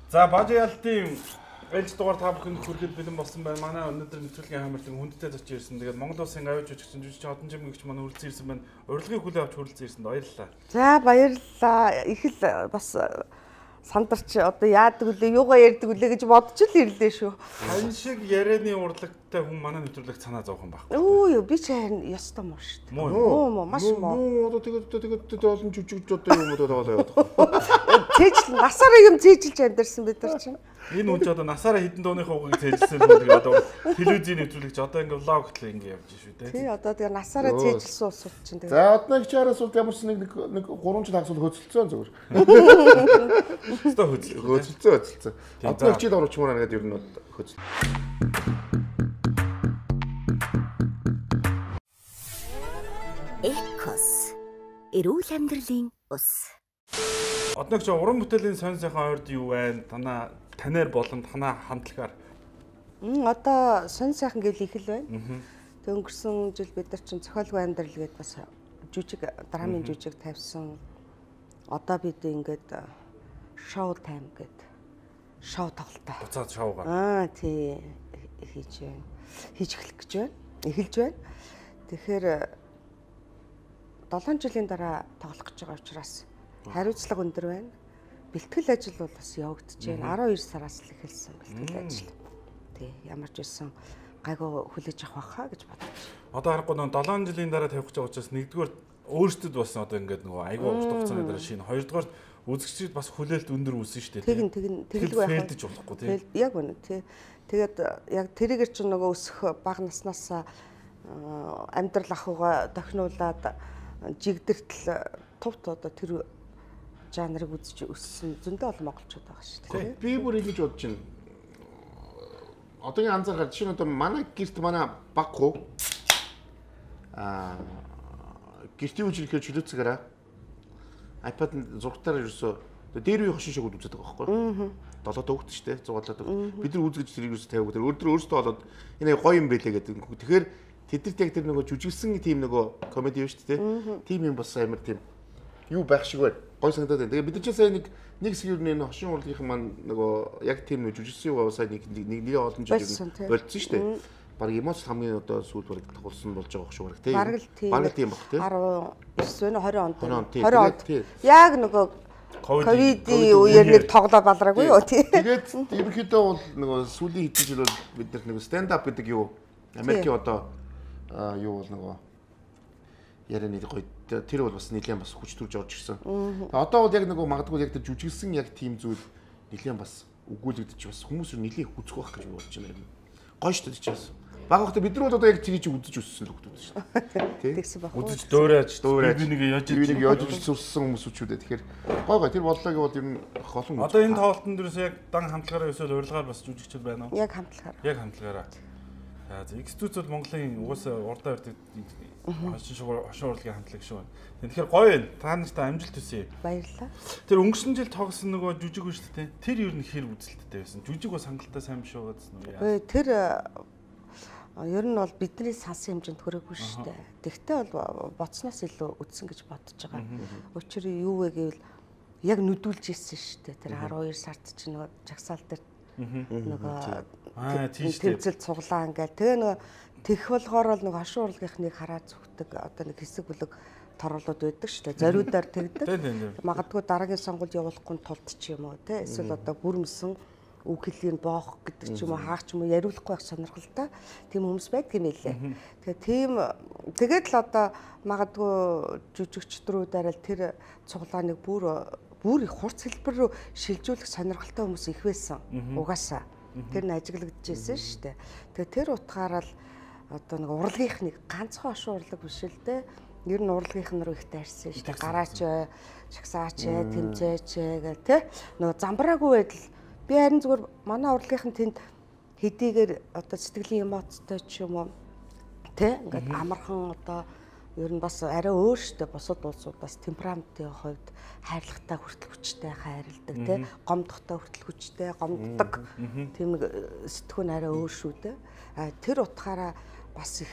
За бажиалтын ээлж дугаар та бүхэнд хүрэхэд бэлэн болсон байна. Манай өнөөдөр нэвтрүүлгийн хамаарлын хүндтэй зоч ирсэн. Тэгээд Монгол Улсын авиж жүжигчин одон жимгэгч манай хүрэлцэн ирсэн байна. Урилгын хүлээ авч хүрэлцэн ирсэнд баярлалаа. За баярлалаа. Их л бас сандарч одоо яадаг үлээ, юугаа ярьдаг үлээ гэж бодож л ирлээ шүү. Тань шиг ярианы урлагтай хүн манай нэвтрүүлэгт санаа зовхон баг. Өө би ч харин ёстой муу шүү дээ. Муу маш муу. Одоо тэгээд олон жүжигч одоо юм уу таваад яваад. Цээжл насаараа юм цээжилж амьдэрсэн бид нар чинь. Энэ хүн ч одоо насаараа хідэн дууны хуугийг цээжилсэн хүн тэгээд одоо телевизийн нэвтрүүлэгч одоо ингээ влог хөтлөө ингээ явж шүү дээ. Тий одоо тэгээд насаараа цээжилсэн улсууд чинь тэгээд. За одны хичээрэс бол ямар ч нэг 3 жил хагас хөцөлцсөн зүгээр. Өстө хөцөлцсөн. Одны хичээд оруулчмаар нэгэд ер нь хөцөл. Экос эрүүл амьдралын ус. Одногч уран бүтээлийн сонь сайхан ойрд юу байна? Танаар болон танаа хамтлагаар. Одоо сонь сайхан гэвэл их л байна. Тэг өнгөрсөн жил бид нар чинь цохиолгүй амьдрал гэдээ бас жүжиг драмын жүжиг тавьсан. Одоо бид ингээд шоу тайм гэдэг шоу тоглолтоо. Буцаад шоугаар. Тий хийж байна. Хийж эхлэх гэж байна. Эхэлж байна. Тэгэхээр 7 жилийн дараа тоглох гэж байгаа учраас хариуцлага өндөр байна. Бэлтгэл ажил бол бас явагдаж байна. 12 сараас л эхэлсэн бэлтгэл ажил. Тий, ямар ч байсан гайгүй хүлээж авах байхаа гэж бодож байна. Одоо харахгүй нэг 7 жилийн дараа тавих гэж байгаа учраас нэгдүгээр өөрсдөд бас одоо ингээд нөгөө айгүй урт хугацааны дараа шинэ, хоёрдугаар үзэгчид бас хүлээлт өндөр үүсэн шүү дээ. Тэгэлгүй байх. Фэлдэж болохгүй тий. Яг үнэ тий. Тэгээд яг тэрийгэр чинь нөгөө өсөх бага наснаас амьдрал ахуйгаа тохинулаад жигдэртэл тувт одоо тэр жанрыг үзэж өссөн зөндөө олон монголчууд байгаа шүү дээ. Би бүр ингэж бодож байна. Одоогийн анзаархад жишээ нь одоо манай гэрт манай баг хуу гэртийн үжилхээр чөлөөцгээрээ iPad-д зургатаар ерөөсөө дээр үе хошин шогод үздэг байгаа байхгүй. 7 дөгт шүү дээ. Зугаалаад. Бид нар үзгэж тэрийг ерөөсөө тавиаг. Өөртөө болоод энэ гоё юм байлээ гэдэг. Тэгэхээр тэдэрт яг тэр нөгөө жүжиглсэн тийм нөгөө комеди шүү дээ. Тийм юм бас амар тийм юу байх шиг байна. Гой санагдаад байна. Тэгээ бид нар ч сайн нэг хэсэг юу нэ хошин урлагийнхан маань нөгөө яг тийм нөгөө жүжигсэн юу сая нэг олон жил болцсон шүү дээ. Бараг эмоц хамгийн одоо сүүл бараг тагуулсан болж байгаа шүү бараг тийм. Бараг тийм баг тийм. 19 20 онд. 20 онд. Яг нөгөө ковидын үеэр нэг тоглоо балраагүй юу тий. Тэгээд ерөнхийдөө бол нөгөө сүүлийн хэдэн жил бол бид нар нөгөө stand up гэдэг юу Америкийн одоо юу бол нөгөө ярианы гоё тэр бол бас нэлээд бас хүч төрж орж ирсэн. Одоо бол яг нөгөө магадгүй яг тэр жүжиглсэн яг тийм зүйл нэлээд бас өгүүлэгдэж бас хүмүүс нэлээд хүзэх байх гэж бодож байна. Гоё шүү дээ чаас. Баг хата бид нар бол одоо яг чигийг үзэж өссөн хүмүүс шүү дээ. Тэгсэн баг. Үзэж дөөрөөж би нэг яаж сурсан хүмүүс үчүүдээ. Тэгэхээр гой тэр боллоо гэвэл ер нь олон. Одоо энэ тоглолтын дээрээс яг дан хамтлагаараа эсвэл урилгаар бас жүжигчд байна уу? Яг хамтлагаараа. Яг хамтлагаараа. За X2 бол Монголын угаасаа урдаа өрдөг хошин урлагийн хамтлаг шүү. Тэгэхээр гоё байна. Та нартай амжилт хүсье. Баярлалаа. Тэр өнгөрсөн жил тоглосон нөгөө жүжиг үү шүү дээ. Тэр ер нь хэр үзэлттэй байсан. Жүжиг бас хангалттай сайн биш байгаа гэсэн үү яа. Тэр ер нь бол бидний сансан хэмжээнд хүрээгүй шүү дээ. Тэгтээ бол боцноос илүү үдсэн гэж бодож байгаа. Учир нь юу вэ гэвэл яг нүдүүлж ирсэн шүү дээ. Тэр 12 сард чинь нөгөө жагсаал дээр нөгөө тэмцэл цуглаа ингээл тэгээ нөгөө тэгэх болохоор бол нөгөө хошин урлагийнхныг хараад зүгтдэг одоо нэг хэсэг бүлэг торлууд байдаг шүү дээ. Зориудаар тэгдэг. Магадгүй дараагийн сонгуульд явуулахгүй тулд ч юм уу те эсвэл одоо бүрмсэн үг хэлийг боох гэдэг ч юм уу хаах ч юм уу яриулахгүй байх сонирхолтой тийм хүмүүс байдаг юм лээ. Тэгээ тийм тэгээд л одоо магадгүй жүжигчдрүүдээр л тэр цуглааныг бүр их хурц хэлбэр рүү шилжүүлэх сонирхолтой хүмүүс их байсан. Угаасаа тэр нь ажиглагдчихсэн шүү дээ. Тэгээ тэр утгаараа л одоо нэг урлагийнхныг ганцхан хошин урлаг биш л дээ. Ер нь урлагийнх руу их дайрсан шүү дээ. Гараач, шагсаач, тэмцээч гэх тэ. Нөгөө замбраагүй байдал би харин зүгээр манай урлагийнхан тэнд хэдийгээр одоо сэтгэлийн эмоцтой ч юм уу тэ ингээд амархан одоо ер нь бас арай өөр штэ бусад улсуудаас темпераментийн хувьд хайрлагатай хүртэл хүчтэй хайрладаг тий гомдохтой хүртэл хүчтэй гомддог тийм нэг сэтгүүн арай өөр шүү дээ. Тэр утгаараа бас их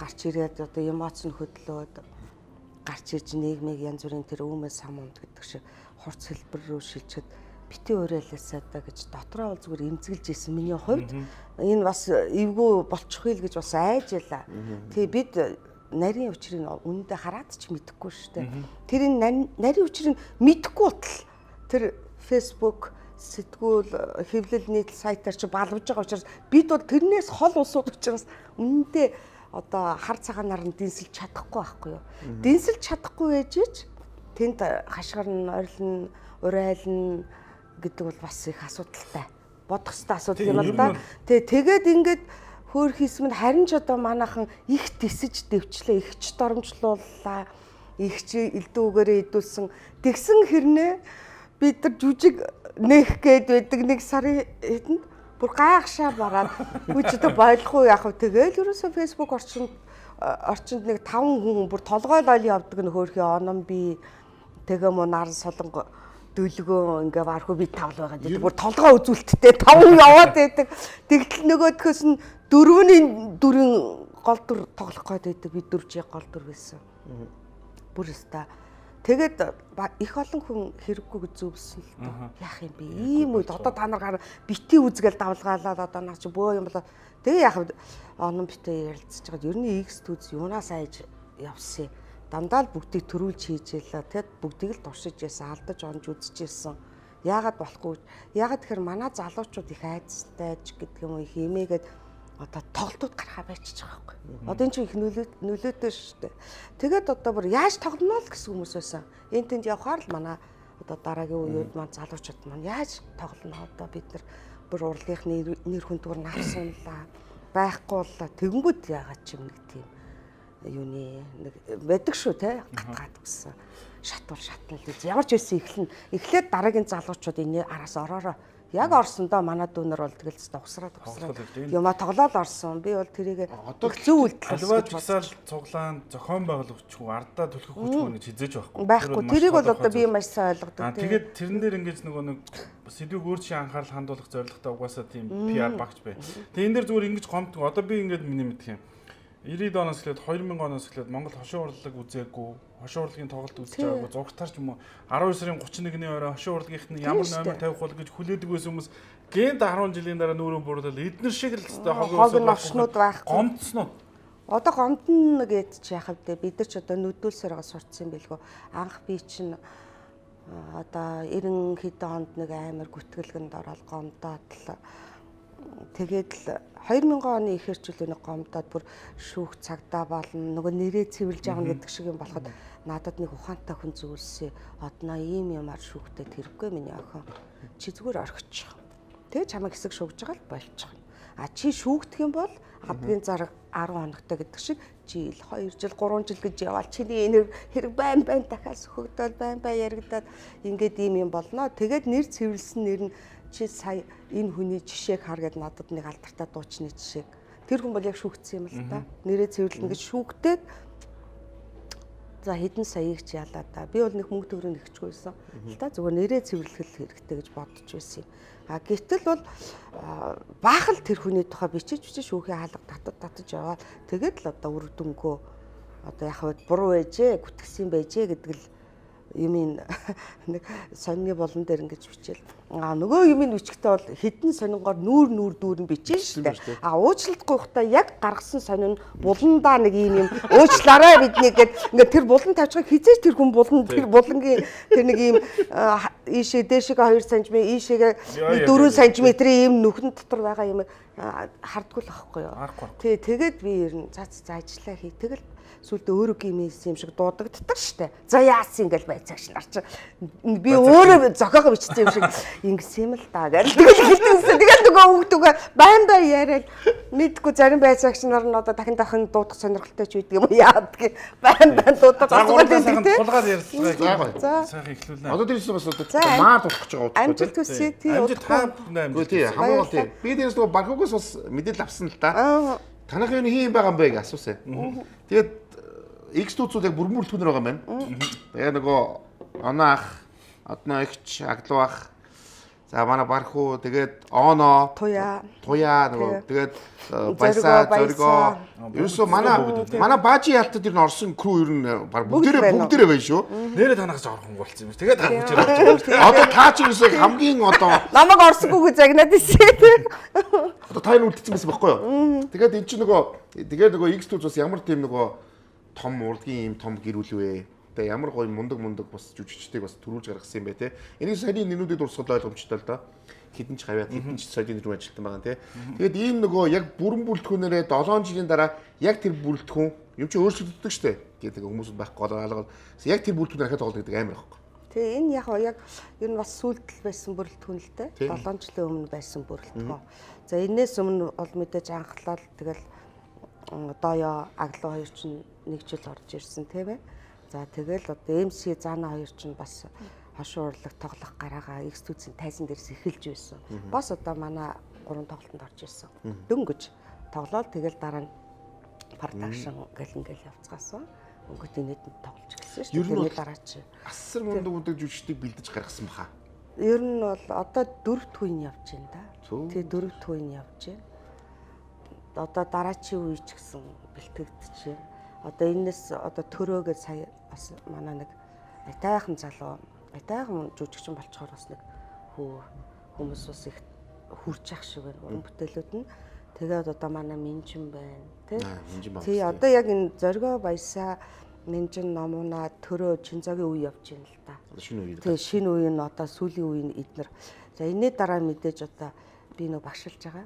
гарч ирээд одоо эмоц нь хөдлөөд гарч ирж нийгмийг янз бүрийн тэр өөмөө сам унд гэдэг шиг хурц хэлбэр рүү шилжихэд бити уриалаасаа да гэж дотроо бол зүгээр эмзэглэж исэн миний хувьд энэ бас эвгүй болчихгүй л гэж бас айж ялаа. Тэгээ бид нарийн учрыг үнэндээ хараад ч мэдэхгүй шүү дээ. Тэр энэ нарийн учрыг мэдэхгүй утал тэр Facebook сэтгүүл хэвлэл нийтлэл сайтаар чи балвж байгаа учраас бид бол тэрнээс хол улсууд учраас үнэндээ одоо хар цагаанаар нь дэнсэлж чадахгүй байхгүй юу. Дэнсэлж чадахгүй ээжиж тэнд хашгирна, ойрлно, урайлна гэдэг бол бас их асуудалтай. Бодох ёстой асуудал юм л да. Тэгээд ингээд хөөр хийсмэнд харин ч одоо манайхан их тисэж дэвчлээ, их ч доромжлууллаа, их ч элдүүгээрээ идүүлсэн. Тэгсэн хэрнээ бид нар жүжиг нээх гээд байдаг нэг сарын хэдэнд бүр гайхшаа бараад үуч одоо ойлгохгүй яах вэ? Тэгээл ерөөсөө Facebook орчинд нэг 5 хүн бүр толгойлол явдаг нь хөөрхий оном би тэгээ муу наран солонго дөлгөө ингээ вархуу би тавл байгаа гэдэг бүр толгоо үзүүлэлттэй 5 яваад байдаг. Тэгтэл нөгөөдхөөс нь 4-ийн гол дүр тоглох гээд байдаг. Би 4-ийн гол дүр байсан. Бүр өста. Тэгээд их олон хүн хэрэггүй гэж зөвлөсөн л доо. Яах юм бэ? Ийм үед одоо та нар бити үзгээл давлгаалаад одоо наа чи бөө юм болоо. Тэгээ яах вэ? Оном битээ ярилцж байгаад ер нь X төз юунаас айж явсан. Дандаа л бүгдийг төрүүлж хийж ялла. Тэгэд бүгдийг л туршиж яасан, алдаж онж үзчихсэн. Яагаад болохгүй? Яагаад тэгэхээр манай залуучууд их айцтай ч гэдэг юм уу их эмээгээд одоо тоглолтууд гарахаа байчихж байгаа байхгүй. Одоо энэ чинь их нөлөөтэй шүү дээ. Тэгээд одоо бүр яаж тоглоно л гэсэн хүмүүс байсан. Энд тэнд явхаар л манай одоо дараагийн үеуд маань залуучууд маань яаж тоглоно одоо бид нар бүр урлагийнхны нэр хүндгээр навсанлаа байхгүй боллоо. Тэгэнгүүт яагаад ч юм нэг тийм юуны нэг байдаг шүү те гатгаад гэсэн. Шатвар шатнал гэж ямар ч байсан эхлээд дараагийн залуучууд энэ араас ороороо яг орсондоо манай дүүнер бол тэгэл усраад юма тоглоод орсон. Би бол тэрийг зөв үйлдэл альваа жагсаал цуглаан зохион байгуулагчгүй ардаа түлхэх хүчгүй гэж хизээж байхгүй. Тэрийг бол одоо би маш сайн ойлгодог. Тэгээд тэрэн дээр ингэж нөгөө нэг сэдвийг өөр чинь анхаарал хандуулах зорилготой угаасаа тийм PR багч бай. Тэгээд энэ дээр зүгээр ингэж гомддог. Одоо би ингэж миний мэдх юм. 90-ад оноос эхлээд 2000 оноос эхлээд Монгол хошин урлаг үзээгүй, хошин урлагийн тоглолт үзэж байгаагүй, зургатаар ч юм уу 12 сарын 31-ний орой хошин урлагийнхны ямар номер тавих бол гэж хүлээдэг байсан хүмүүс гэнт 10 жилийн дараа нүүрэн буруулаад эднэр шиг л хогн орчнууд байхгүй. Гомдсноо. Одоо гомдно гэж яхав дээ. Бид нар ч одоо нүдүүлсээр сурцсан юм билгөө. Анх би чинь одоо 90 хэдэн онд нэг амар гүтгэлгэнд ороод гомдоод л тэгээд л 2000 оны ихэрчлүүний гомдоод бүр шүүх цагдаа болно нөгөө нэрээ цэвэрлж авна гэдэг шиг юм болоход надад нэг ухаантай хүн зүйлсээ одноо ийм юмар шүүхтэй тэрхгүй миний охин чи зүгээр орхичих. Тэгээ чамайг хэсэг шүүгж байгаа л болчих. А чи шүүгдэх юм бол адгийн зарга 10 хоногтой гэдэг шиг жил 2 жил 3 жил гэж яваал чиний энэ хэрэг байн дахиад сөхөгдөөл байн яригадаад ингээд ийм юм болно. Тэгээд нэр цэвэрлсэн нэр нь чи сая энэ хүний жишээг хар гэд надад нэг алдартай дуучны жишээг тэр хүн бол яг шүүгдсэн юм л та. Нэрээ цэвэрлэн гэж шүүгдээд за хэдэн саяыг ч ялаа да. Би бол нэг мөнгө төгрөг нэгчгүйсэн. Та зүгээр нэрээ цэвэрлэх хэрэгтэй гэж бодож байсан юм. А гэтэл бол баахал тэр хүний тухай бичиж шүүхийн хаалга татаж яваад тэгээд л одоо үр дүнгөө одоо яг буруу байжээ, гүтгсэн байжээ гэдэг л юмын нэг сонины болон дээр ингэж бичээл. А нөгөө юмын бичгтээ бол хідэн сонингоор нүүр дүүрэн бичэн шүү дээ. А уучлалтгүй хта яг гаргасан сонин буландаа нэг юм уучлаарай биднийг гэд ингээд тэр булан тавьчихыг хизээж тэр хүн булан тэр булангийн тэр нэг юм ийшээ дээшээ 2 см ийшээ 4 см-ийн юм нүхэн дотор байгаа юм хардггүй л ахгүй юу. Тэгээд би ер нь за ажиллаа хий. Тэгэл сүлдө өөрөө гимээс юм шиг дуудагддаг штэ. За яасан ингээл байцаагч нар чи би өөрөө зохиогоо бичсэн юм шиг ингэсэн юм л да гэж. Тэгээд нөгөө хүүхдүүгээ байн яриад мэдгүй зарим байцаагч нар нь одоо дахин дуудах сонирхолтой ч үйдэг юм яад гэ байн дуудах асуудал тулгаад ярьцгаая. Сайхан эхлүүлнэ. Одоо дээрээс бас одоо маар дуудах гэж байгаа. Амжилт хүсье тий. Тий хамаагүй тий. Би дээрээс нөгөө банкугаас бас мэдээлэл авсан л да. Танах юу хийм байгаа юм бэ гэж асуусан. Тэгээд X тууцууд яг бүрмөрлөтгөнөр байгаа юм байна. Тэгээ нөгөө оноо ах, одноо ихч, аглуу ах. За манай Бархуу тэгээд Оно туяа нөгөө тэгээд Баясаа зоргоо ерөөсөө манай баажи ялтад ер нь орсон крүү ер нь баг бүгдээрээ байна шүү. Нэрээ танаас орхон болсон юм. Тэгээд авах гэж байна. Одоо таа ч ерөөсөө хамгийн одоо намайг орсонгүй загнаад ирсэн. Одоо та энэ үлдсэн байсан байхгүй юу? Тэгээд эн чинь нөгөө X2 бас ямар тийм нөгөө том урлагийн юм том гэрүүл вэ? Тэгээ ямар гоё мундаг бас жүжигчдийг бас төрүүлж гаргасан юм бэ те. Энийг саяны нэнүүдэд урсгал ойлгомжтой л доо. Хідэн ч хавьяа хідэн ч соёлын рүү ажилтсан байгаа те. Тэгээд ийм нөгөө яг бүрэн бүрэлдэхүүнээрээ 7 жилийн дараа яг тэр бүрэлдэхүүн юм чи өөрчлөгддөг штэ. Тэгээд хүмүүсд байхгүй алгаа. Яг тэр бүрэлдэхүүн дахиад тоглодог амар байхгүй. Тэгээ энэ яг ер нь бас сүйдэл байсан бүрэлдэхүүн л те. 7 жилийн өмнө байсан бүрэлдэхүүн. За энэс өмнө бол мэдээж анхлал тэгэл дооё аглуу хоёр чинь нэг жил орж ирсэн тийм ээ. За тэгэл одоо MC Зана хоёр чинь бас хошуу урлаг тоглох гараагаа X2-ийн тайзан дээрс эхэлж байсан. Бас одоо манай 3 тоглолтод орж ирсэн. Дөнгөж тоглоод тэгэл дараа нь продакшн ингээл явцгаасан. Өнгөт инээдэнд тоглож эхэлсэн шүү дээ. Тэрний дараа чи асар мундаг жүжигчдийг бэлдэж гаргасан баха. Ер нь бол одоо 4 төвийн явж байна да. Тэгээ 4 төвийн явж байна. Одоо дараачийн үе ч гэсэн бэлтгэгдэж байна. Одоо энэс одоо төрөөгөө сая бас манай нэг айтайхан залуу айтайхан жүжигчин болцохоор бас нэг хүмүүс бас их хүрч ах шиг байна. Уран бүтээлүүд нь тэгээд одоо манай Минжин байна тий одоо яг энэ зоргоо Баясаа Минжин номуна төрөө Чинзогийн үе явж байна л да. Шинэ үе. Тий шинэ үе нь одоо сүүлийн үе нь эднэр. За энэний дараа мэдээж одоо би нөө багшилж байгаа.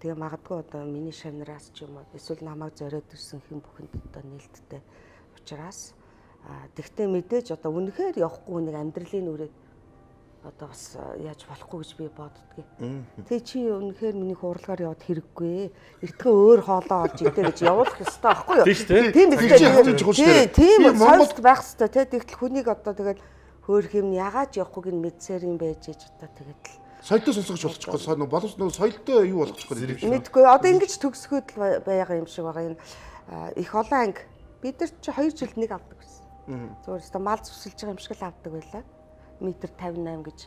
Тэгээ магадгүй одоо миний шавнараас ч юм уу эсвэл намайг зориод ирсэн хэн бүхэнд одоо нээлттэй учраас тэгтээ мэдээж одоо үнэхээр явахгүй нэг амьдралын үрээд одоо бас яаж болохгүй гэж би боддгийг. Тэг чи үнэхээр миний хуурлагаар яваад хэрэггүй. Эртхэн өөр хоолоо олж идэ гэж явуулах ёстой байхгүй юу? Тийм биз. Тийм Монголд байх ёстой тий. Тэгтэл хүнийг одоо тэгэл хөөх юм ягааж явахгүй гин мэдсээр юм байж ээж одоо тэгэл соёлтой сонсгож болчихгүй боловч нөгөө соёлтой юу болгочихгүй мэдгүй одоо ингэж төгсгөөд л байгаа юм шиг байгаа энэ их олон анги бид нар чи 2 жилд нэг авдаг гэсэн. Зүгээр өстө мал зүсэлж байгаа юм шиг л авдаг байлаа. Метр 58 гэж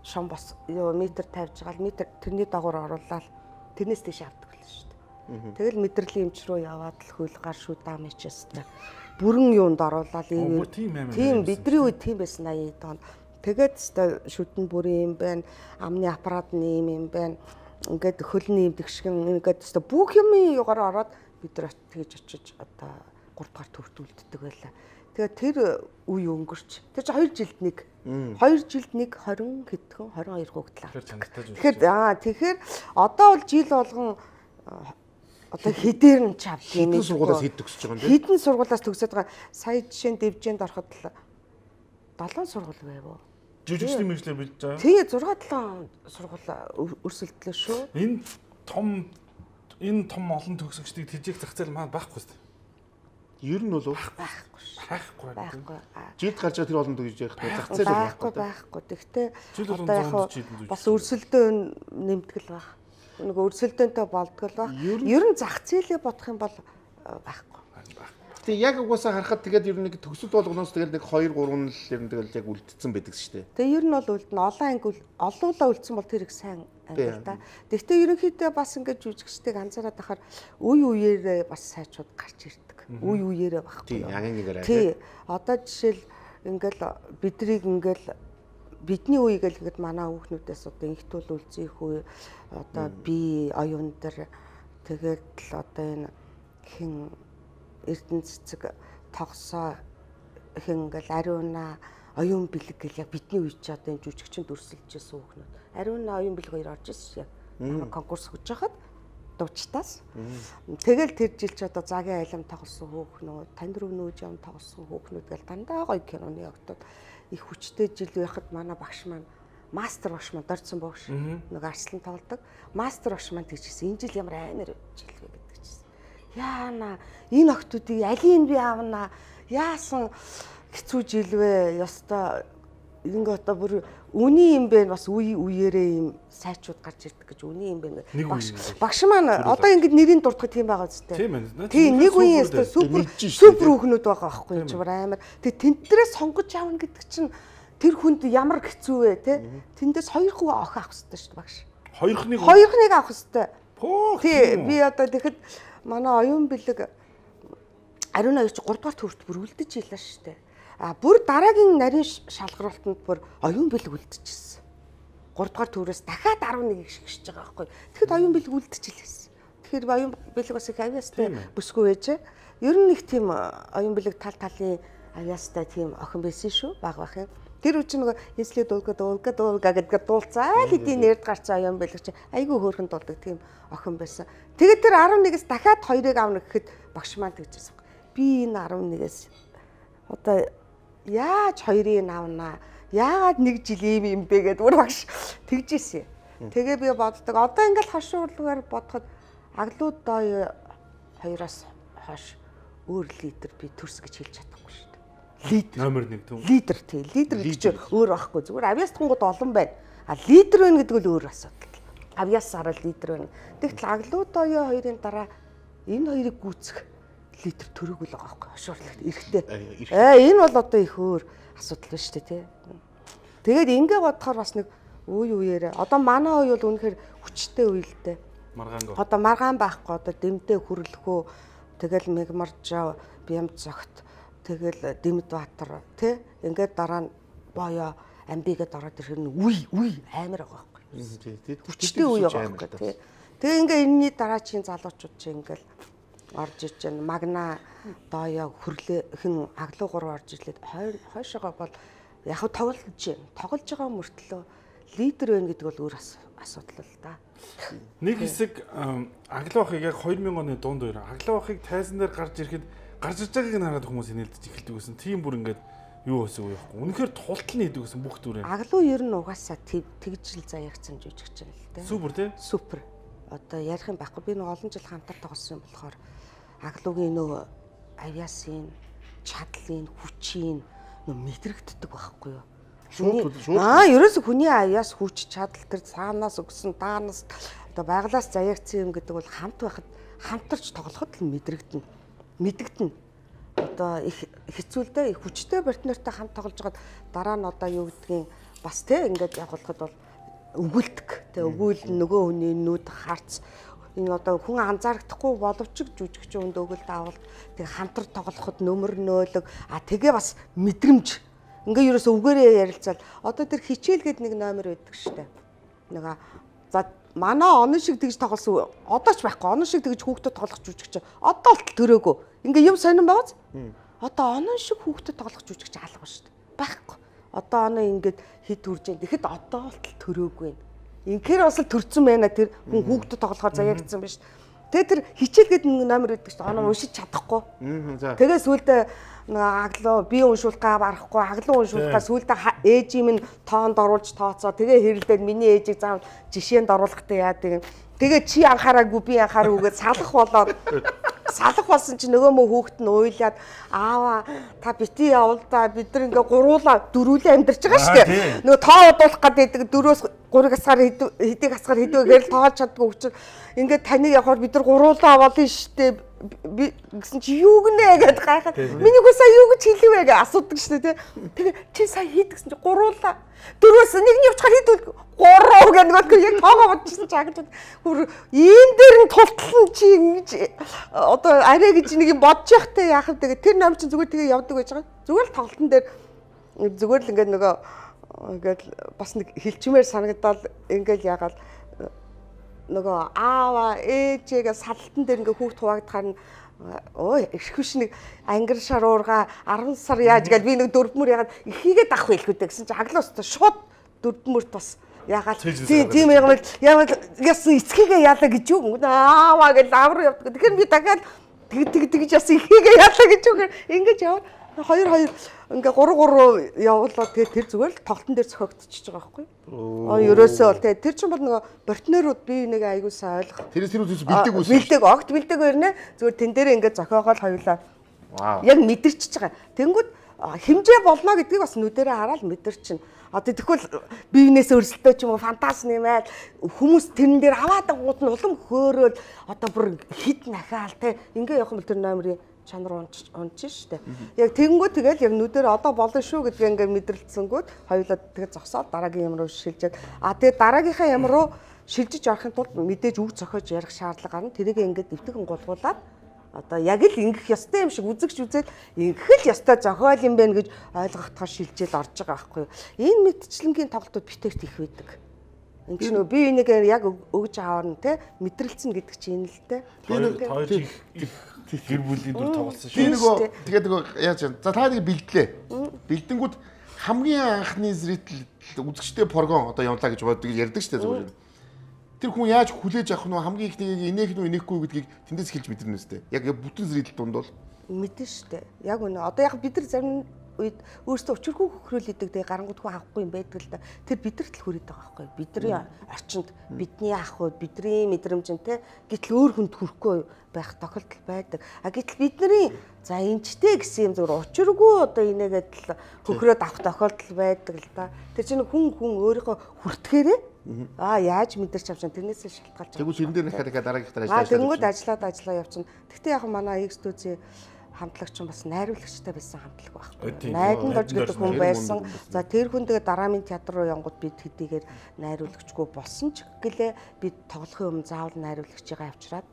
шон бос метр тавьж байгаа л метр тэрний дагуур оруулаад тэрнээс дэш авдаг байлаа шүү дээ. Тэгэл мэдрэлийн эмч рүү яваад л хөл гар шүү дам ичээстэй бүрэн юунд оруулаад тийм бидний үед тийм байсан 80-д он. Тэгээд шүтэн бүрийн юм байна, амны аппарат нэм юм байна. Ингээд хөлний имдэгшгэн ингээд бүх юмын югаар ороод бид нар тэгж очиж одоо 3 дугаар төвд үлддэг байлаа. Тэгээд тэр үе өнгөрч. Тэр чинь 2 жилд нэг 20 хэдхэн 22 хүүхдэл авдаг. Тэгэхээр одоо бол жил болгон одоо хэдээр нь ч авдаг юм. Хэдэн сургуулиас хэд төгсөж байгаа юм бэ? Хэдэн сургуулиас төгсөж байгаа. Сая жишээ нь Дэвжээнд ороход 7 сургууль байв уу? Жүжигчдийн мэргэжлэр бэлдэж байгаа. Тэгээ 6-7 сургууль өрсөлдлөө шүү. Энэ том олон төгсөгчдийг тэжээх зах зээл маань байхгүй шүү. Ер нь бол байхгүй. Жилд гарч байгаа тэр олон төгсөж явах зах зээл байхгүй. Тэгтээ одоо яг бас өрсөлдөө нэмтгэл байх. Нэг өрсөлдөөнтэй болдгол байх. Ер нь зах зээлээ бодох юм бол байхгүй. Тэгээ яг угаасаа харахад тэгээд ер нь нэг төгсөл болгоноос тэгээд нэг 2 3 л ер нь тэгэл яг үлдсэн байдаг шүү дээ. Тэгээ ер нь бол үлдэн олон анги олуулаа үлдсэн бол тэр их сайн анги л да. Гэхдээ ерөнхийдөө бас ингэж жүжигчдийг анзаараад байхаар үе үеэрээ бас сайчууд гарч ирдэг. Үе үеэрээ багхгүй. Тийм агангаараа. Тий. Одоо жишээл ингээл бидрийг ингээл бидний үе гэлгээд манай хүүхнүүдээс одоо инхтүүл үлзийх үе одоо би оюун дээр тэгээд л одоо энэ хин Эрдэнэ цэцэг тогсоо хин ингээл ариуна оюун бэлэг гэл яг бидний үе чи одоо энэ жүжигчэнд өрсөлдөжсэн хүүхнүүд. Ариуна оюун бэлэг хоёр орж ирсэн яг. Конкурс хөж хахад дуучтаас. Тэгэл тэр жил ч одоо Загийн айлам тоглосон хүүхнүүд, Танд рүүнүүд юм тоглосон хүүхнүүд гэл дандаа гоё киноны актууд их хүчтэй жил байхад манай багш маань мастер багш маань дорцсон багш нэг арслан тоглодог. Мастер багш маань тэгчихсэн. Энэ жил ямар амар жил вэ гэдэг чийсэн. Яана энэ октодыг алийг би аавна яасан хэцүү жил вэ? Ёстой ингээ одоо бүр үний юм бэ бас үе үеэрээ юм сайчууд гарч ирдэг гэж үний юм бэ. Багш маань одоо ингэ нэрийн дурдхад тийм байгаа зү. Тийм нэг үеийн супер хүүхнүүд байгаа байхгүй ч амар. Тэгээ тэнтрээс сонгож аавна гэдэг чинь тэр хүнд ямар хэцүү вэ те? Тэндээс 2 хүү охин авах хэрэгтэй шүү дээ багш. Хоёрхныг авах хэрэгтэй. Тий, би одоо тэгэхэд манай оюун бэлэг ариун аяч 3 дугаар төвөрт бүр үлдэж ийлээ шүү дээ. Бүр дараагийн нарийн шалгаралтанд бүр оюун бэлэг үлдчихсэн. 3 дугаар төврөөс дахиад 11-ийг шигшиж байгаа байхгүй. Тэгэхэд оюун бэлэг үлдэж ийлээс. Тэгэхээр оюун бэлэг бас их авьяастай бүсгүй байж. Ер нь нэг тийм оюун бэлэг талын авьяастай тийм охин байсан шүү. Баг бахын. Тэр үчи нөгөө эслээ дуулга гэдгээр дуулцаа л эдийн нэрд гарцсан оюун бэлэг чи айгүй хөөрхөн дуулдаг тийм охин байсан. Тэгээд тэр 11-ээс дахиад 2-ыг авна гэхэд багш маань тэгжсэн. Би энэ 11-ээс одоо яаж 2-ыг авнаа? Яагаад 1 жил юм бэ гэдээ өөр багш тэгжсэн. Тэгээ би боддог. Одоо ингээл хошуурлаар бодоход аглууд доо 2-оос хойш өөр лидер би төрс гэж хэлж чадахгүй шүү дээ. Лидер номер 1 түн. Лидер тий. Лидер гэж өөр байхгүй. Зүгээр авьяастангууд олон байна. Лидер байна гэдэг нь өөр асуудал. Авьяасаараа лидер байна. Тэгтэл аглууд доо 2-ын дараа энэ хоёрыг гүйцэх лидер төрөг л байгаа байхгүй. Хошуурлагт эрэхтэй. Энэ бол одоо их өөр асуудал байна шүү дээ тий. Тэгээд ингээ бодохоор бас нэг үеэрээ одоо манай үе бол үнэхээр хүчтэй үе л дээ. Одоо маргаан байхгүй одоо дэмдээ хүрлэхөө тэгэл Мегмаржаа Бямд зогт тэгэл Дэмд Баатар тий ингээд дараа нь боёо амбигээд ороод ирэх нь үе амар байгаа байхгүй. Хүчтэй үе байгаа байхгүй тий. Тэгээ ингээ энэний дараачийн залуучууд чинь ингээл орж иж байна. Магна дооё хүрлэхэн аглуу 3 орж ирлээд хойшоогоо бол яг тоглож байгаа мөртлөө лидер байна гэдэг бол өөр асуудал л да. Нэг хэсэг аглуу ахыг яг 2000 оны дунд үеэр аглуу ахыг тайзан дээр гарч ирэхэд гарч иж байгааг хараад хүмүүс инээлдэж эхэлдэг гэсэн. Тийм бүр ингээд юу өсөг байхгүй. Үнэхээр тултал нийдэг гэсэн бүх дүрээ. Аглуу ер нь угаасаа тэгжил заяагцсан жүжигч юм л да. Супер тий? Супер. Одоо ярих юм байхгүй. Би нэг олон жил хамтар тоглосон юм болохоор аглуугийн нөгөө авьяасын, чадлын, хүчийн мэдрэгддэг байхгүй юу? Ерөөсө хүний авьяас хүч чадал тэр цаанаас өгсөн даанаас одоо байглаас заяагцсан юм гэдэг бол хамт байхад хамтарч тоглоход л мэдэгдэнэ. Одоо их хэцүүлдэ их хүчтэй партнертай хамт тоглож байгаад дараа нь одоо юу гэдгийг бас те ингээд явуулахад бол өгүүлдэг. Тэ өгүүл нөгөө хүний нүд харц энэ одоо хүн анзаардахгүй боловч жүжигч өнд өгөлд авалт тэг хамтар тоглоход нөмөр нөөлөг тэгээ бас мэдрэмж ингээ ерөөсө үгээрээ ярилцаад одоо тэр хичээл гээд нэг номер байдаг штэ. Нэг за манай онон шиг тэгж тоглосон одоо ч байхгүй онон шиг тэгж хүүхдэд тоглох жүжигч одоо л төрөөгөө ингээ юм сонирн байгааз одоо онон шиг хүүхдэд тоглох жүжигч алга штэ байхгүй одоо оноо ингээд хэд үрж जैन тэгэхэд одоо л төрөөгүй инхээр бас л төрцөн байна тэр хүн хүүхдэд тоглохоор заяагдсан биш. Тэгээ тэр хичээл гээд нэг номер өгдөг чинь оноо уншиж чадахгүй. Тэгээ сүулдэ аглуу би уншуулгаа барахгүй аглуу уншуулгаа сүулдэ ээжийн минь тоонд оруулж тооцоо тэгээ хэрэлдээд миний ээжийг заавал жишээнд оруулахтай яадаг. Тэгээ чи анхаараагүй би анхаараагүй салах болоод салах болсон чи нөгөө мө хүүхэд нь уйлаад аава та бити явал да бид нар ингээ гуруулаа дөрүүлээ амьдарч байгаа шүү дээ. Нөгөө тоо удуулах гэдэг 4-өөс 3 хасгаар хэдийг хасгаар хэдвэгээр л тоолж чаддгүй учраас ингээ таныг явахаар бид нар гуруулаа болно шүү дээ. Би гэсэн чи юу гинэ гэдээ гайхаад миний хөө сая юу гэж хэлвэ гэж асуудаг шүү дээ. Тэгээ чи сая хийдгсэн чи гуруулаа 4-өөс нэгний явчихаар хийдвэл 3 гэх нэг яг тоогоо бодчихсон чи агд бүр ийм дээр нь тултлан чи ингэж одоо арай гэж нэг юм бодож явахтай яах вэ тэгээ тэр ном чинь зүгээр тэгээ явдаг байж байгаа. Зүгээр л тоглолтын дээр зүгээр л ингээд нөгөө ингээд бас нэг хилчмээр санагдал ингээд яагаад нөгөө аава ээжээгээ салтан дээр ингээ хүүхд хуваагдахаар нь эрхвш нэг ангир шаруурга 10 сар яаж гээл би нэг дөрвмөр ягаад ихийгээ дах байлгүй гэсэн чи аглаас шууд дөрвмөрт бас ягаад тийм ягаад яасан эцгийгээ яалаа гэж юу аава гэж авруу явдаг. Тэгэхээр би дахиад тэгж яасан ихийгээ яалаа гэж юу ингэж яваа 2 ингээ 3 явуулаад тэгээ тэр зүгээр л тоглолтын дээр зохиогдчихж байгаа байхгүй. Ерөөсөө бол тэгээ тэр чинь бол нөгөө партнерууд би нэг аягүй сайн ойлгох. Тэрээс тэр үс бэлдэг огт бэлдэг өрнө зүгээр тэн дээр ингээ зохиогоол хоёулаа. Яг мэдэрчж байгаа. Тэнгүүд хэмжээ болно гэдгийг бас нүдэрээ хараад мэдэрчин. Одоо тэгвэл биенээс өрсөлдөө ч юм уу фантаз нэмээд хүмүүс тэрэн дээр аваад гууд нь улам хөөрөөл одоо бүр хид нахаал те ингээ явах юм бол тэр номерыг чанар унж штэ. Яг тэгэнгүүт тэгэл яг нүдээр одоо болно шүү гэдгээ ингээ мэдрэлцсэнгүүт хоёулаа тэгээ зогсоод дараагийн юм руу шилжээд тэгээ дараагийнхаа юм руу шилжиж орохын тулд мэдээж үг зохиож ярих шаардлага гарна. Тэрийг ингээд дэвтгэн гулгуулад одоо яг л ингэх ёстой юм шиг үзэгч үзээд ингэх л ёстой зохиол юм байна гэж ойлгохтоор шилжээд орж байгаа байхгүй юу. Энэ мэдчлэнгийн тоглолтууд битэрт их байдаг. Энд чинь би энийг яг өгж аваарна те мэдрэлцэн гэдэг чинь энэ л те. Гэр бүлийн дүр тоглосон шүү. Би нөгөө тэгээд нөгөө яаж за та нэг бэлдлээ. Бэлдэнгүүд хамгийн анхны зритель үзэгчтэй прогон одоо явуулаа гэж боддог ярьдаг шүү дээ зүгээр. Тэр хүн яаж хүлээж авах нь хамгийн ихнийг инээх нь инехгүй гэдгийг тэндээс хэлж мэдэрнэ үстэй. Яг бүтэн зритель дунд бол мэдэн штэ. Яг үнэ. Одоо яг бид нар зарим үед өөрсдөө өчирхүү хөхрөөлөдөг тэгээ гарангууд хөө авахгүй юм байдаг л да. Тэр бидэрт л хүрээд байгаа байхгүй. Бидний орчинд бидний ах уу бидний мэдрэмжэн те гэтэл өөр хүнд хүрэхгүй байх тохиолдол байдаг. А гэтэл бидний за энэчтэй гэсэн юм зүгээр учиргүй одоо инээгээд л хөхрөөд авах тохиолдол байдаг л да. Тэр чинь хүн өөрийнхөө хүртгэхээрээ яаж мэдэрч авч тэрнээсээ шалтгаалж байгаа. Тэгвэл энэ дээр дахиад дараагийнхтаа ажиллаж тэнгууд ажиллаа явчихна. Гэхдээ яг манай X-Studio хамтлагч нь бас найруулагчтай байсан хамтлаг байхгүй. Найдан дорж гэдэг хүн байсан. За тэр хүн тэгээ дараамын театр руу янгууд бид хэдийгээр найруулагчгүй болсон ч гэлээ бид тоглохын өмнө заавал найруулагчгаа авчираад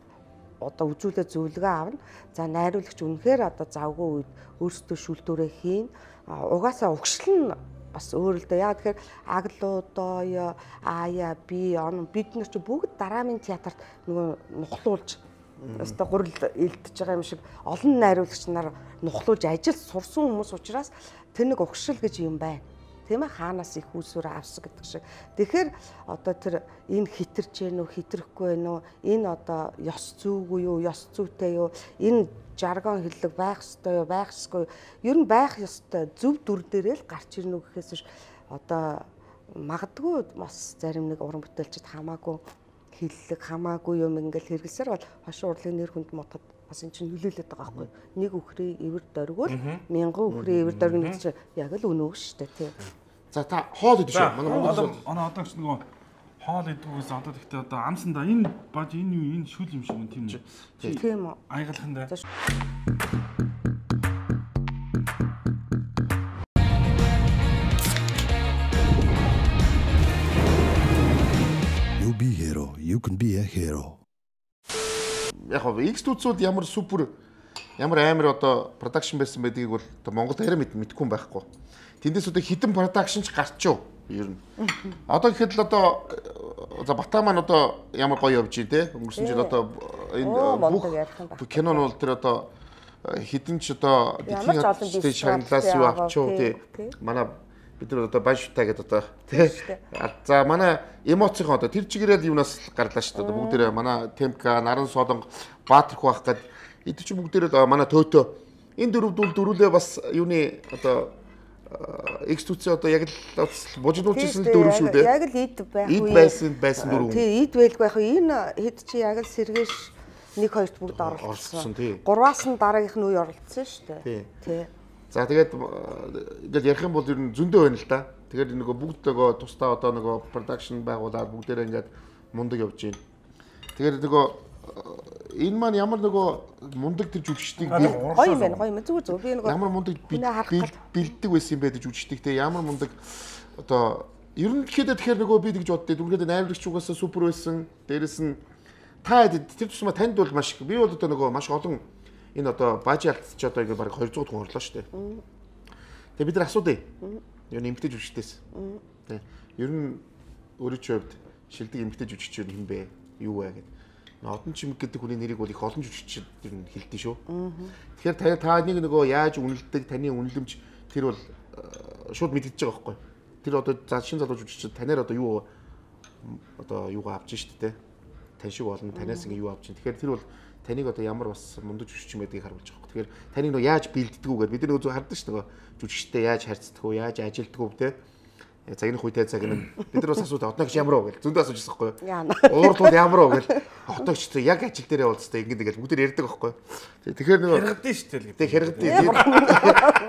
одоо үзүүлээ зөвлөгөө авна. За найруулагч үнэхээр одоо завгүй үед өөрсдөө шүлтүүрээ хийн. Угаасаа угшил нь бас өөр л дээ. Яг тэгэхээр аглуудоо ая би бид нар ч бүгд дараамын театрт нөгөө нухлуулж өстө гурил илдэж байгаа юм шиг олон найруулагч нар нухлуулж ажил сурсан хүмүүс учраас тэр нэг угшил гэж юм байна. Тийм ээ хаанаас их үүсвэр авсан гэдэг шиг. Тэгэхээр одоо тэр энэ хитэрч гэнэ үү хитрэхгүй байна уу? Энэ одоо ёс зүйгүй юу, ёс зүйтэй юу? Энэ жаргон хэллэг байх ёстой юу, байх ёсгүй юу? Ер нь байх ёстой зөв дүр дээрээ л гарч ирнэ үү гэхээс биш одоо магадгүй бас зарим нэг уран бүтээлчд хамаагүй хиллэг хамаагүй юм ингээл хэрэглэсээр бол хошин урлагийн нэр хүнд мутад бас эн чинь нөлөөлөд байгаа байхгүй. Нэг үхрээ эвэр дөргөл мянган үхрээ эвэр дөргөн гэж яг л өнөө шүү дээ тий. За та хоол идэж шүү. Манай одоо ч нөгөө хоол идэггүйс одоо тэгтээ одоо амсандаа энэ баж энэ юу энэ шүл юм шиг юм тийм үү? Тийм үү. Айгалхандаа. You be hero, you can be a hero. Яг X-Studio-д ямар супер ямар амар одоо продакшн байсан байдгийг бол одоо Монголд арай мэдгүй юм байхгүй. Тэндээс одоо хитэн продакшн ч гарчив ер нь. Одоо гэхэд л одоо за Батаа маань одоо ямар гоё явж байна те. Өнгөрсөн жил одоо энэ бүх кино нь бол тэр одоо хитэн ч одоо дэлхийн шагналаас юу авчив те. Манай бид нар одоо банштай гэдэг одоо тий. За манай эмоцийн одоо тэр чигээрэл юунаас гарлаа шүү дээ. Бүгдээрээ манай Темка, Наран Солонго, Баатарх байх гээд эд чи бүгдээрээ манай Төтөө энэ дөрвөлээ бас юуны одоо X-Studio одоо яг л бужигдуулчихсан л дөрөв шүү дээ. Яг л ид байх үе. Ид байсан дөрөв. Тий, ид байлгүй байх. Энэ хэд чи яг л сэргээш 1-2-т бүгд оролцсон. Гурваас нь дараагийнх нь үе оролцсон шүү дээ. Тий. За тэгээд ингээл ярих юм бол ер нь зөндөө байна л да. Тэгээд нөгөө бүгд нөгөө тусдаа одоо нөгөө production байгуулаад бүгдээрээ ингээд мундаг явж байна. Тэгээд нөгөө энэ маань ямар нөгөө мундаг тэр жүжигчдийг гоё юм байна. Зүгээр би нөгөө ямар мундаг бэлддэг байсан юм бэ гэж жүжигчдийг те ямар мундаг одоо ер нь тэгэхээр нөгөө би тэгж боддөө дүнгээд найруулагч угаасаа супер байсан. Дээрэс нь та тэр тусмаа танд бол маш би бол одоо нөгөө маш олон энэ одоо бажи алдчих одоо ингээ баг 200 хүн орлоо шүү дээ. Тэгээ бид нар асуудъя. Ер нь эмгтэй жүжигчдээс. Тэ. Ер нь өөрөө ч хувьд шилдэг эмгтэй жүжигч юм бэ? Юу вэ гэдэг. Одон чимэг гэдэг хүний нэрийг бол их олон жүжигчид ер нь хэлдэг шүү. Тэгэхээр та нэг нөгөө яаж үнэлдэг, таны үнэлэмж тэр бол шууд мэдчихэж байгаа байхгүй. Тэр одоо за шинэ залуу жүжигчид танаар одоо юу одоо юугаа авч штэ тэ. Тань шиг болно, танаас ингээ юу авч чинь. Тэгэхээр тэр бол таныг одоо ямар бас мундаг жүжигч юм байдгийг харуулж байгаа юм. Тэгэхээр таныг нөгөө яаж бэлддэг үү гэдэг бид нар зөв хардаг ш нь нөгөө жүжигчтэй яаж харьцдаг уу, яаж ажилддаг уу те. Цагийн хуйтай цаг нь бид нар бас асуудаг одноогч ямар уу гэл зөндөө асууж байгаа байхгүй юу. Уурлууд ямар уу гэл одноогч яг ажил дээрээ уулзтай ингэдэг бүгд ярьдаг байхгүй юу. Тэгэхээр нөгөө хэрэгдэн ш тэл гэдэг. Хэрэгдэн.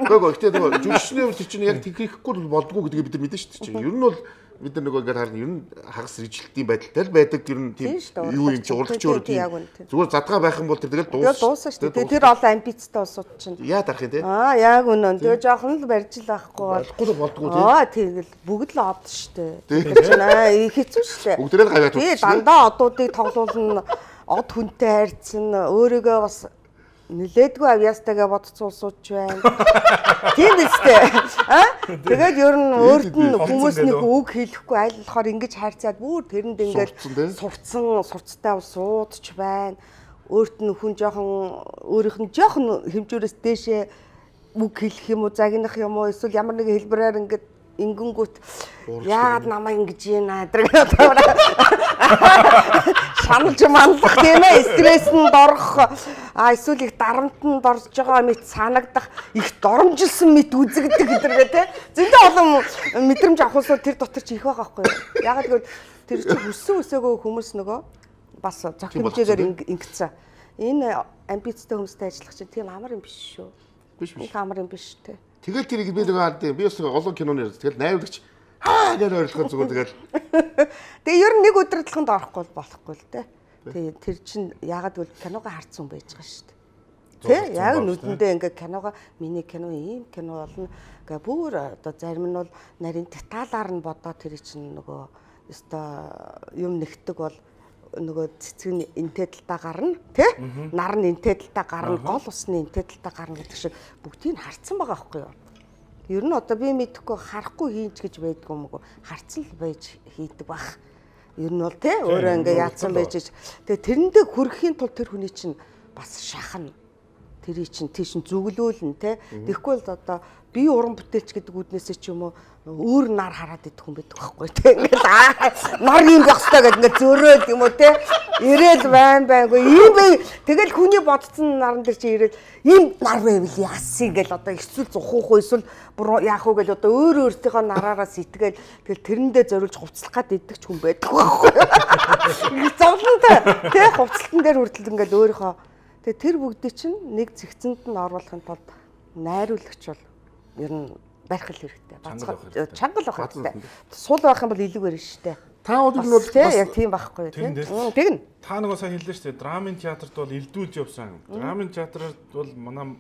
Нөгөө ихтэй нөгөө жүжигчний хувьд чинь яг тэгрэхгүй болдгоо гэдгийг бид нар мэдэн ш чинь. Ер нь бол бид нар нөгөө ингээд харна ер нь хагас ижлэлтийн байдалтай л байдаг тэр нь тийм юу юм чи урлагч өөр тийм зүгээр задгаа байх юм бол тэр тэгэл дууссан шүү дээ. Тэр олон амбицтай улсууд чинь яа дарах юм те яг үнэн. Тэгээ жоохон л барьж л байхгүй болдгоо тийм тэгэл бүгд л од шүү дээ. Тэр чинь хэцүү шүү дээ. бүгдээ гавьяа туучих. Тий дандаа одуудыг тоглуулна од хүнтэй хайрцсан өөрийгөө бас нилээдгүй авьяастайгаа бодцсон улсууд ч байна. Тийм үстэй. Тэгээд ер нь өөрт нь хүмүүс нэг үг хэлэхгүй аль болохоор ингэж хайрцаад бүр тэрэнд ингээд сурцтай улсууд ч байна. Өөрт нь хүн жоохон өөрийнх нь жоохон хэмжүүрээс дээшээ үг хэлэх юм уу, загнах юм уу, эсвэл ямар нэгэн хэлбэрээр ингээд ингэнгүүт яагаад намайг ингэж ийна гэдэг шаналж манлах тийм ээ, стресséнд орох эсвэл их дарамтанд орж байгаа мэт санагдах, их доромжилсан мэт үзэгдэх гэдэргээ тийм зөндөө олон мэдрэмж авахсууд тэр дотор ч их байгаа байхгүй юу. Яагаад гэвэл тэр чинь хүссэн үсээгөө хүмүүс нөгөө бас зохих хэмжээгээр ингэсэн. Энэ амбицтай хүмүүстэй ажиллах чинь тийм амар юм биш шүү. Биш. Их амар юм биш тийм. Тэгэл тэрийг би нэг хаад би бас олон киноны тэгэл найруулагч гэж ойлгох зүгээр тэгэл. Тэгээ ер нь нэг өдрөдлөхөнд орохгүй болохгүй л дээ. Тэгээ тэр чинь яагаад гэвэл киногоо харцсан байж байгаа шүү дээ. Тэ яг нүдэндээ ингээ киногоо миний кино ийм кино болно. Ингээ бүр одоо зарим нь бол нарийн деталаар нь бодоод тэр чинь нөгөө өстой юм нэгдэг бол нөгөө цэцэг нь энтэй талдаа гарна тий нар нь энтэй талдаа гарна гол усны энтэй талдаа гарна гэдэг шиг бүгдийг нь харцсан байгаа байхгүй юу. Ер нь одоо би мэдэхгүй харахгүй хийж гэж байдгүй юм уу харцсан л байж хийдэг баг. Ер нь бол тий өөрөө ингээ яатсан байж тэгээ тэрэндээ хүрэхийн тулд тэр хүний чинь бас шахна. Тэрий чинь тийш зүглөөлнө тий. Тэгэхгүй бол одоо би уран бүтээлч гэдэг үднээсээ ч юм уу өөр нар хараад идэх хүн байдаг байхгүй тий. Ингээл нар юм байх хэрэгтэй гэдэг ингээд зөөрөөл юм уу тий. Ирээл байнгүй ийм бай. Тэгэл хүний бодцсон наран дээр чи ирээл ийм нар байвал яасан гэл одоо эсвэл зухуух уу эсвэл яах уу гэл одоо өөр өөртөөхөө нараараа сэтгээл тэгэл тэрэндээ зориулж хувцлах гад идэх ч хүн байдаг байхгүй. Зовлонтой тий хувцлалтан дээр хүртэл ингээд өөрийнхөө тэгээ тэр бүгдийг чинь нэг зэгцэнд нь оруулахын тулд найруулагч бол ер нь барих хэрэгтэй. Чангал байх хэрэгтэй. Сул байх юм бол илүү барина шүү дээ. Та өдөр нь бол яг тийм байхгүй тийм. Тэгнэ. Та нөгөө сайн хэллээ шүү дээ. Драмын театрт бол элдүүлж явсан. Драмын театрт бол манай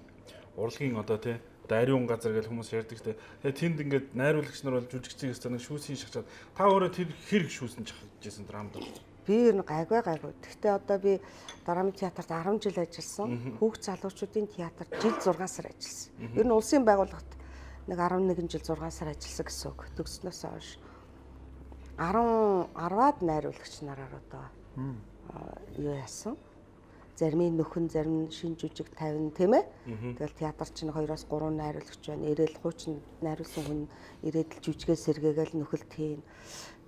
урлагийн одоо тий ариун газар гэж хүмүүс ярьдаг шүү дээ. Тэгээ тэнд ингээд найруулагч нар бол жүжигчдээс нэг шүүсийн шахаад та өөрөө тэр хэрэг шүүсэн чахажсэн драмд бол. Би ер нь гайгүй. Гэхдээ одоо би драмын театрт 10 жил ажилласан. Хүүхд залуучуудын театрт жил 6 сар ажилласан. Ер нь улсын байгууллагт нэг 11 жил 6 сар ажилласан гэсэн үг. Төгснөөс хойш 10-аад найруулагч нараар одоо юу яасан. Зарим нь нөхөн, зарим нь шин жүжиг 50 тийм ээ. Тэгэл театр чинь 2-3 найруулагч байна. Ирээл хуучин найруулсан хүн ирээд л жүжигээ сэргээгээл нөхөлт хийн.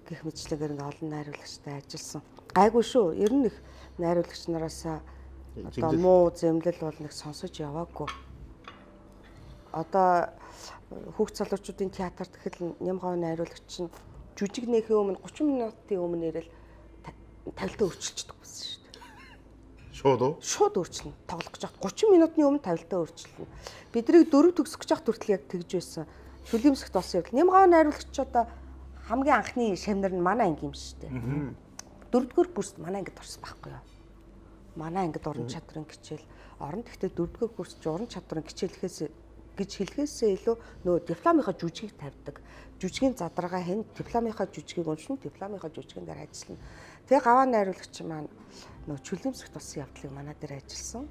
Гэх мэтлэгээр ингээ олон найруулагчтай ажилласан. Гайгүй шүү. Ер нь их найруулагч нараас одоо муу зэмлэл бол нэг сонсож яваагүй. Одоо хүүхд залуучуудын театрт гэхэл Нямгав найруулагч чинь жүжиг нээхийн өмнө 30 минутын өмнө ирэл тавилтаа өөрчилчихдэг байсан шүү дээ. Шууд уу? Шууд өөрчилнө. Тоглох гэж хад 30 минутын өмнө тавилтаа өөрчилнө. Бидрийг 4 төгсөх гэж хад хүртэл яг тэгж байсан. Шүлэмсэгт болсон явдал. Нямгав найруулагч одоо хамгийн анхны шавнар нь манай анги юм шүү дээ. 4-р курст манай ангид орсон байхгүй юу? Манай ангид уран чадрын хичээл орон гэхдээ 4-р курст уран чадрын хичээл гэж хэлхээсээ илүү нөгөө дипломынхаа жүжигийг тавьдаг. Жүжигийн задаргаа хэн дипломынхаа жүжигийг уншин, дипломынхаа жүжигэн дээр ажиллана. Тэгээ гаваа найруулагч маань нөгөө чөлөөмсөгт болсон явдлыг манай дээр ажилласан.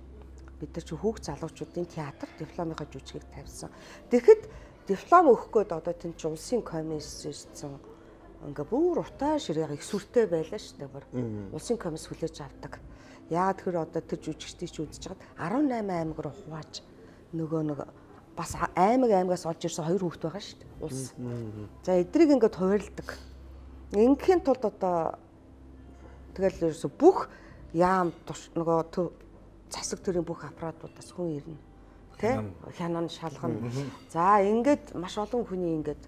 Бид нар чи хүүхд залуучуудын театр дипломынхаа жүжигийг тавьсан. Тэгэхэд диплом өгөх гээд одоо тийм ч улсын комисс ирсэн. Ингээ бүр утаа ширээ их сүртэй байлаа шүү дээ бүр. Улсын комисс хүлээж авдаг. Яагаад тэр одоо тэр жүжигчдийг ч үзэж хагаад 18 аймаг руу хувааж нөгөө нэг бас аймагаас олж ирсэн 2 хүүхэд байгаа шүү дээ. Улс. За эдрийг ингээд хувирладаг. Ингийн тулд одоо тэгэл ерөөсө бүх яам нөгөө засаг төрийн бүх аппаратуудаас хүн ирнэ. Тэ? Хянан шалгана. За ингээд маш олон хүний ингээд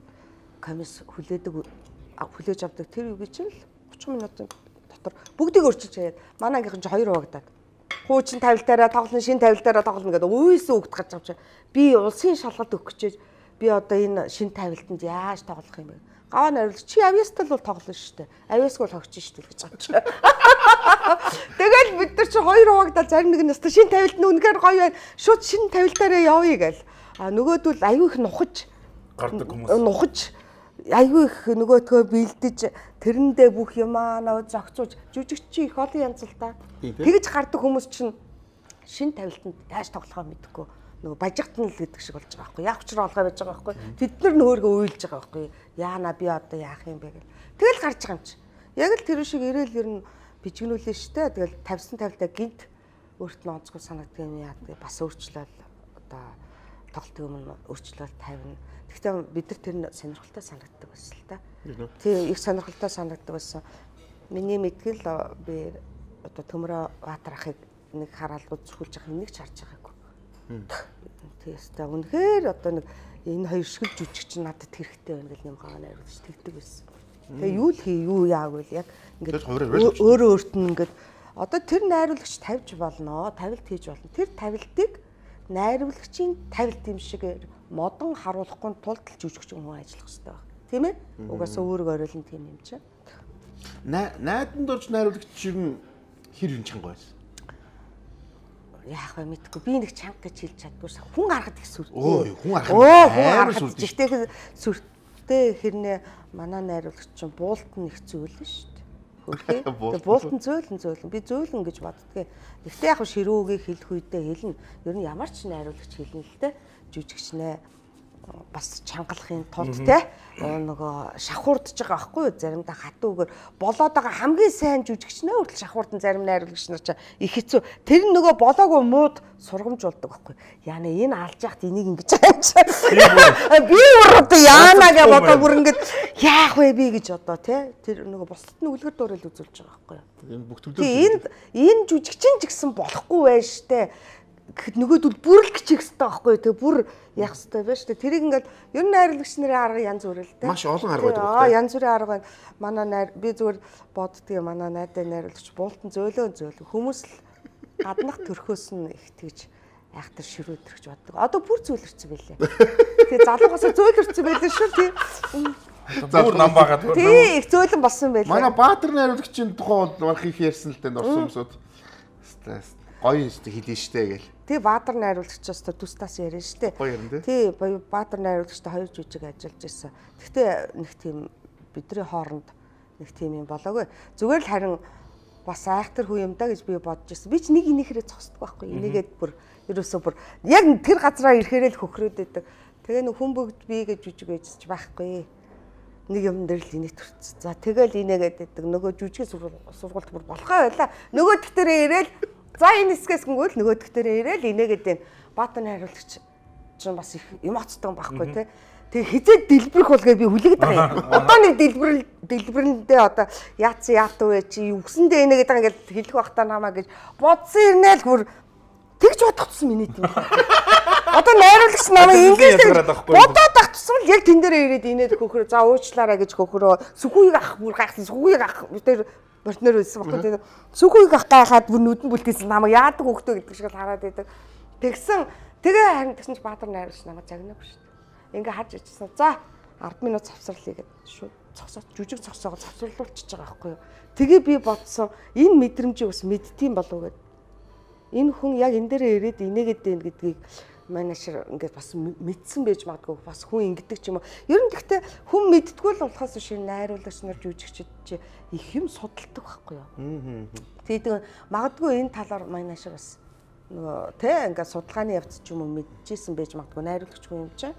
комисс хүлээж авдаг тэр үгүй чинь л 30 минутын дотор бүгдийг өөрчилж хаяад манай ангийнхан ч 2 хуваагдаад хуучин тавилтаараа тоглоно, шин тавилтаараа тоглоно гэдэг үеэсээ өгд гарч авч би улсын шалгалт өгөх гэж би одоо энэ шин тавилтанд яаж тоглох юм бэ? Гаваа найруулагч чи авьяастай л бол тоглоно шүү дээ. Авьяасгүй бол хогч шүү дээ гэж байгаа чи. Тэгэл бид нар чи хоёр хуваагдал зарим нэг нь өстө шин тавилт нь үнэхээр гоё байна. Шууд шин тавилтаараа явъя гэл. А нөгөөдөл аюу их нухаж гардаг хүмүүс. Нухаж аюу их нөгөөдгөө бэлдэж тэрэндээ бүх юмаа нөө зогцуулж жүжигч их олон янз л та. Тэгж гардаг хүмүүс чинь шин тавилтанд тааш тоглохоо мэдэхгүй. Нөгөө бажигтан л гэдэг шиг болж байгаа байхгүй. Яг учраа олгоо байж байгаа байхгүй. Тэд нар нөөргөө уйлж байгаа байхгүй. Яана би одоо яах юм бэ гэл. Тэгэл гарч байгаа юм чи. Яг л тэр шиг ирээл ер нь бичгнүүлээ штэ. Тэгэл тавьсан тавилтаа гинт өөрт нь онцгой санагддаг юм яа. Бас өөрчлөл одоо тоглолт юм өөрчлөлт тавина. Гэхдээ бид нар тэр сонирхолтой санагддаг байсан л та. Тийм их сонирхолтой санагддаг байсан. Миний мэдгэл би одоо Төмрө Баатар ахыг нэг хараад үзүүлж байгаа нэг ч харж байгаагүй. Тэстэй үнэхээр одоо нэг энэ хоёр шиг жүжигч надад хэрэгтэй байна гэл юм хаа найруулж тэгдэг байсан. Тэгээ юу л хий юу яаг вэ яг ингээд өөрөө өөрт нь ингээд одоо тэр найруулагч тавьж болно, тавилт хийж болно. Тэр тавилтыг найруулагчийн тавилт юм шиг модон харуулахгүй тулд л жүжигч хүн ажиллах хэрэгтэй байна. Тийм ээ? Угаасаа өөрөг оройлон тийм юм чинь. Найданд орж найруулагч юм хэр юм чанга байсан. Яах вэ мэдгүй би нэг чанга гэж хэлж чаддгүй хүн харахад их сүртэй. Хүн харахад жигтэй сүртэй хэрнээ манай найруулагч чинь буултан их зөөлөн шүү дээ. Хөрхий. Буултан зөөлөн би зөөлөн гэж боддгийг. Гэхдээ яг ширүүгээ хэлэх үедээ хэлнэ. Ер нь ямар ч найруулагч хэлнэ л дээ. Жүжигч нэ бас чангалахын тулд те нөгөө шахуурдж байгаа байхгүй юу заримдаа хатуугаар болоод байгаа хамгийн сайн жүжигчнээ хүртэл шахуурдан зарим найруулагч нар ч их хэцүү тэр нөгөө болоогүй мууд сургамжуулдаг байхгүй яана энэ алж яхад энийг ингэж байгаа юм би өөрөө яана гэж бодоо бүр ингэж яах вэ би гэж одоо те тэр нөгөө бусдад нь үлгэр дуурал үзүүлж байгаа байхгүй энэ бүх төлөв энэ жүжигчин ч гэсэн болохгүй байж штэ нөгөөдөл бүр л гिचэх хэрэгтэй байхгүй тэгээ бүр яах хэрэгтэй байж тэ тэрийг ингээд ер нь найруулагч нарын арга янз бүр л тэ маш олон арга байдаг байна янз бүрийн арга байна манай найр би зүгээр боддгийг манай найдаа найруулагч буултан зөөлөө хүмүүс л гаднах төрхөөс нь их тэгж айхтар ширүүдэрч боддог одоо бүр зөөлөрсөн байлээ тэгээ залуугасаа зөөлөрсөн байлээ шүү тий бүр нам байгаа тий их зөөлөн болсон байлээ манай Баатар найруулагчийн тухай бол марх их ярьсан л дээ орсон хүмүүсүүд гоё юм шүү хэлээ штэ гээл. Тий Баатар найруулагчаас тустаас ярина штэ. Гоё юм тий Баатар найруулагчтай хоёр жүжиг ажиллаж байсан. Гэхдээ нэг тийм бидний хооронд нэг тийм юм болоогүй. Зүгээр л харин бас айхтар хүү юм да гэж би бодож байсан. Би ч нэг энийхэрээ зогсдог байхгүй. Энийгээд бүр ерөөсөө бүр яг тэр газараа ирэхээрээ л хөхрөөд байдаг. Тэгээ нэг хүн бүгд би гэж жүжиг байжч байхгүй. Нэг юм дээр л энийг төрчихсөн. За тэгэл инээгээд байдаг. Нөгөө жүжигийн сургуульд бүр болохоо байла. Нөгөө төгтөрөө ирээл за энэ хэсгээс гүйл нөгөө төгтөрөө ирээл инээгээд байна. Баатар найруулагч чинь бас их эмоцтой байхгүй тий. Тэгээ хизээд дэлбэрэх болгоо би хүлээгээд байгаа юм. Одоо нэг дэлбэрэндээ одоо яатсан яатуу вэ чи үгсэндээ инээгээд байгаа ингээл хэлэх бахтаа намаа гэж бодсон ирнээл бүр тэгж бодчихсон миний тийм. Одоо найруулагч намайг ингэж бодоод ах тусмал яг тэн дээрээ ирээд инээд хөхрөө за уучлаарай гэж хөхрөө сүхүйг ах бүр гайхсан сүхүйг ах тэр партнер байсан байхгүй тийм сүхүйг ах гайхаад бүр нүдэн бүлтээсэн намайг яадаг хөхтөө гэдэг шиг л хараад байдаг. Тэгсэн тэгээ харин тэгсэн чи Баатар найруулагч намайг загнаагүй шүү дээ. Ингээ харж ичсэн. За 10 минут завсарлая гэд шууд цогсоод жүжиг цогсоогоо завсарлуулчихж байгаа байхгүй юу. Тэгээ би бодсон энэ мэдрэмжийг бас мэдтiin болов гэд. Энэ хүн яг энэ дээрээ ирээд инээгээд байна гэдгийг менежер ингээд бас мэдсэн байж магадгүй бас хүн ингэдэг ч юм уу. Ер нь гэхдээ хүн мэддэггүй л болохоос биш найруулагч нар жүжигчд их юм судалдаг байхгүй юу. Тэгээд магадгүй энэ талаар менежер бас нөгөө тэ ингээд судалгааны явц ч юм уу мэдчихсэн байж магадгүй найруулагч хүн юм чинь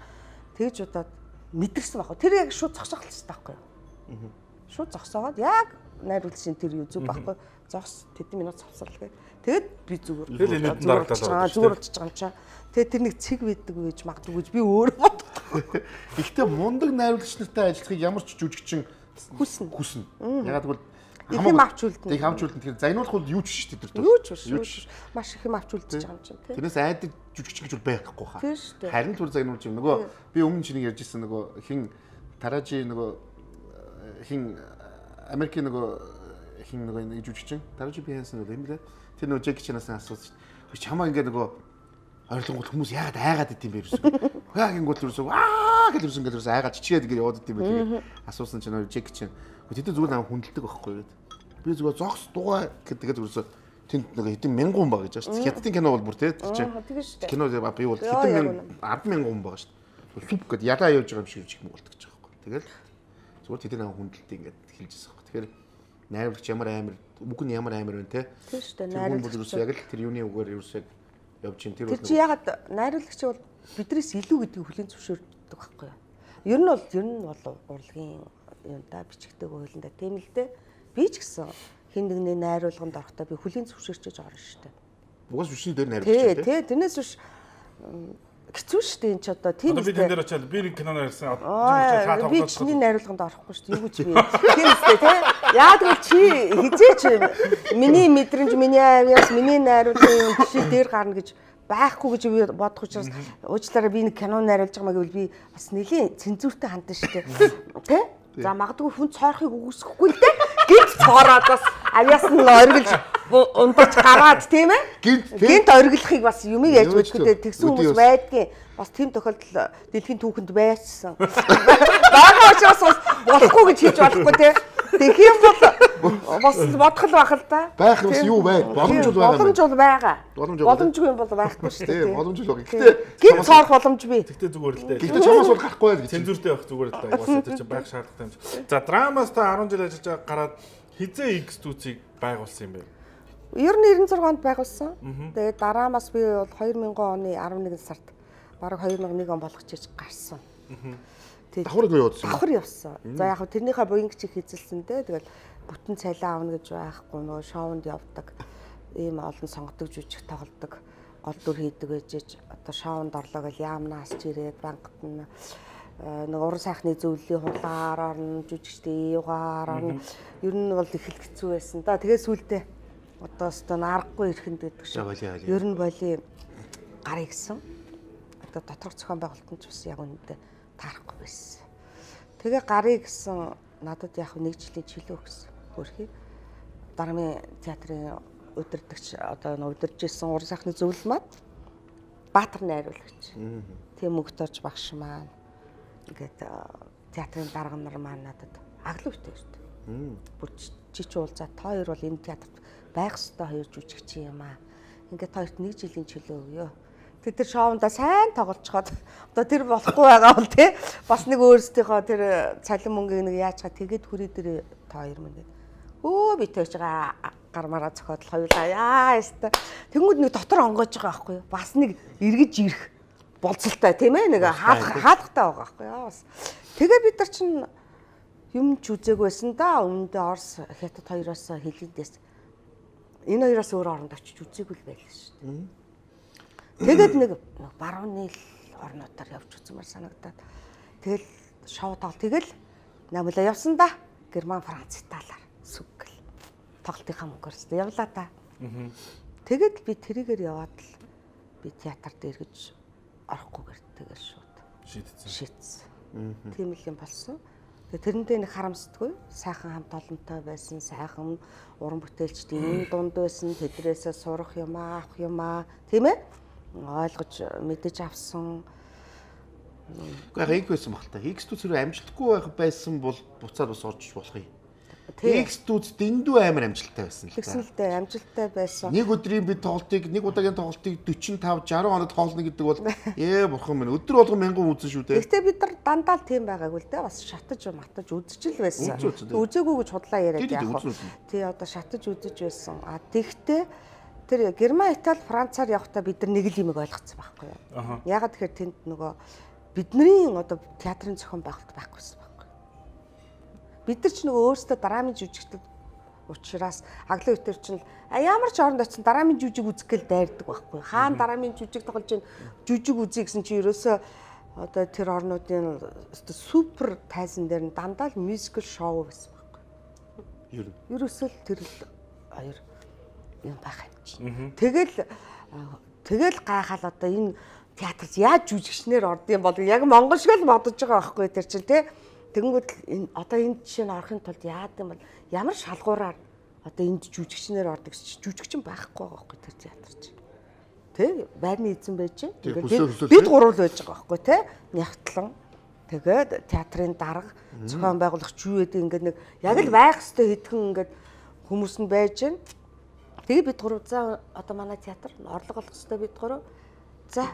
тэгж удаад мэдэрсэн байхгүй. Тэр яг шууд зогсоох л хэрэгтэй байхгүй юу. Шууд зогсоогоод яг найруулагчийн тэр юу зүг байхгүй. Зогс тэдэн минут завсарлаа гэх. Тэгээд би зүгээр зүгээр болчихж байгаа юм чаа. Тэгээд тэр нэг цэг байдаг гэж магадгүй гэж би өөрөө боддог. Гэхдээ мундаг найруулагч нартай ажиллахыг ямар ч жүжигчин хүснэ. Ягаад гэвэл их юм авч үлдэнэ. Их авч үлдэнэ. Тэгэхээр загнуулах бол юу ч шүү дээ тэр. Юу ч маш их юм авч үлдэж байгаа юм чинь тийм. Тэрнээс айдаг жүжигчин гэж бол байхгүй хаа. Тийм шүү дээ. Харин түр загнуулж юм. Нөгөө би өмнө чиний ярьж ирсэн нөгөө хин Таражи нөгөө хин Америкийн нөгөө хин нөгөө нэг жүжигчин Таражи Бихэнсэн нөгөө юм лээ. Тэр нөгөө Джеки Чанаас асууж чамаа ингээд нөгөө ойрлонгууд хүмүүс яагаад айгаад идэм бэ юусэн. Яг ингэнгүүт юусэн аа гэж ирсэн гэдэг айгаа чичгээд ингэ яваад идэв байдаг. Асуусан чинь Жек чинь тэд зүгээр намайг хүндэлдэг байхгүй гэдэг. Би зүгээр зогс дугаа гэдэг зүгээрсө тэнд нэг хэдэн мянган хүн байгаа гэж байна шүү дээ. Хятадын кино бол бүр тийм чинь. Кино би бол хэдэн 10,000 хүн байгаа шүү дээ. Суп гэдэг ялаа явж байгаа юм шиг юм болдог гэж байгаа байхгүй. Тэгэл зүгээр тэд намайг хүндэлдэг ингэ хэлж байгаа байхгүй. Тэгэхээр найруулагч ямар амар үг нь ямар амар вэ те. Тийм шүү дээ. Найруулагч яг л тэр юуны үгээр юусаг явж чинь тэр чи ягаад найруулагч бол биднээс илүү гэдгийг хүлээн зөвшөөрдөг байхгүй юу? Ер нь бол урлагийн юм да бичигдэг хуулиндаа тийм л дээ. Би ч гэсэн хин нэгний найруулганд орохдоо би хүлээн зөвшөөрчөж орно шүү дээ. Угаас бичний дээр найруулагч тий, тэрнээс биш хэцүү шүү дээ энэ ч одоо тийм үү. Би тэн дээр очиад би нэг кино найруулсан. Би чиний найруулганд орохгүй шүү дээ. Юу гэж би тийм үстэй тий. Яа тэгвэл чи хизээч миний мэдрэмж, миний авьяас, миний найруулгын жишээ дээр гарна гэж байхгүй гэж би бодох учраас уучлаарай би нэг кино найруулж байгаа маа гэвэл би бас нэлийн цензуртэй хандсан шүү дээ. Тэ? За магадгүй хүн цоорхыг үгүйсэхгүй л дээ. Гинт цоороод бас авьяас нь оргилж унтаж гараад тийм ээ? Гинт оргилохыг бас юм яаж бодгүй дээ. Тэгсэн хүмүүс байдгийн бас тийм тохиолдол дэлхийн түүхэнд байсан. Бага учраас болохгүй гэж хийж болохгүй тийм. Тэгэх юм бол бас бодох л байх л да. Байх бас юу бай? Боломж бол байгаа. Боломж бол байгаа. Боломжгүй юм бол байхгүй шүү дээ. Боломж л байгаа. Гэхдээ гинт цоорох боломж бий. Тэгтээ зүгээр л дээ. Гэхдээ чамаас бол гарахгүй байл гэж. Цензуртэй байх зүгээр л дээ. Угаасаа тэр чинь байх шаардлагатай юм чи. За драмаас та 10 жил ажиллаж байгаа гараад хизээ X студийг байгуулсан юм бэ? Ер нь 96 онд байгуулсан. Тэгээд дараамаас би бол 2000 оны 11 сард бараг 2001 он болгочих гарсан. Давхар явуулсан. Давхар явсан. За яг хөө тэрнийхээ буянг чих эзэлсэн дээ. Тэгэл бүтэн цалин авна гэж байхгүй нөө шоунд явдаг. Ийм олон сонгодог жүжиг тоглодог. Гол дүр хийдэг гэж одоо шоунд орлоо гэж яамнаас ч ирээд банкт нь нэг уран сайхны зөвлөлийн хулгаар орно, жүжигчдийн югаар орно. Ер нь бол их хэцүү байсан да. Тэгээ сүултээ одоо өстө аргагүй ирэхэнд гэдэг шиг. Ер нь боли гарыг гисэн. Одоо доторх зохион байгуулалтанд ч бас яг үнэндээ таарахгүй байсан. Тэгээ гарыг гисэн надад яг 1 жилийн чөлөө өгсөн. Хөрхий. Дармын театрын удирдагч одоо удирж ирсэн уран сайхны зөвлөл маань Баатар найруулагч. Тийм мөгтөөч багш маань ингээд театрын дарга нар маань надад аглуултай шүү дээ. Бүр чи уулзаад та хоёр бол энэ театрт байх ёстой хоёр жүжигч юм аа. Ингээд хоёрт 1 жилийн чөлөө өгөө. Тэр шоундаа сайн тоглолцоход одоо тэр болохгүй байгаа бол тий бас нэг өөрсдийнхөө тэр цалин мөнгөийг нэг яачгаа тэгээд хүрээ дээр та хоёр мөн гэдэг. Өө би төөж байгаа гармаараа зохиод хоёулаа яа яста. Тэнгүүд нэг дотор онгойж байгаа байхгүй юу? Бас нэг эргэж ирэх болцолтой тийм ээ нэг хаалгатай байгаа байхгүй юу? Бас тэгээ бид нар чинь юм ч үзээгүй байсан да. Өмнөдөө Орос Хятад хоёроос хэлэндээс энэ хоёроос өөр оронд очиж үзээгүй л байлаа шүү дээ. Тэгээд нэг барууны орнуудаар явж үзмээр санагдаад тэгэл шоу тоглол тэгэл намлаа явсан да. Герман, Франц, Италиар сүгэл тоглолтынхаа мөнгөөрс явлаа да. Тэгэд би тэрийгээр яваад л би театрт эргэж орохгүйгээр тэгэл шууд шийдсэн. Тийм л юм болсон. Тэгээ тэрэндээ нэг харамсдаггүй сайхан хамт олонтой байсан, сайхан уран бүтээлчдийн дунд байсан, тэдрээсээ сурах юм аа, авах юм аа, тийм ээ? Ойлгож мэдэж авсан. Гэхдээ их байсан баг та. X студид амжилтгүй байх байсан бол буцаад бас орж болох юм. X студид дэндүү амар амжилттай байсан л та. Тэгсэн л дээ амжилттай байсан. Нэг өдрийн бид тоглолтыг, нэг удаагийн тоглолтыг 45 60 хоног тоглоно гэдэг бол бурхан минь өдөр болгон мянган үзэн шүү дээ. Гэхдээ бид нар дандаа л тийм байгаагүй л дээ. Бас шатаж матаж үзэж л байсан. Үзээгүй гэж худлаа яриад яах вэ? Тий одоо шатаж үзэж байсан. А тэгтээ тэр Герман, Итали, Францаар явахдаа бид нар нэг л юм ойлгоцсон байхгүй юу? Ягаад тэгэхээр тэнд нөгөө бидний одоо театрын зохион байгуулалт байхгүйсэн байхгүй. Бид нар ч нөгөө өөрсдөө драмын жүжигчдод учраас аглын үтер чинь ямар ч оронд очсон драмын жүжиг үзэх гээл дайрдаг байхгүй. Хаана драмын жүжиг тоглож ийн жүжиг үзье гэсэн чи ерөөсөө одоо тэр орнуудын супер тайзан дээр нь дандаа л мюзикл шоу байсан байхгүй. Ерөөсөө л тэр л хоёр юм байх юм чинь. Тэгэл гайхал одоо энэ театрт яаж жүжигчнэр ордсон бол яг монгол шиг л бодож байгаа байхгүй тэр чинь тий. Тэгэнгүүт одоо энэ жишээ нь орохын тулд яад юм бол ямар шалгуураар одоо энд жүжигчнэр ордог гэж жүжигчин байхгүй байгаа байхгүй тэр театр чинь. Тэ байрны эзэн байж чинь. Бид гурвал байж байгаа байхгүй тий. Нягтлан Тэгээд театрын дарга зохион байгуулагч юу гэдэг ингээд нэг яг л байх ёстой хэдхэн ингээд хүмүүс нь байж байна. Тэгээд бид гурав за одоо манай театр орлого олох ёстой бид гурав. За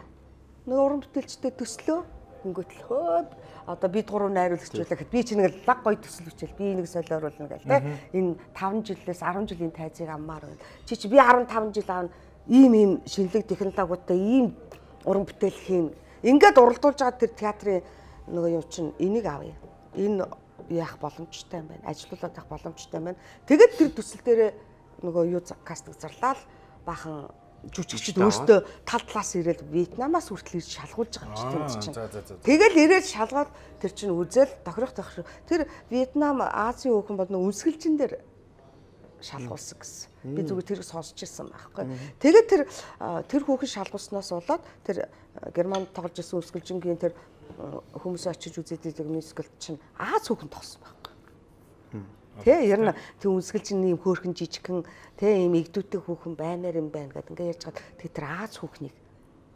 нэг уран бүтээлчтэй төслөө ингээд л хөөд одоо бид гурав найруулагчулаа гэхэд би чинь нэг лаг гоё төсөл бичээл би энийг солиоруулна гэл тэ энэ 5 жилээс 10 жилийн тайзыг аммаар байна. Чи би 15 жил аав ийм шинэлэг технологиудтай ийм уран бүтээл хийн. Ингээд уралдуулж байгаа тэр театрын нөгөө юу чинь энийг авъя. Энэ яах боломжтой юм байна. Ажилуулаад явах боломжтой юм байна. Тэгээд тэр төсөл дээр нөгөө юу кастинг зарлаад бахан жүжигчд өөртөө тал талаас ирээд Вьетнамаас хүртэл ирж шалгуулж байгаа юм чинь. Тэгэл ирээд шалгаад тэр чинь үзэл тохирох. Тэр Вьетнам Азийн хүүхэн бол нөгөө үнсгэлжин дээр шалгуулсан гэсэн. Би зүгээр тэрийг сонсч ирсэн байхгүй. Тэгээд тэр хүүхэн шалгуулснаас болоод тэр Германд тоглож ирсэн үнсгэлжингийн тэр хүмүүс очиж үзээд идэг мюзикл чинь Аз хүүхэн тогсон байхгүй. Тэ ер нь тэг үнсгэлжин ийм хөөрхөн жижигхэн тэ ийм игдүүтэй хүүхэн баймаар юм байна гэдэг ингээд ярьж байгаа. Тэг тэр Аз хүүхнийг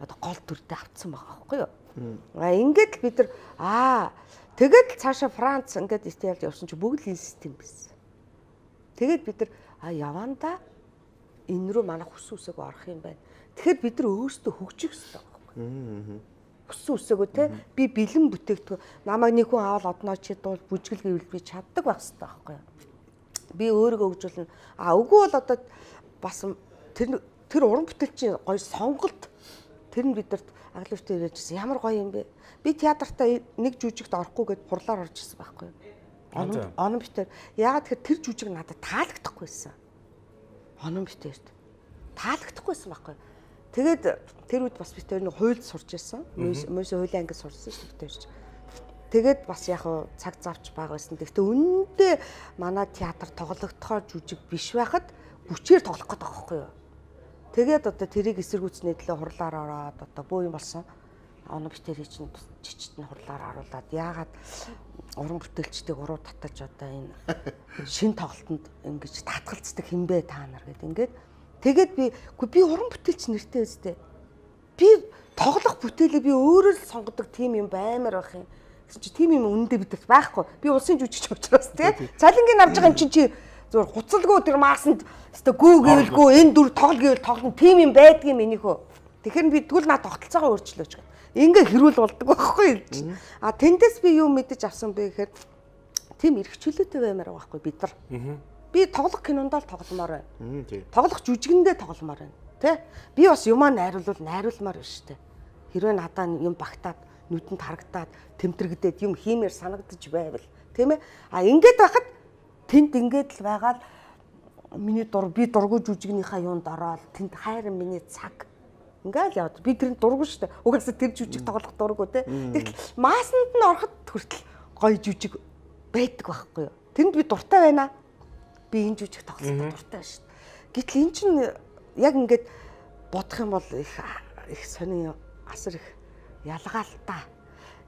одоо гол дүрдээ авцсан байгаа байхгүй юу. Ингээд бид нар тэгээд цаашаа Франц ингээд Италид явсан чи бүгд л энэ систем байсан. Тэгээд бид нар яванда энэ рүү манай хүс үсэг орох юм байна. Тэгэхээр бид нар өөрсдөө хөгжих хэрэгтэй байхгүй. Хүс үсээгөө те би бэлэн бүтээгдэхүүн намайг нэг хүн аваад одноо чи дуул бүжгэл гэвэл би чаддаг байх хэрэгтэй байхгүй. Би өөрийгөө хөгжүүлнэ. Үгүй бол одоо бас тэр уран бүтээлчийн гоё сонголт тэр нь бидэрт аглавчтай ирээжсэн ямар гоё юм бэ. Би театртаа нэг жүжигт орохгүй гэд хурлаар орж ирсэн байхгүй. Онон битэр яагаад тэгэхээр тэр жүжиг надад таалагдахгүйсэн. Онон битэрт таалагдахгүйсэн байхгүй. Тэгээд тэр үед бас битэр нэг хуйлд сурч ирсэн. Мөс хуулийн ангид сурсан шүү дээ битэрч. Тэгээд бас яг цаг завч бага байсан. Гэхдээ үнэндээ манай театр тоглогдохоор жүжиг биш байхад бүчээр тоглох гэдэг байхгүй юу. Тэгээд одоо тэрийг эсэргүүцний төлөө хурлаар ороод одоо бөө юм болсон. Онон битэрийг чинь жижигт нь хурлаар харуулад яагаад уран бүтээлчдийг уруу татаж одоо энэ шин тоглолтод ингэж татгалцдаг хинбэ та нар гэдэг ингээд тэгээд би уран бүтээлч нэртэй өстэй би тоглох бүтээлээ би өөрөө л сонгодог тим юм баймаар байх юм гэсэн чи тим юм үнэндээ бидэрт байхгүй би улсын жүжигч учраас тий цалингийн авж байгаа юм чи зүгээр хуцалгүй тэр маасанд өстэй гүү гээвэлгүй энэ дүр тоглол гэвэл тоглоно тим юм байдгийн минийхөө тэгэхээр би тэгвэл наа тогтолцоогоо өөрчлөөч гэх ингээ хэрүүл болдог байхгүй. Тэндээс би юу мэдэж авсан бэ гэхээр тийм эрхчлөөтэй баймаар байгаа байхгүй бид нар. Би тоглох кинонд л тогломоор байна. Тоглох жүжигэндээ тогломоор байна. Тэ? Би бас юмаа найруулмаар байна шүү дээ. Хэрвээ надаа юм багтаад, нүдэнд харагдаад, тэмтэрэгдээд юм хиймээр санагдаж байвал, тийм ээ? Ингээд байхад тэнд ингээд л байгаа л миний би дургүй жүжигнийхаа юунд ороод тэнд хайрын миний цаг ингээл яваад би тэр дургу шүү дээ. Угаасаа тэр жүжиг тоглох дургу те. Тэгтэл маасанд нь ороход хүртэл гоё жүжиг байдаг байхгүй юу. Тэнд би дуртай байна. Би энэ жүжиг тоглох дуртай шүү дээ. Гэтэл эн чинь яг ингээд бодох юм бол их сони асар их ялгаалтай.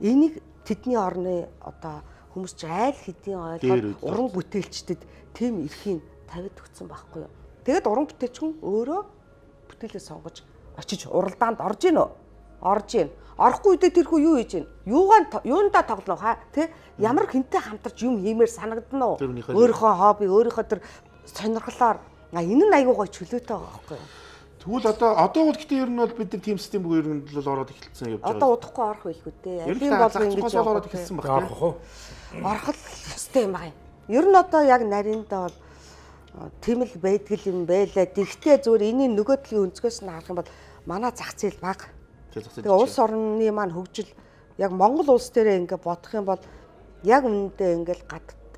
Энийг тэдний орны одоо хүмүүс ч айл хэдийн ойлгоод уран бүтээлчдэд тийм эрхийг тавиад өгсөн байхгүй юу. Тэгэд уран бүтээлч хүн өөрөө бүтээлээ сонгож очиж уралдаанд орж ийн үү? Орж ийн. Орохгүй үедээ тэрхүү юу хийж ийн? Юундаа тоглоно хаа? Тэ ямар хинтэй хамтарч юм хиймээр санагдана уу? Өөрийнхөө хобби, өөрийнхөө тэр сонирхлоор энэ нь аягүй гоё чөлөөтэй байгаа байхгүй юу? Тэгвэл одоо бол гэтээ ер нь бол бид нар team system бүр ер нь л ороод эхэлсэн явж байгаа. Одоо удахгүй орох байлгүй дээ. Алин бол ингэж ороод эхэлсэн баг тийм. Орох л ёстой юм байна. Ер нь одоо яг нарийнда бол тийм л байдгал юм байлаа. Тэгтээ зүгээр энэний нөгөө талын өнцгөөс нь харах юм бол манай зах зээл бага. Тэгээ улс орны маань хөгжил яг Монгол улс дээрээ ингээ бодох юм бол яг үнэндээ ингээл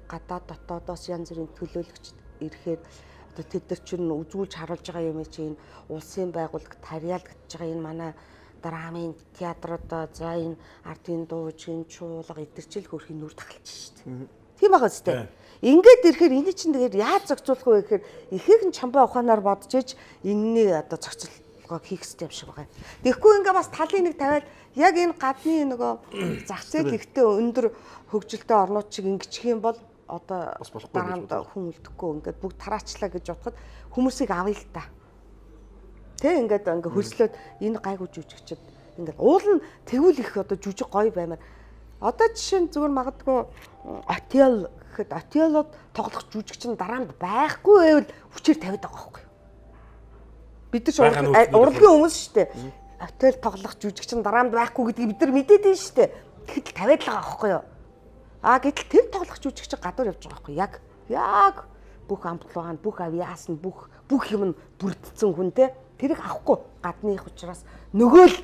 гадаад дотоодоос янз бүрийн төлөөлөгч ирэхээр одоо тэд нар чинь үзүүлж харуулж байгаа юм чинь улсын байгууллага тарьяалагдж байгаа энэ манай драмын театруудаа за энэ ардын дуужийн чуулга эдгэрчил хөрхийн нүр тахалж шít. Тийм байгаа үстэй. Ингээд ирэхээр энэ чинь тэгээд яаж зохицуулах вэ гэхээр ихээхэн чамбай ухаанаар бодож иж энэний одоо зохицуулгыг хийх хэрэгтэй юм шиг байгаа. Тэгэхгүй ингээ бас талын нэг тавиад яг энэ гадны нөгөө зах зээл ихтэй өндөр хөгжилтэй орнууд шиг ингэчих юм бол одоо дараанд хүн үлдэхгүй ингээд бүгд тараачлаа гэж бодоход хүмүүсийг авъя л та. Тэ ингээд хөлслөөд энэ гайгүй жүжигчд ингээд уул нь тэгвэл их одоо жүжиг гоё баймаар Одоо жишээ нь зүгээр магадгүй отел гэхэд отелод тоглох жүжигчин дараамд байхгүй байвал хүчээр тавиад байгаа байхгүй юу? Бид нар урлагийн хүмүүс шүү дээ. Отел тоглох жүжигчин дараамд байхгүй гэдгийг бид нар мэдээд байна шүү дээ. Тэгэхэд тавиад л байгаа байхгүй юу? Гэтэл тэр тоглох жүжигчин гадуур явж байгаа байхгүй юу? Яг бүх амтлуугаан, бүх авиас нь бүх юм нь бүрдсэн хүн те тэрийг авахгүй гадных учраас нөгөө л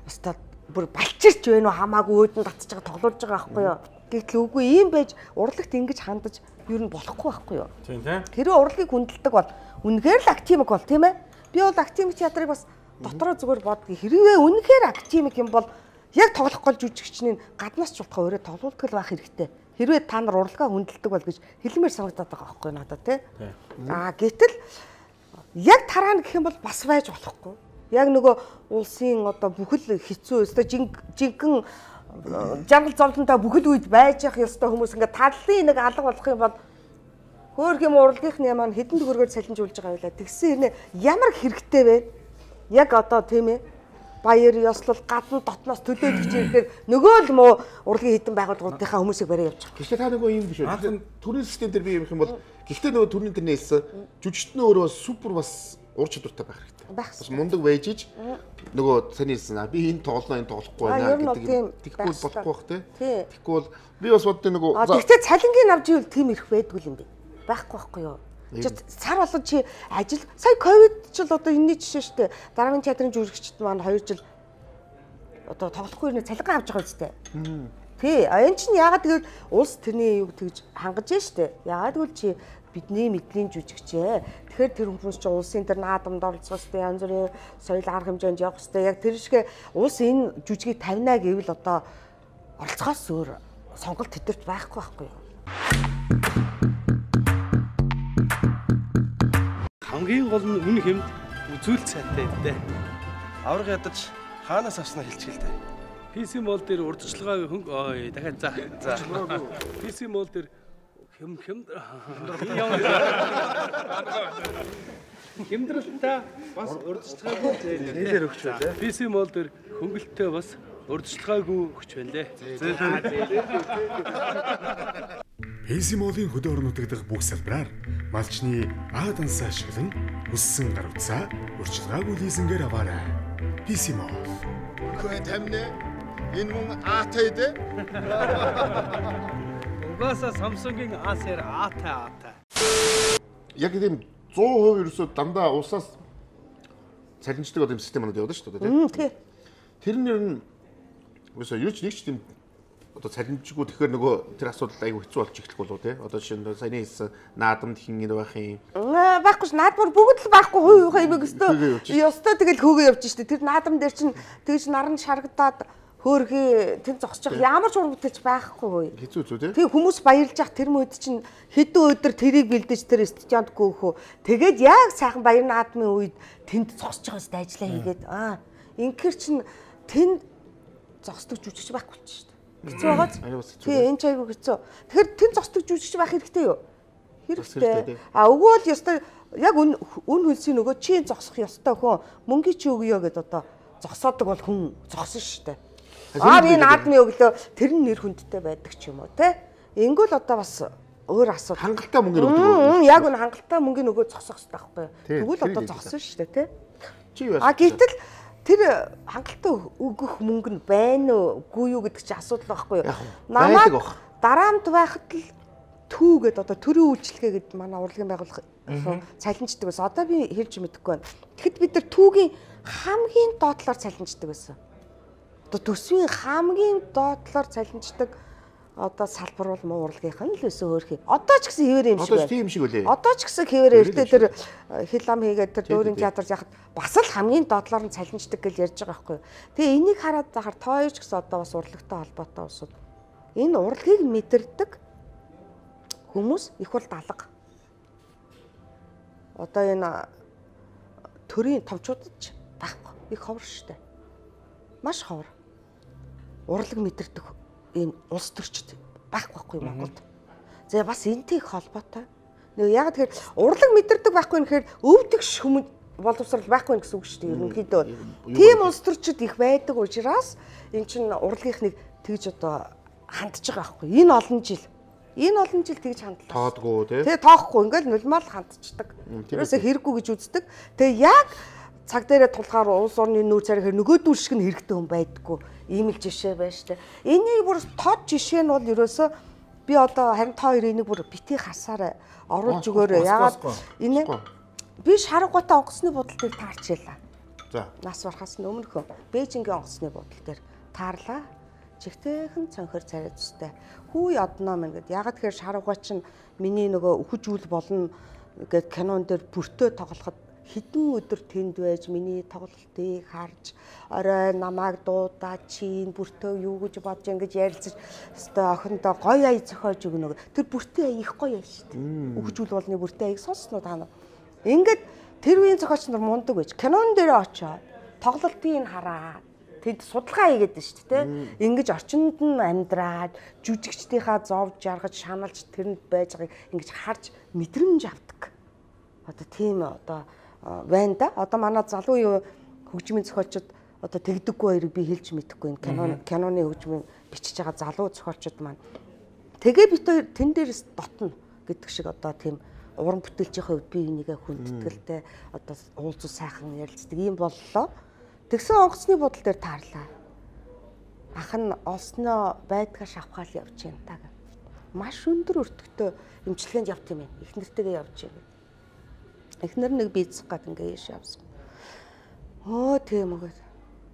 өстой бүр балчирч байна уу хамаагүй өөдөн татж байгаа тоглуулж байгаа байхгүй юу. Гэтэл үгүй ийм байж урлагт ингэж хандаж юу нь болохгүй байхгүй юу. Тийм тийм. Тэр урлагийг хүндэлдэг бол үнэхээр л актимик бол тийм ээ. Би бол актимик театрыг бас дотроо зүгээр бодгий. Хэрвээ үнэхээр актимик юм бол яг тоглох гол жүжигчний гаднаас ч болохоо өөрөө тоглуулдаг л байх хэрэгтэй. Хэрвээ та нар урлагаа хүндэлдэг бол гэж хэлмээр санагдаад байгаа байхгүй надад тий. Гэтэл яг тараана гэх юм бол бас байж болохгүй. Яг нөгөө улсын одоо бүхэл хэцүү өстой жинхэнэ жаргал зовлонтой бүхэл үед байж явах ёстой хүмүүс ингээд таллын нэг алга болох юм бол хөөх юм урлагийнхны маань хэдэн төгрөгөөр салинжуулж байгаа байлаа. Тэгсэн хэрнээ ямар хэрэгтэй вэ? Яг одоо тийм ээ. Баяр ёслол гадна дотноос төлөөлөгч ирэхээр нөгөө л муу урлагийн хэдэн байгууллагуудынхаа хүмүүсийг барай явж байгаа. Гэхдээ та нөгөө юм биш үү? Төрийн систем дээр би юм их юм бол гэхдээ нөгөө төрийн дээр нээсэн жүжигчдэн өөрөө супер бас ур чадвартай байх хэрэгтэй. Бас мундаг байжиж нөгөө таны хэлсэн би энэ тоглохгүй байна гэдэг тэгвэл болохгүй бах тий. Тэгэхгүй бол би бас боддог нөгөө тэгтээ цалингийн авч ивэл тийм ирэх байдгүй юм бэ. Байхгүй байхгүй юу? Сар болоод чи ажил сая ковид ч л одоо энэний жишээ шүү дээ. Дараагийн театрын жүжигчд маань 2 жил одоо тоглохгүй нэ цалин авч байгаа үстэй. Тий, энэ чинь яагаад гэвэл улс тэрний юг тэгж хангаж штэ. Яагаад гэвэл чи бидний мэдлийн жүжигчээ. Тэгэхээр тэр хүмүүс чинь улсын тэр наадамд оролцох хэвээр янз бүрийн соёл арга хэмжээнд явах хэвээр яг тэр шигэ улс энэ жүжигийг тавина гэвэл одоо оролцохоос өөр сонголт тэтэрч байхгүй байхгүй юу? Хамгийн гол нь үн хэмд үзүүлэлт сайтай дээ. Авраг ядаж хаанаас авснаа хэлчихэл дээ. PC mall дээр урдчилгаа дахиад за. PC mall дээр хэмдрэлтэй бас урдчилгаагүй нэлээр өгч байлаа. PC mall дээр хөнгөлөлтөө бас урдчилгаагүй өгч байлаа. PC mall-ийн хөдөө орон нутаг дахь бүх салбараар малчны А дансаа ашиглан өссөн гар утсаа урьдчилгаагүй лизингээр аваарай. PC mall. Хөөе тамне энэ мөн аатай дээ. Угаасаа Samsung-ийн А-сэр аатай. Яг тийм 100% ерөөсөө дандаа усаас цалинждаг юм систем манад явдаг шүү дээ тий. Тэр нэр нь ерөөсөө юу ч нэг ч тийм одоо цалинжгүй тэгэхээр нөгөө тэр асуудал айгүй хэцүү болж эхлэх болов тий. Одоо жишээ нь саяны хэлсэн наадамд хин энэ байх юм. Байхгүй ш наадмаар бүгд л байхгүй хувь хаймаг өстой. Ёстой тэгэл хөөгөө явж штэ. Тэр наадам дээр чинь тэгж наран шаргадаад хөөрхий тэн зогсож ямар ч ур бүтээч байхгүй. Хэцүү зү тий. Тэг хүмүүс баярлж ах тэр мөд чинь хэдэн өдөр тэрийг бэлдэж тэр студионт гоохөө. Тэгээд яг сайхан баяр наадмын үед тэнд зогсож байгаа сте ажиллаа хийгээд инхээр чинь тэнд зогсдог жүжигч байхгүй болчих штэ. Хэцүү байгааз. Тий, энэ ч айгүй хэцүү. Тэгэхээр тэн зогсдог жүжигч байх хэрэгтэй юу? Хэрэгтэй. Өгөөл ёстой яг үн хөлсийн нөгөө чи зогсох ёстой хөө мөнгө чи өгөө гэд одоо зогсоодог бол хүн зогсон штэ. Энэ наадмын өглөө тэр нь нэр хүндтэй байдаг ч юм уу те. Ингүүл одоо бас өөр асуудал. Хангалттай мөнгө өгдөг. Яг үн хангалттай мөнгө нөгөө зогсох хэрэгтэй байхгүй юу? Тэгвэл одоо зогсон штэ те. Чи юу? Гэтэл тэр хангалттай өгөх мөнгө нь байна уугүй юу гэдэг чинь асуудал байхгүй юу? Намайг дараамд байхад л түүгээд одоо төрийн үйлчлэгээ гэдэг манай урлагийн байгууллага цалинждаг байсан. Одоо би хэлж мэдэхгүй байна. Тэгэхэд бид нар түүгийн хамгийн доотлоор цалинждаг байсан. Одоо төсвийн хамгийн доотлоор цалинждаг одоо салбар бол муу урлагийнх нь л өсөө өөрхий. Одоо ч гэсэн хэвээр юм шиг байна. Одоо тийм шиг үлээ. Одоо ч гэсэн хэвээр эртээ тэр хил ам хийгээд тэр дүүрийн театрт яхад бас л хамгийн доотлоор нь цалинждаг гэж ярьж байгаа байхгүй юу. Тэгээ энийг хараад захаар тооёч гэсэн одоо бас урлагтай холбоотой усуд энэ урлагийг мэдэрдэг хүмүүс их бол далга. Одоо энэ төрийн товчуудад ч байхгүй. Их ховор штэ. Маш ховор. Урлаг мэдэрдэг энэ улс төрчд байхгүй Монголд. За бас энтэй их холбоотой. Нэг яг тэгэхээр урлаг мэдэрдэг байхгүй нэхэр өвдөгш хүмүүс боловсрал байхгүй гэсэн үг шүү дээ. Ерөнхийдөө тийм улс төрчд их байдаг учраас эн чинь урлагийнхныг тэгж одоо хандж байгаа байхгүй. Энэ олон жил тэгж хандлаа. Тоодгүй тий. Тэгээ тоохгүй ингээл нулимал хандчихдаг. Тэрөөсөө хэрэггүй гэж үздэг. Тэгээ яг цаг дээрээ тулахаар улс орны нүүр царайхээр нөгөөдүүл шиг нь хэрэгтэй хүн байдаггүй. Ийм л жишээ байна штэ. Энийг бүр тод жишээ нь бол ерөөсөө би одоо харин та хоёр энийг бүр бити хасаарай. Оруулж өгөөрэй. Ягаад энэ би шаргуутай онгоцны будал дээр таарчлаа. За. Нас барахаас өмнөхөө Бээжингийн онгоцны будал дээр таарлаа. Чигтэйхэн цонхор царай зүстэй. Хүү яднаа мэн гэд. Ягаад тэгэхээр шаргуй чинь миний нөгөө өхөжүүл болно гэд кинон дээр бүртөө тоглоход хэдэн өдөр тэнд байж миний тоглолтыг харж орой намайг дуудаа чин бүртөө юу гэж бодож ингэж ярилцаж өстой охиндоо гоё ая зохиож өгнө. Тэр бүртээ их гоё ая шүү дээ. Өхөжүүл болны бүртээ аяг сонсноо та нар. Ингээд тэр үеийн зохиолч нар мундаг байж кинон дээр очоо тоглолтыг хараа. Тэд судалгаа хийгээд байна шүү дээ. Ингэж орчинд нь амьдраад жүжигчдийнхаа зовж жаргаж шаналж тэрэнд байж байгааг ингэж харж мэдрэмж авдаг. Одоо тийм одоо байна да. Одоо манай залуу юу хөгжмийн зохиолчид одоо тэгдэггүй хоёрыг би хэлж мэдэхгүй энэ киноны хөгжмийн бичиж байгаа залуу зохиолчид маань. Тэгээ бит хоёр тэн дээрээс дотно гэдэг шиг одоо тийм уран бүтээлчийн хувьд би энийгээ хүндэтгэлтэй одоо уулзуу сайхан ярилцдаг юм боллоо. Тэгсэн онгоцны будал дээр таарлаа. Ах нь олсноо байдгаа шавхаал явж байна та гэ. Маш өндөр өртөгтэй эмчилгээнд явт юм ээ. Их нэртэйгээ явж байна. Эхнэр нэг бийцэх гад ингээ яаш явсан. Тийм үгүй.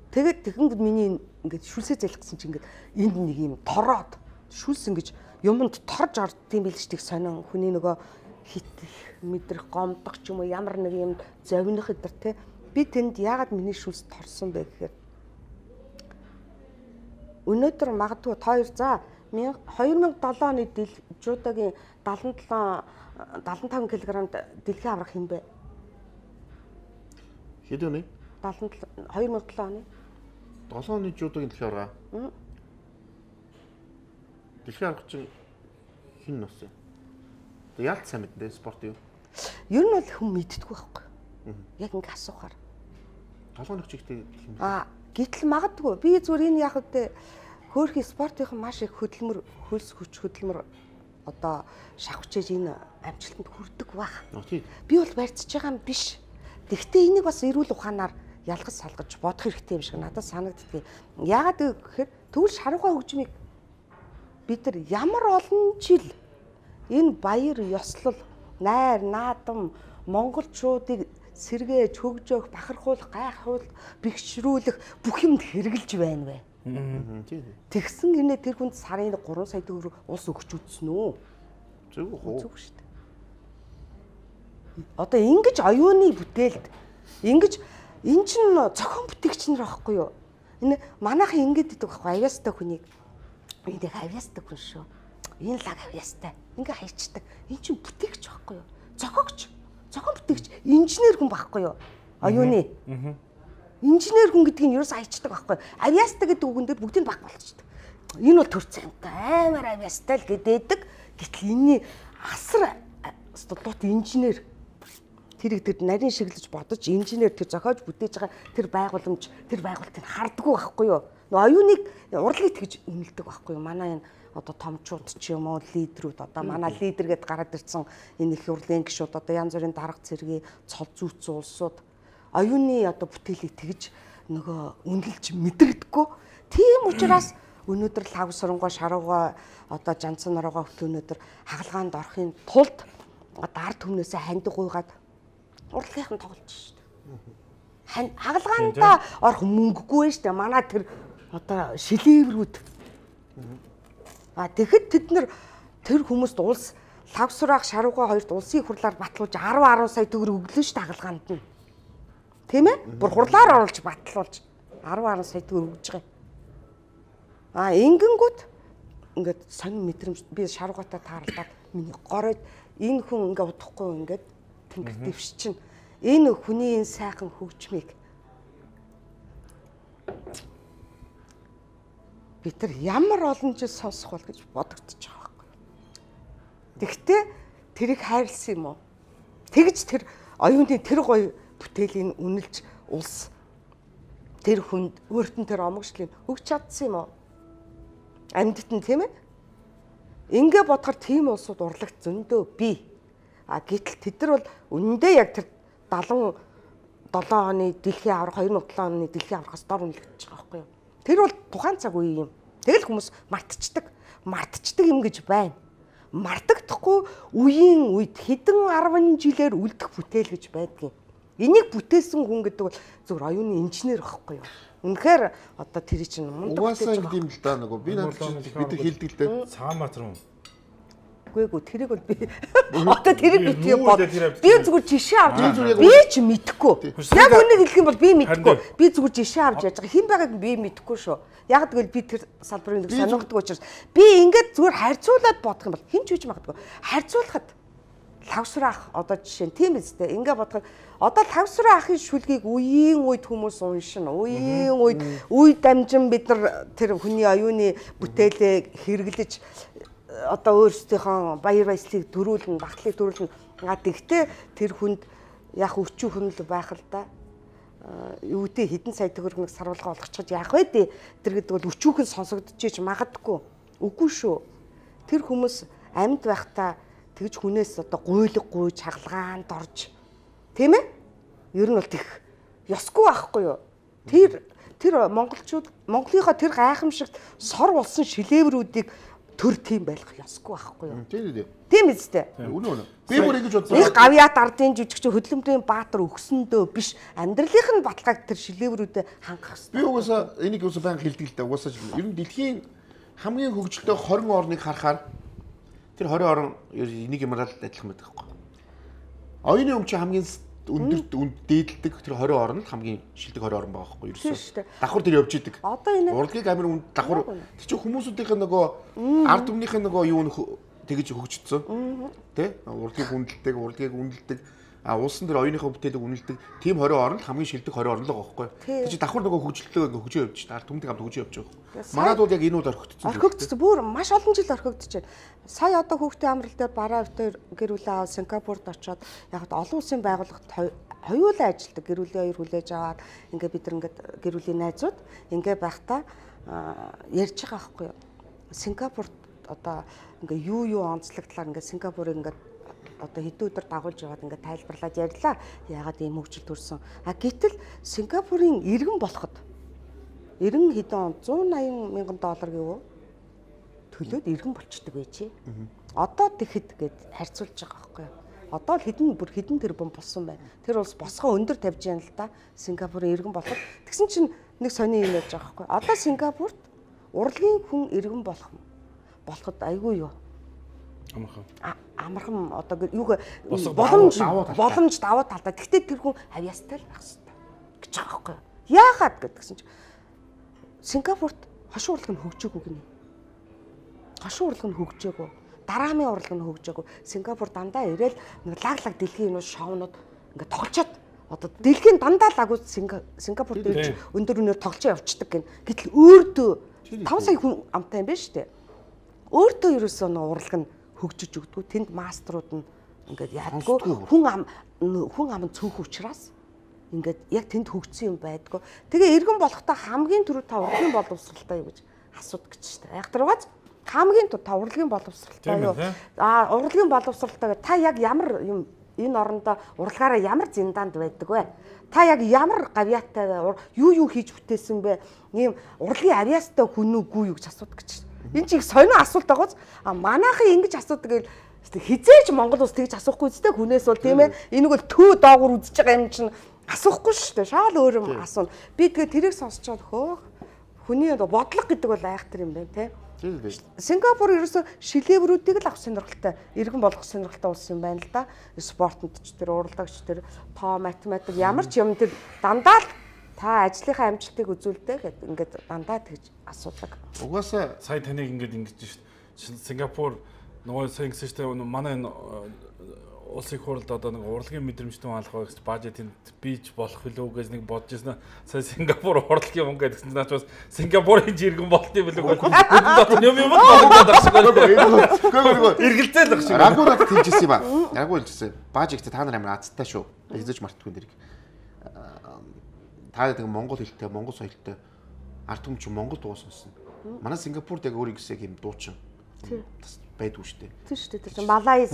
Тэгээд тэгэнгүүт миний ингээд шүлсээ залхсан чинь ингээд энд нэг юм тороод шүлс ингэж юмд торж ордсон билж тийг сонин хүний нөгөө хит мэдрэх гомдох ч юм уу ямар нэг юм зовних өдр те би тэнд яагаад миний шүлс торсон бэ гэхээр өнөөдөр магадгүй та хоёр за 2007 оны жуудагийн 75 кг дэлхийн аврах хэм бэ? Хэд оны? 2007 оны. 7 оны жуудагийн дэлхийн аврага. Дэлхийн аврах чинь хин нас юм? Яалт сайн мэднэ спорт юу? Ер нь бол хүн мэддэггүй байхгүй. Яг ингэ асуухаар. 7 оны чигтэй хин. Гэтэл магадгүй би зүгээр энэ яг үедээ хөөрхи спортынхан маш их хөдөлмөр хөлс хүч хөдөлмөр одоо шавхчээж энэ амжилтанд хүрдэг баг. Би бол барьцж байгаа юм биш. Тэгвэл энийг бас эрүүл ухаанаар ялгаж салгаж бодох хэрэгтэй юм шиг надад санагддаг. Яагаад гэхээр тэгвэл шаргуй хөгжмийг бид нар ямар олон жил энэ баяр ёслол, найр, наадам монголчуудыг сэргээж, хөгжөөх, бахархуулах, гайхуулах, бэхжрүүлэх бүх юмд хэрэгжилж байна вэ? Тэгсэн гинэ тэр хүнд сарын 3 сая төгрөг улс өгч үзсэн үү? Зөв үү? Зөв шүү дээ. Одоо ингэж оюуны бүтээлд ингэж эн чинь зохион бүтээгч нар байхгүй юу? Энэ манайхан ингэж идэг байхгүй авьяастай хүнийг энийг авьяастай хүн шүү. Энэ лаг авьяастай. Ингээ хайчдаг. Эн чинь бүтээгч байхгүй юу? Зохиогч, зохион бүтээгч, инженер хүн байхгүй юу? Оюуны. Инженер хүн гэдгийг нь ерөөс хайчдаг байхгүй. Авьяастай гэдэг үгэн дээр бүгдийг баг болчихдог. Энэ бол төр цантай амар авьяастай л гэдэг. Гэтэл энэний асар студиот инженер тэрийг тэр нарийн шиглэж бодож инженер тэр зохиож бүтээж байгаа тэр байгууламж тэр байгуултыг хардггүй байхгүй юу? Оюуныг урлагийг тэгж үнэлдэг байхгүй юу? Манай энэ одоо томчууд ч юм уу лидерүүд одоо манай лидер гэдээ гараад ирсэн энэ их урлагийн гишүүд одоо янз бүрийн дарга цэргийн цол зүйц улсууд оюуны одоо бүтээлийг тэгж нөгөө үнэлж мэдрэгдэхгүй. Тийм учраас өнөөдөр лав сурангуй шарууга одоо жанцсан норогоо өнөөдөр хагалгаанд орохын тулд одоо ард түмнээсээ хандиг гуйгаад урлагийнхан тоглож шүү дээ. Хагалгаанда орох мөнгөгүй шүү дээ. Манай тэр одоо шилээврүүд. Тэгэхэд тэд нар тэр хүмүүст улс лав сураах шарууга хоёрт улсын хурлаар батлуулж 10 сая төгрөг өглөө шүү дээ хагалгаанд нь. Тийм ээ? Бүр хурлаар оруулж батлуулж 10 сая төгрөг өгж байгаа. Ингэнгүүт ингээд сонин мэдрэмж би шаруугатаа таарлаад миний гороод энэ хүн ингээд удахгүй ингээд тэнгэр дэвш чинь энэ хүний энэ сайхан хөгжмийг бид нар ямар олон жил сонсох бол гэж бодогдож байгаа байхгүй. Тэгтээ тэрийг хайрлсан юм уу? Тэгж тэр оюуны тэр гоё бүтээлийн үнэлж улс тэр хүнд өөртөө тэр омогшлыг өгч чадсан юм уу? амьдт нь тийм ээ. Ингээ бодохоор тийм улсууд урлагт зөндөө бий. Гэтэл тэд нар бол үнэндээ яг тэр 77 оны дэлхийн аврах 2007 оны дэлхийн аврахаас дор үнэлэгдэж байгаа байхгүй юу? Тэр бол тухайн цаг үе юм. Тэгэл хүмүүс мартчихдаг юм гэж байна. Мартагдахгүй үеийн үед хэдэн 10 жилээр үлдэх бүтээл гэж байдгийг. Энийг бүтээсэн хүн гэдэг бол зөвхөн оюуны инженер байхгүй юу? Үнэхээр одоо тэр чинь мундаг угаасаа ингэдэм л да нөгөө би надад бид хэлдэг л дээ. Цагаанбаатар юм. Үгүй тэрийг бол би одоо тэрийг битгий бод. Би зүгээр жишээ авч би ч мэдэхгүй. Яг үнийг хэлэх юм бол би мэдэхгүй. Би зүгээр жишээ авч яаж байгаа хэн байгааг би мэдэхгүй шүү. Яг тэгвэл би тэр салбарыг нэг сонирхдаг учраас би ингээд зүгээр харьцуулаад бодох юм бол хэн ч үгүй магадгүй. Харьцуулахад лавсрах одоо жишээ нь тийм үстэй. Ингээд бодоход одоо лавсрах ахын шүлгийг үеийн үед хүмүүс уншина. Үеийн үед үе дамжин бид нар тэр хүний оюуны бүтээлээ хэрэглэж одоо өөрсдийнхөө баяр баясгалыг төрүүлнэ, багтлыг төрүүлнэ. Тэгтээ тэр хүнд яг өчүү хүнл байх л да. Юу гэдэг хэдэн сая төгрөг сарвалгаа олгочиход яах вэ дээ. Тэр гэдэг бол өчүүхэн сонсогдчихэж магадгүй. Үгүй шүү. Тэр хүмүүс амьд байхдаа тэгж хүнээс одоо гуйлггүй чагалгаанд орж тийм ээ? Ер нь бол тэх ёсгүй байхгүй юу? Тэр монголчууд Монголынхаа тэр гайхамшигт сор болсон шилээврүүдийг төр тийм байх ёсгүй байхгүй юу? Тийм үстэй. Үнэ. Би бүр ингэж бодсон. Их гавьяат ардын жүжигч хөдөлмөрийн баатар өгсөндөө биш амьдралынх нь баталгааг тэр шилээврүүдэд хангах хэрэгтэй. Би угаасаа энийг юусан баян хэлдэг л дээ. Угаасаа ер нь дэлхийн хамгийн хөгжилтэй 20 орныг харахаар тэр 20 орн энийг юмрал адилхан байдаг байхгүй. Оюуны өмч хамгийн өндөрт дээдэлдэг тэр 20 орнд хамгийн шилдэг 20 орн байгаа байхгүй юу? Ерөөсөө давхар тэр явж идэг. Одоо энэ урлагийг амар үнд давхар тэр чинь хүмүүсүүдийн нөгөө ард түмнийх нь нөгөө юу тэгэж хөгжсөн. Тэ? Урлагийг үнэлдэг. Улсын дээр оюуныхаа бүтээлийг үнэлдэг. Тим 20 орнд хамгийн шилдэг 20 орн л байгаа байхгүй юу? Тэр чинь давхар нөгөө хөгжлөлтөө хөгжөө явж та ард түмнийг хамт хөгжөө явж байгаа. Манайд бол яг энэ үд орхигдсон. Орхигдсон. Бүр маш олон жил орхигдож байна. Сая одоо хүүхдийн амрал дээр бараа өвтөр гэр бүлээ аваад Сингапурт очоод яг олон улсын байгууллагт хоёулаа ажилдаг. Гэр бүлийн хоёр хүлээж аваад ингээ бид нар ингээ гэр бүлийн найзууд ингээ байхдаа ярьж байгаа байхгүй юу? Сингапурт одоо ингээ юу онцлогдлаар ингээ Сингапурыг ингээ одоо хэдэн өдөр дагуулж яваад ингээ тайлбарлаад ярьлаа. Яагаад ийм хөгжил төрсөн. Гэтэл Сингапурын иргэн болоход 90 хэдэн он $180 мянган гэв төлөөд иргэн болчдөг байжээ. Одоо тэгэхэд гээд харьцуулж байгаа байхгүй юу? Одоо л хэдэн тэрбум болсон байна. Тэр улс босгоо өндөр тавьж яана л да. Сингапурын иргэн болоход тэгсэн чинь нэг сони юм яаж байгаа байхгүй юу? Одоо Сингапурт урлагийн хүн иргэн болоход айгүй юу? Амархан одоо юу боломж даваа талдаа. Тэгтээ тэр хүн авьяастай л байх хэрэгтэй гэж байгаа байхгүй юу? Яагаад гэдгсэн чинь Сингапурт хошин урлаг нь хөгжөөгүй гинэ. Хошин урлаг нь хөгжөөгүй. Дараамын урлаг нь хөгжөөгүй. Сингапур дандаа ирээл нэг лаг дэлхийн юм шоунууд ингээд тоглочоод одоо дэлхийн дандаа лагууд Сингапурт ирж өндөр өнөр тоглож явцдаг гин. Гэтэл өөртөө 5 сая хүн амтай юм байна шүү дээ. Өөртөө ерөөсөө нэг урлаг нь хөгжиж өгдөггүй. Тэнд мастерууд нь ингээд яадгүй. Хүн ам цөөх учраас ингээд яг тэнд хөгжсөн юм байдгүй. Тэгээ иргэн болохдоо хамгийн түрүү та урлагийн боловсралтай юу гэж асуудаг гэж шүү дээ. Яг тэргээс хамгийн түрүү та урлагийн боловсралтай юу? Урлагийн боловсралтай та яг ямар юм энэ орондоо урлагаараа ямар зиндаанд байдаг вэ? Та яг ямар гавьяатай юу хийж бүтээсэн бэ? Ийм урлагийн авьяастай хүн үгүй юу гэж асуудаг гэж. Энэ чинь их сонио асуулт байгааз манайхан ингэж асуудаг гэвэл хизээж Монгол улс тэгж асуухгүй зү хүнээс бол тийм ээ. Энийг бол төө доогуур үзэж байгаа юм чинь асуухгүй шүү дээ. Шаал өөр юм асууна. Би тэгээ тэрийг сонсчоод хөөх. Хүний бодлого гэдэг бол айхтар юм байна те. Сингапур ерөөсө шилээврүүдийг л авах сонирхолтой, иргэн болгох сонирхолтой улс юм байна л да. Спортод ч тэр урлагч тэр тоо математик ямар ч юм тэр дандаа л та ажлынхаа амжилтыг үзүүлдэг гэдэг ингээд дандаа тэгж асуудаг. Угаасаа сая таныг ингэж шүү дээ. Сингапур нөгөө сайн гэсэн чинь манай улсын хурлд одоо нэг урлагийн мэдрэмжтэй хаалах гэж бажетын бийж болох билүү гэж нэг бодож ирсэн. Сая Сингапур урлагийн хүн гэдэг чинь наачаас Сингапурын жиргэн болт юм билүү. Юм юм эргэлзээ л багш. Рагуурад хэлжсэн юм ба. Рагуул хэлжсэн. Бажигт та нар амар азтай шүү. Хэзээ ч мартахгүй нэрийг. Та нэг монгол хэлтэй, монгол соёлтой ард түмч монгол дуу сонсно. Манай Сингапурт яг өөрийн гэсэн юм дуучин. Байдгүй шүү дээ. Тийм шүү дээ. Тэр Малайз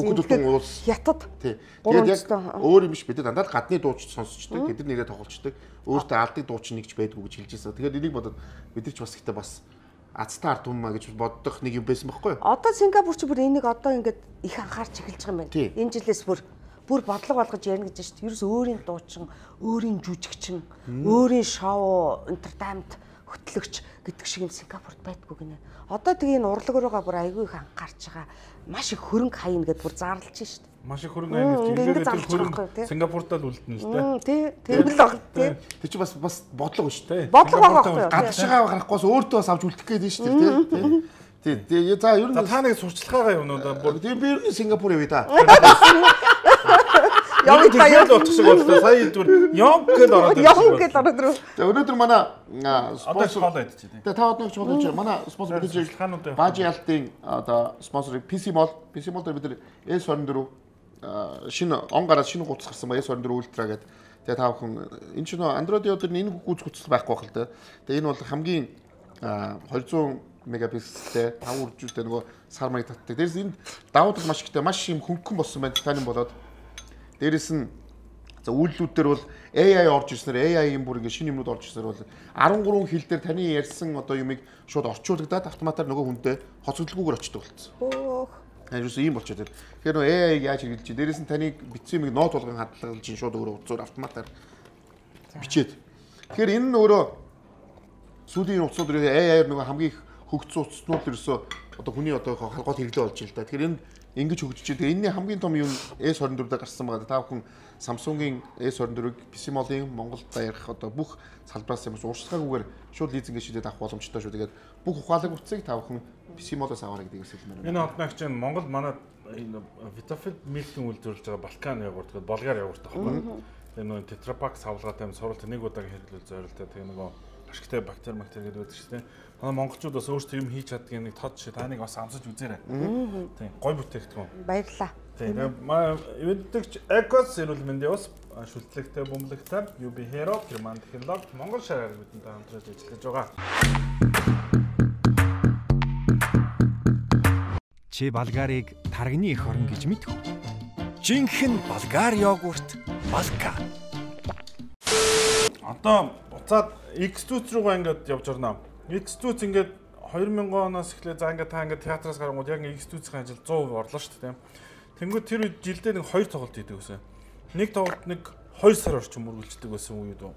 хятад. Тэгээд яг өөр юм биш бид дандаа гадны дууч сонсчдаг. Тэд нэрээ тоглолцдог. Өөртөө алдаг дуучин нэг ч байдгүй гэж хэлж байсан. Тэгээд энийг бодоод бид нар ч бас ихтэй бас азтай ард түмэн гэж боддог нэг юм байсан байхгүй юу? Одоо Сингапур ч бүр энийг одоо ингээд их анхаарч эхэлж байгаа юм байна. Энэ жилээс бүр бодлого болгож ярина гэж шүү дээ. Ерөөс өөрийн дуучин, өөрийн жүжигчин, өөрийн шоу, entertainment хөтлөгч гэдэг шиг юм Сингапурт байдгүй гинэ. Одоо тэгээ энэ урлаг руугаа бүр айгүй их анхаарч байгаа. Маш их хөрөнгө хаяна гэдээ бүр заарлаж шүү дээ. Маш их хөрөнгө хаяна гэж илэрээд хөрөнгө Сингапуртаа л үлдэнэ л дээ. Тийм л баг тийм. Тэр чинь бас бодлого шүү дээ. Бодлого байгаа байхгүй юу? Гадшгаа гарахгүйс өөртөө бас авч үлдэх гээд шүү дээ тийм. Тийм. За ер нь та нэг сурчлагаагаа юмнуудаа тийм би ер нь Сингапур явъя да. Явж баяр л болох шиг боллоо. Сая зүгээр Йонг гэж ороод ирсэн. За өнөөдөр манай спонсор хоолоо идэж байна. Та одноогч болж байна. Манай спонсор мэдээж Бажи Алтын одоо спонсорыг PC Mall дээр бид нар S24 шинэ он гараад шинэ гуц гарсан ба S24 Ultra гэдэг. Тэгээ та бүхэн энэ чинь Android-ийн өдөр энэ гүйц гуцал байхгүй байх л да. Тэгээ энэ бол хамгийн 200 мегапикселтэй 5 үржүүлтэй нөгөө сар маяг татдаг. Дээрээс энэ давуу тал маш ихтэй маш юм хөнгөн болсон байна. Таны болоод дээрээс нь за үйлдэлүүд дээр бол AI орж ирснээр AI-ийн бүр ингэ шинэ юмнууд орж ирснээр бол 13 хил дээр таны ярьсан одоо юмыг шууд орчуулагдаад автоматар нөгөө хүнтэй хоцогдлогүйгээр очдог болсон. Ерөөсөө ийм болчиход байна. Тэгэхээр нөгөө AI-г яаж хэрэглэж чинь дээрээс нь таны бичсэн юмыг ноот болгон хадгалж чинь шууд өөрөө утсаар автоматар бичээд. Тэгэхээр энэ нь өөрөө сүүлийн утсууд AI-аар нөгөө хамгийн их хөгжсөн утаснууд ерөөсөө одоо хүний одоо халгууд хэрэглээ болж байна л да. Тэгэхээр энэ ингэж хөгжиж байгаа. Энэний хамгийн том юм S24-д гарсан байгаа. Та бүхэн Samsung-ийн S24-ийг PC Mall-ийн Монголд даяарх одоо бүх салбараас юмс ууршлагаагүйгээр шууд лизингээ шийдээд авах боломжтой шүү. Тэгээд бүх ухаалаг утсыг та бүхэн PC Mall-аас аваарай гэдэг хэлмээр байна. Энэ одногч Монгол манай Vitafood Milk-ийн үйлдвэрлэж байгаа Балкан ягуурт гэдэг Болгар ягуурт аахгүй. Тэгээ нөгөө Tetra Pak савлгаатай юм суралт нэг удаагийн хэрэглүүл зорилттой. Тэгээ нөгөө ашигтай бактери гэдэг байдаг шүү дээ. Манай монголчууд бас өөрсдөө юм хийж чаддаг нэг тод шиг та нэг бас амсаж үзээрэй. Тийм гой бүтээгдэхүүн. Баярлалаа. Тийм манай ивэнтэгч Ecos эрүүл мэндийн ус шүтлэгтэй бөмбөлөгтэй UB Hero Герман технологи Монгол шараар бидэнтэй хамтраад ажиллаж байгаа. Чи Болгарыг таргины эх орн гэж мэдв үү? Жинхэнэ болгар йогурт Балка. Одоо буцаад X2 руугаа ингээд явж орно. X2 ингээд 2000 оноос эхлээд за ингээд та ингээд театраас гарангууд яг X2-ийн ажил 100% орлоо шүү дээ. Тэнгүүд тэр үед жилдээ нэг 2 тоглолт хийдэг гэсэн. Нэг тоглолт нэг 2 сар орчим үргэлжлэдэг байсан үед үү?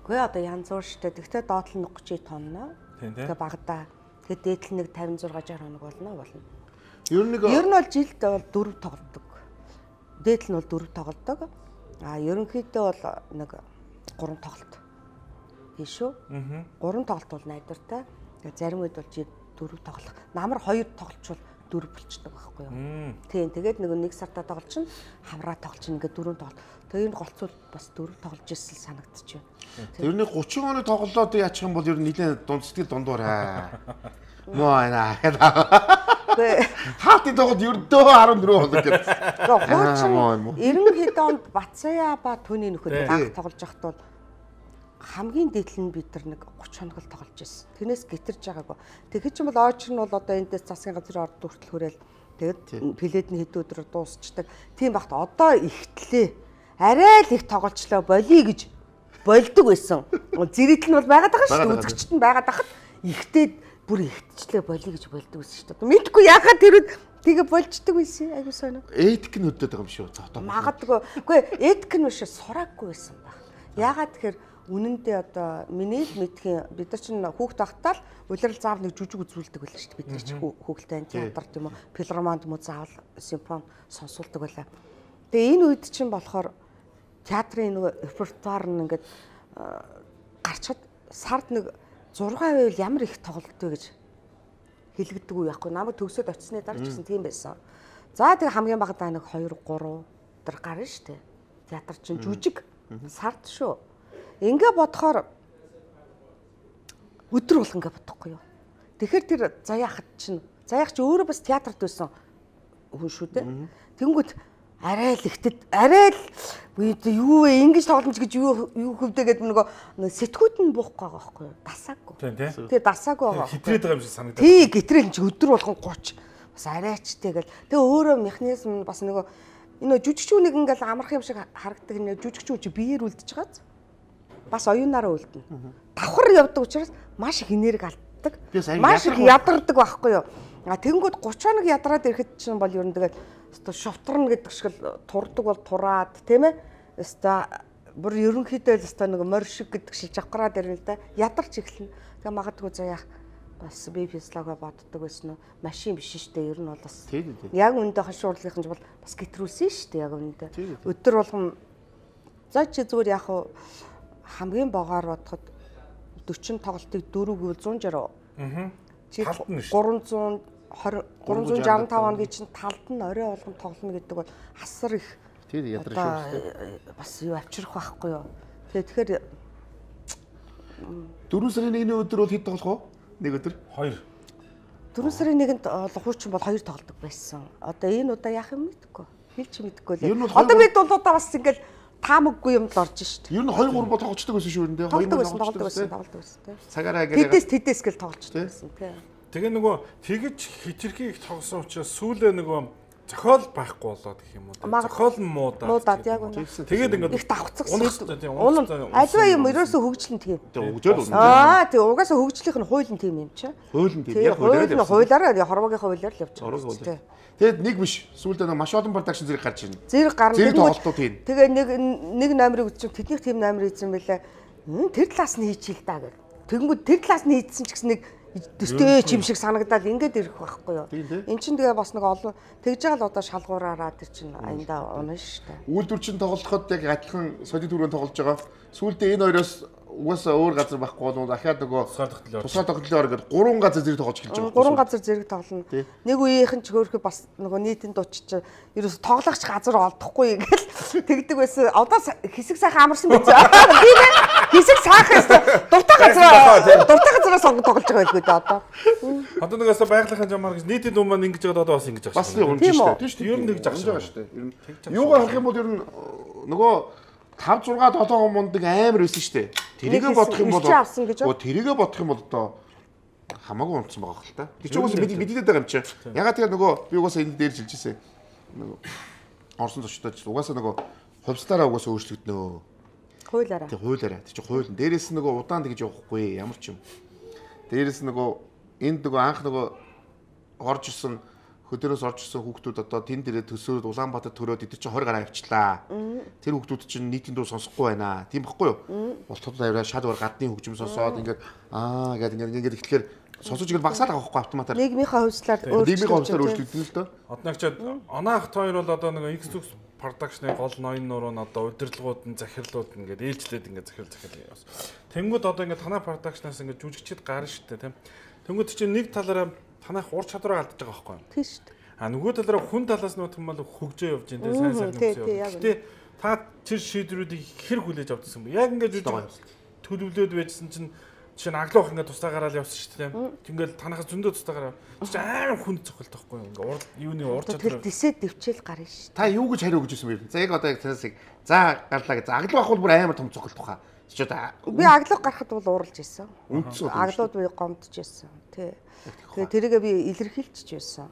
Үгүй одоо янз бүр шүү дээ. Тэгтээ доотлол нь 30 тонноо. Тэгээ багадаа. Тэгээ дээдл нэг 56 60 хоног болно. Ер нь бол жилд бол 4 тоглодог. Дээдл нь бол 4 тоглодог. Ерөнхийдөө бол нэг 3 тоглолт. Шүү. 3 тоглолт бол найдвартай. Зарим үед бол 4 тоглох. Намар 2 тоглолчвол 4 болчихдог байхгүй юу? Тийм. Тэгээд нэг сартаа тоглож чинь хамраа тоглож чинь ингээд 4 тоглолт. Тэгээд энэ голцвол бас 4 тоглож ирсэн санагдчих юм. Ер нь 30 оны тоглолоод яачих юм бол ер нь нэлээд дундсгэл дундуур аа. Моо аа. Хаалтын тоглолт ердөө 14 хоног гэдэг. Хуучин 90 онд Бацая ба түүний нөхөд баг тоглож байхад бол хамгийн дээдл нь бид нар нэг 30 хоног л тоглож байсан. Тэрнээс гитэрж байгаагүй. Тэгэхэд ч юм бол ойч нь бол одоо эндээс засгийн газрын орд хүртэл хүрээл тэгээд плед нь хэд өдрөөр дуусчдаг. Тийм багт одоо ихтлээ. Арай л их тоглолчлоо болиё гэж болдог байсан. Зэрэгтэл нь бол байгаад байгаа шүү дээ. Үзэгчт нь байгаад байхад ихтэй бүр ихтчлээ болиё гэж болдог байсан шүү дээ. Мэдгүй яхаа тэр үед тэгээ болждаг байсан. Айгуу сонио. Этик нь өдөөд байгаа юм шүү. Магадгүй. Үгүй этик нь биш сураагүй байсан баг. Яагаад тэгэхээр үнэндээ одоо миний мэдхийн бид нар чинь хүүхд тахтаал улирал заав нэг жүжиг үзүүлдэг байлаа шүү дээ. Бид нар чинь хүүхэлдэйн театр тийм үү, филармонд муу заавал симфони сонсуулдаг байлаа. Тэгээ энэ үед чинь болохоор театрын нэг репертуар нь ингээд гарчаад сард нэг 6 байвал ямар их тоглолт вэ гэж хэлэгдэг үү яахгүй. Намайг төгсөөд очисны дараа ч гэсэн тийм байсан. За тэгээ хамгийн багадаа нэг 2 3 тэр гарна шүү дээ. Театр чинь жүжиг сард шүү. Ингээ бодохоор өдөр бол ингээ бодохгүй юу. Тэгэхээр тэр заяахад чинь заяах чи өөрөө бас театрт байсан хүн шүү дээ. Тэнгүүд арай л ихтэд арай л юу вэ ингэж тоглоомж гэж юу хөвдөө гэдэг нөгөө сэтгүүд нь буухгүй байгаа байхгүй юу? Дасаагүй. Тэгээ дасаагүй байгаа. Хитрээд байгаа юм шиг санагдаад. Тий гитрэл чи өдөр болгон 30 бас арайчтэй гэл. Тэгээ өөрөө механизм бас нөгөө энэ жүжигчүүнийг ингээл амарх юм шиг харагдаг энэ жүжигчүү чи биеэр үлдчихэж байгааз. Бас оюунаараа үлдэнэ. Давхар явдаг учраас маш их энерги алддаг. Маш их ядардаг байхгүй юу? Тэнгүүд 30 хоног ядраад ирэхэд чинь бол ер нь тэгээд өстой шовторно гэдэг шиг л турдаг бол тураад тийм ээ. Өстой бүр ерөнхийдөө л өстой нэг морь шиг гэдэг шиг жавхраад ирнэ л да. Ядарч эхэлнэ. Тэгээ магадгүй заяах бас би физиологи боддог байсан уу? Машин биш шүү дээ. Ер нь бол бас яг үндэ хашуурлынхан ч бол бас гэтрүүлсэн шүү дээ. Яг үндэ. Өдөр болгон за чи зүгээр яг хамгийн богоор бодоход 40 тоглолтыг 4 гэвэл 160. Чи 365 хоногийн чинь талд нь орой болгон тоглоно гэдэг бол асар их тийм ядарч шүү. Бас юу авчрах байхгүй юу. Тэгэхээр 4 сарын 1-ний өдөр бол хэд тоглох вэ? Нэг өдөр? 2. 4 сарын 1-нд хуучин бол 2 тоглодог байсан. Одоо энэ удаа яах юм мэдэхгүй. Хэлж мэдэхгүй лээ. Одоо бид бол удаа бас ингээл таамаггүй юм л орж шít. Ер нь 2 3 бол тоглолцдог байсан шүү дээ. 2 тоглолдог байсан. Цагаараа гэх тэдэс гэл тоглолцдог байсан тий. Тэгээ нөгөө тэгэж хитрхи их тоглосон учраас сүүлээ нөгөө зохиол байхгүй болоод гэх юм уу. Зохиол нь муудаад яг үнэ. Тэгээд ингээд их давхцсан. Альва юм ерөөсөө хөгжлөн тийм. Хөгжөөл үнэ. Тий угаасаа хөгжлийнх нь хуулийн тийм юм чи. Хуулийн тийм. Яг хуулиараа хорвогийн хуулиар л явж байгаа. Тэгэд нэг биш. Сүүлдээ нэг маш олон продакшн зэрэг гарч ирнэ. Зэрэг гарна. Зэрэг тоглолтууд тийм. Тэгээ нэг номерыг үзчих тэднийх тийм номер ийсэн байлаа. Тэр талаас нь хийчихэл та гэх. Тэгэнгүүт тэр талаас нь хийдсэн ч гэсэн нэг дэстэй чим шиг санагдаад ингээд ирэх байхгүй юу. Эн чинь тэгээ бас нэг олон тэгж байгаа л одоо шалгуураараа тэр чинь аянда унаа шүү дээ. Үйлдвэр чинь тоглоход яг адилхан солид түрүүнд тоглож байгаа. Сүүлдээ энэ хоёроос угаасаа өөр газар байхгүй бол дахиад нөгөө тусгай тоглолоор ингээд 3 газар зэрэг тоглож эхэлж байгаа. 3 газар зэрэг тоглоно. Нэг үеийнх нь ч хөөрхөө бас нөгөө нийтийн дуучч ерөөс тоглохч газар олдохгүй гэл тэгдэг байсан. Одоо хэсэг сайхан амарсан биз. Тийм ээ. Хэсэг сайхан дуртай газараа сонгож тоглож байгаа байлгүй дээ одоо. Одоо нэгээс байгалийнхын жамаар гэж нийтийн дуун маань ингэж байгаа одоо бас ингэж байгаа шүү. Бас юм шүү дээ. Ер нь тэгж байгаа шүү дээ. Ер нь юугаар харах юм бол ер нь нөгөө 5 6 7 мундаг амар байсан шүү дээ. Тэрийгэ бодох юм бол тэрийгэ бодох юм бол одоо хамаагүй унтсан байгаа хэл та. Тэр ч угаасаа мэдээд байгаа юм чи. Ягаад тэгэхээр нөгөө би угаасаа энэ дээр жилж ирсэн. Нөгөө орсон зочдод угаасаа нөгөө хувьслаараа угаасаа өөрчлөгднөө. Хуулаараа. Тэг хуулаараа. Тэг чи хууль. Дээрээс нь нөгөө удаан тэгж явахгүй ямар ч юм. Дээрээс нөгөө энд нөгөө анх нөгөө орж ирсэн хөдөөрөөс орж ирсэн хүүхдүүд одоо тэн дээрээ төсөөд Улаанбаатар төрөөд эдгээр чинь 20 гараа авчлаа. Тэр хүүхдүүд чинь нийтийн дуу сонсохгүй байна. Тийм байхгүй юу? Болтод аваад шалвар гадны хөгжим сонсоод ингээд ингээд ихлэхээр сонсож ирэл багсаад байгаа байхгүй автоматар. Нийгмийнхаа хувьслаар өөрчлөгдөн л дөө. Одоо ч онаахт хоёр бол одоо нэг X2 production-ы гол ноён нуруу нь одоо удирдлагууд нь захирлууд ингээд ээлжлээд ингээд захирал яваас. Тэнгүүд одоо ингээд танай production-аас ингээд жүжигчд гарна шүү дээ тийм. Тэнгүүд чинь нэг талаараа танайх ур чадвараа алдаж байгаа байхгүй юу? Тийм шүү дээ. Нөгөө талаараа хүн талаас нь бодох юм бол хөгжөө явж байна тийм сайн нөхцөл. Гэтэ та тэр шийдвэрүүдийг хэр хүлээж авдсан бэ? Яг ингээд төлөвлөөд байжсэн чинь жишээ нь аглах ингээд тусдаа гараад явсан шүү дээ. Ингээл танахаас зөндөө тусдаа гараа. Чи амар хүнд цохолт байхгүй юу? Ингээд юуны ур чадвар. Тэр дэсэд дэвчээл гарна шүү. Та юу гэж хариу өгч ирсэн бэ? За яг одоо яг танаас за гарлаа гэж. Аглах бол бүр амар том цохолт баха. Чи одоо би аглах гарахад бол ууралж ирсэн. Аглууд би гомдож ирсэн. Тий. Тэгээ тэрийгээ би илэрхийлчихэж байсан.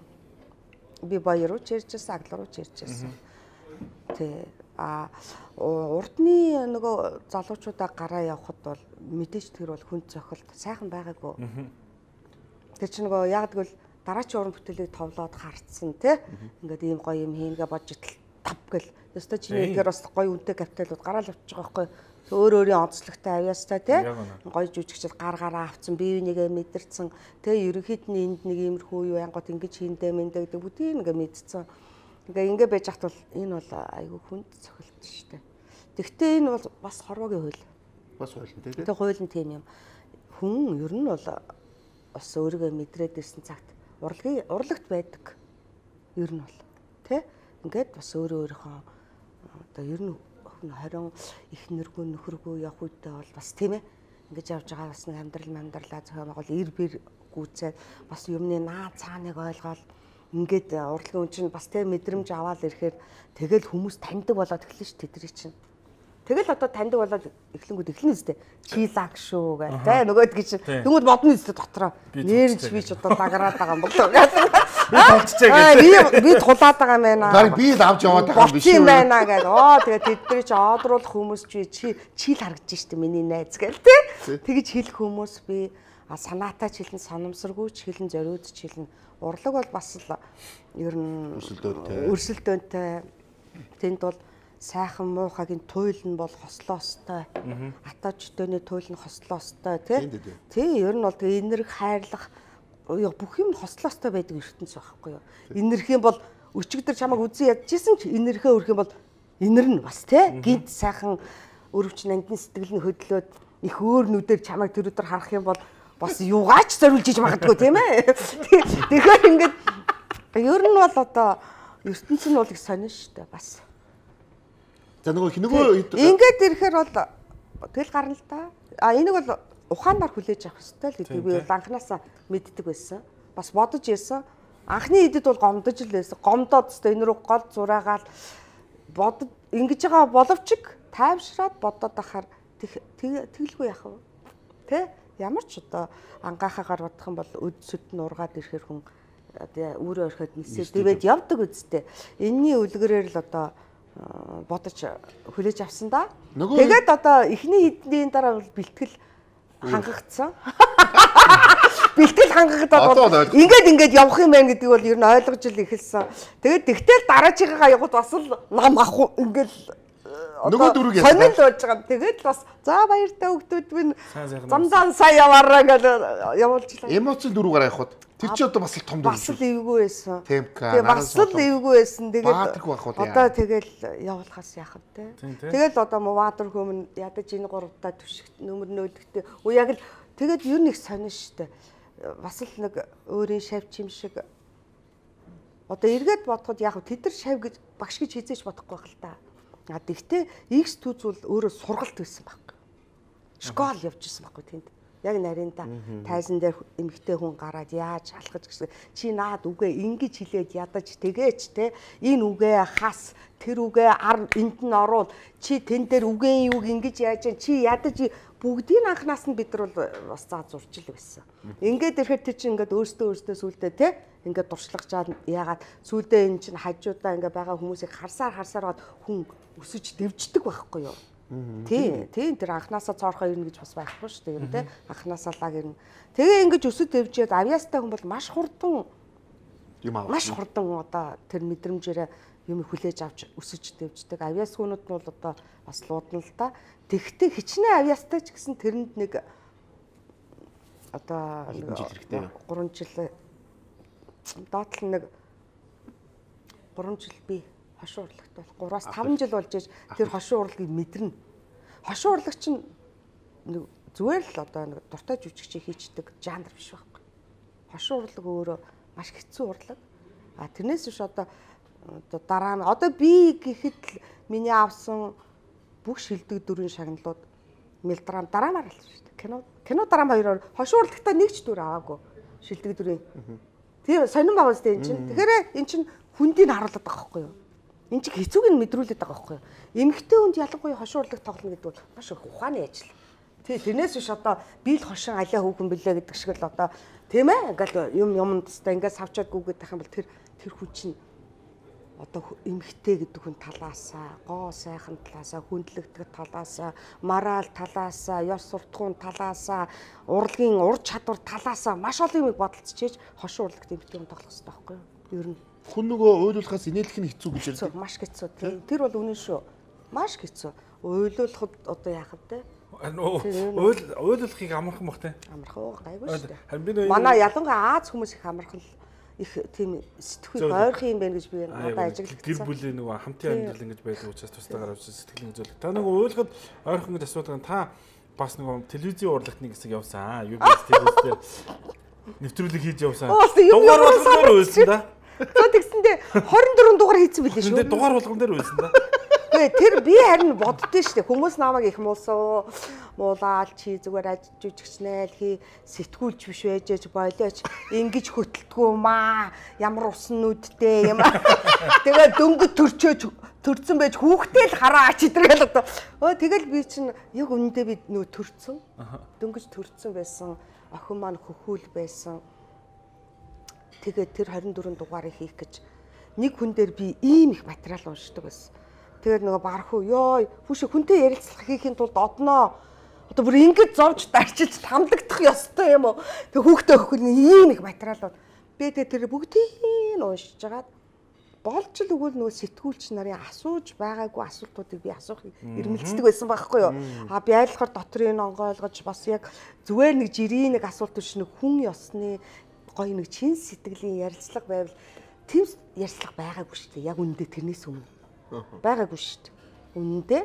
Би баяр руу чиржсэн, агл руу чиржсэн. Тий. Урдны нөгөө залуучуудаа гараа явахад бол мэдээж тэр бол хүн цохилт сайхан байгаагүй. Тэр чинь нөгөө яг тэгвэл дараачийн уран бүтээлийг товлоод харцсан тий. Ингээд ийм гоё юм хийнгээ бодж итл тав гэл. Ёстой чиний ихээр бас гоё үнэтэй капиталууд гараал явчих байгаа байхгүй. Өөр өөрийн онцлогтой авьяастай тий. Гоё жүжигчд гаргаараа авцсан, бие бинийгээ мэдэрсэн. Тий ерөнхийд нь энд нэг иймэрхүү юу ангууд ингэж хийндэ мэндэ гэдэг бүгдийг ингээ мэдсэн. Ингээ байж хат бол энэ бол айгүй хүнд цохилт шүү дээ. Тэгвэл энэ бол бас хорвогийн хууль. Бас хууль нь тий. Тэгээ хууль нь тийм юм. Хүн ер нь бол бас өөрийгөө мэдрээд ирсэн цагт урлагт байдаг. Ер нь бол тий. Ингээд бас өөрийнхөө одоо ер нь 20 их нэргүй нөхөргүй явах үедээ бол бас тийм ээ. Ингэж явж байгаа бас нэг амьдралаа зохион байгуул ир бэр гүйцээд бас юмны наа цааныг ойлгоод ингээд урлагийн хүн чинь бас тэ мэдрэмж аваад ирэхээр тэгэл хүмүүс таньдаг болоод эхэлнэ ш тэдний чинь. Тэгэл одоо таньдаг болоод эхлэнгүүд эхлэнэ үстэй. Чи лаг шүү гэх тэ нөгөөдгий чинь тэнгууд бодно үстэй дотроо. Нэрж би ч одоо дагараад байгаа юм болоо гэдэг. Би толцчихээ гэдэг. Би тулаад байгаа юм байна. Бараг би л авч яваад байгаа юм биш үү? Байна гэдэг. Тэгээд тэдний чи одруулах хүмүүс чи л харагдаж штэ миний найз гэл тэ. Тэгэж хэлэх хүмүүс би санаатай ч хэлэн санамсаргүй ч хэлэн зориуд ч хэлэн урлаг бол бас л ер нь өрсөлдөөнтэй. Тэнд бол сайхан муухагийн туйл нь бол хослоо остой. Атаж дөний туйл нь хослоо остой тий ер нь бол тэгээ энерги хайрлах бүх юм хослоо остой байдаг ертөнц байхгүй юу. Энерги юм бол өчигдөр чамайг үзэн ядчихсан ч энергиээ өрөх юм бол энернэ бас тий гинт сайхан өрөвч нандин сэтгэл нь хөдлөөд их өөр нүдээр чамайг тэр өдөр харах юм бол бас юугаач зориулж иж магадгүй тийм ээ. Тэгэхээр ингээд ер нь бол одоо ертөнц нь бол их сонин шүү дээ бас. За нөгөө ингээд ирэхээр бол тэгэл гарна л да. Энийг бол ухаанаар хүлээж авах хэрэгтэй л гэдэг би бол анханасаа мэддэг байсан. Бас бодож ирсэн. Анхны идэд бол гомдож л байсан. Гомдоод өстой энэ рүү гол зураагаал бодож ингэж байгаа боловч тайвшраад бодоод ахаар тэгэлгүй яах вэ? Тэ? Ямар ч одоо ангаахаагаар бодох юм бол өд сүд нь ургаад ирэхээр хүн өөрөө орхиод нисээд тэгээд явдаг үсттэй. Энийний үлгэрээр л одоо бодож хүлээж авсан да. Тэгээд одоо эхний хэдний дараа бол бэлтгэл хангагдсан. Бэлтгэл хангагдаад ингээд явах юм байна гэдгийг бол ер нь ойлгож ил эхэлсэн. Тэгээд тэгтэл дараачихгаа явахд бас л нам ах ингээд нөгөө дөрөв яасан. Сонирхол болж байгаа. Тэгээд бас за баяртай хөгтүүд минь замдан сайн яваараа гэж явуулчихлаа. Эмоцийн дөрөв гараа явахд тэр чи одоо бас л том дөрөв. Бас л эвгүй байсан. Тэгээ бас л эвгүй байсан. Тэгээд одоо тэгэл явуулахаас яах вэ? Тэгэл одоо мувадр хөмн ядаж энэ гуравтаа түшигт нөмөр нөлөгтэй. Яг л тэгээд ер нь их сонин штэ. Бас л нэг өөрийн шавч юм шиг одоо эргээд бодоход яг тэд нар шав гэж багш гэж хизээж бодохгүй байх л та. Тэгтээ X түүз бол өөрөө сургалт байсан байхгүй. Школ явж исэн байхгүй тэнд. Яг нарийнда тайзан дээр эмэгтэй хүн гараад яаж алхаж гэсэн чи наад үгээ ингэж хилээд ядаж тэгээч те энэ үгээ хас тэр үгээ ар энд нь оруул чи тэн дээр үгийн юуг ингэж яаж чи ядаж бүгдийн анханаас нь бид нар бол бас заа зурж ил байсан. Ингээд ирэхэд тэр чинь ингээд өөртөө сүулдэ те ингээд дуршлагчаад яагаад сүулдэ энэ чинь хажуудаа ингээд байгаа хүмүүсийг харсаар хүн өсөж дэвждэг байхгүй юу? Тийм тэр анханасаа цоорхоо ирнэ гэж бас байхгүй шүү дээ тийм анханасаа лаг ирнэ. Тэгээ ингэж өсөж дэвжээд авьяастай хүн бол маш хурдан одоо тэр мэдрэмжээрээ юм хүлээж авч өсөж дэвждэг. Авьяас хүнүүд нь бол одоо бас луудна л да. Тэгтээ хичнээн авьяастай ч гэсэн тэрэнд нэг одоо 3 жил доотлол нэг 3 жил би хошин урлагт бол 3-аас 5 жил болж ээж тэр хошин урлагийг мэдэрнэ. Хошин урлаг чинь зүгээр л одоо нэг дуртай жүжигчийг хийчдэг жанр биш байхгүй. Хошин урлаг өөрөө маш хэцүү урлаг. Тэрнээс биш одоо дараа нь одоо би гэхэд миний авсан бүх шилдэг дүрийн шагналууд мелодрам дараамаар л шүү дээ. Кино дараам хоёроор хошин урлагтаа нэг ч дүр аваагүй шилдэг дүрийн. Тийм сонирн байгаа үстэй эн чинь. Тэгэхээр эн чинь хүндийг харуулдаг байгаа байхгүй юу? Энд чинь хэцүүг нь мэдрүүлээд байгаа байхгүй юу? Эмэгтэй хүнд ялангуяа хошин урлаг тоглоно гэдэг бол маш их ухааны ажил. Тэрнээс биш одоо би л хошин алиа хүүхэн билээ гэдэг шиг л одоо тийм ээ ингээл юмд теста ингээд савчаад гүгээд тах юм бол тэр хүн чинь одоо эмэгтэй гэдэг хүн талаасаа, гоо сайхан талаасаа, хүндлэгдэх талаасаа, мораль талаасаа, ёс суртахуун талаасаа, урлагийн ур чадвар талаасаа маш олон юмыг бодолцож хошин урлагт эмэгтэй хүн тоглох хэрэгтэй байхгүй юу? Ер нь хүн нөгөө уйлуулахаас инээлэх нь хэцүү гэж ярьдаг. Маш хэцүү тийм. Тэр бол үнэн шүү. Маш хэцүү. Уйлуулахад одоо яах вэ? Уйлуулахыг амархан бах те. Амархан гайгүй шүү дээ. Манай ялангуяа Аз хүмүүс их амархан их тийм сэтгхүй ойрхон юм байна гэж би одоо ажиглагдсан. Гэр бүлийн нөгөө хамтын амьдрал ингэж байдаг учраас тусдаагаар авч сэтгэлийн зөвлөлт. Та нөгөө уйлахад ойрхон гэж асуудаг та бас нөгөө телевизийн урлагт нэг хэсэг явсан. UBS телевизээр нэвтрүүлэг хийж явсан. Дугаар болгоноор уйлсан да. Тэгсэндээ 24 дугаар хийсэн билээ шүү. Дугаар болгон дээр уйлсан да. Тэр би харин боддөө штэ хүмүүс намайг их муулаад чи зүгээр ажижчихнэ л хий сэтгүүлч биш байж болооч ингэж хөтөлдгөө маа ямар усан нүдтэй юм. Тэгээ дөнгөж төрцөн байж хүүхдээ л хараач идэргээл одоо. Тэгэл би чинь яг үнэндээ би нөө төрцөн. Дөнгөж төрцөн байсан. Охин маань хөхүүл байсан. Тэгээд тэр 24 дугаарыг хийх гэж нэг хүн дээр би ийм их материал уншдаг байсан. Тэгээд нөгөө барах уу ёо хүүшээ хүнтэй ярилцлага хийхин тулд одноо одоо бүр ингэж зовж дарчиж тамдагдах ёстой юм уу? Тэг хүүхдээ өгөх ийм их материалууд би тэр бүгдийг уншиж жагаад болж л өгвөл нөгөө сэтгүүлч нарын асууж байгаагүй асуултуудыг би асуухыг эрмэлздэг байсан байхгүй юу? Би айлхаар дотрын онгойлгож бас яг зүгээр нэг жирийн нэг асуулт биш нэг хүн ёсны гоё нэг чин сэтгэлийн ярилцлага байвал тийм ярилцлага байгаагүй шүү дээ. Яг үнэндээ тэрнээс өмнө байгаагүй шүү дээ. Үнэндээ.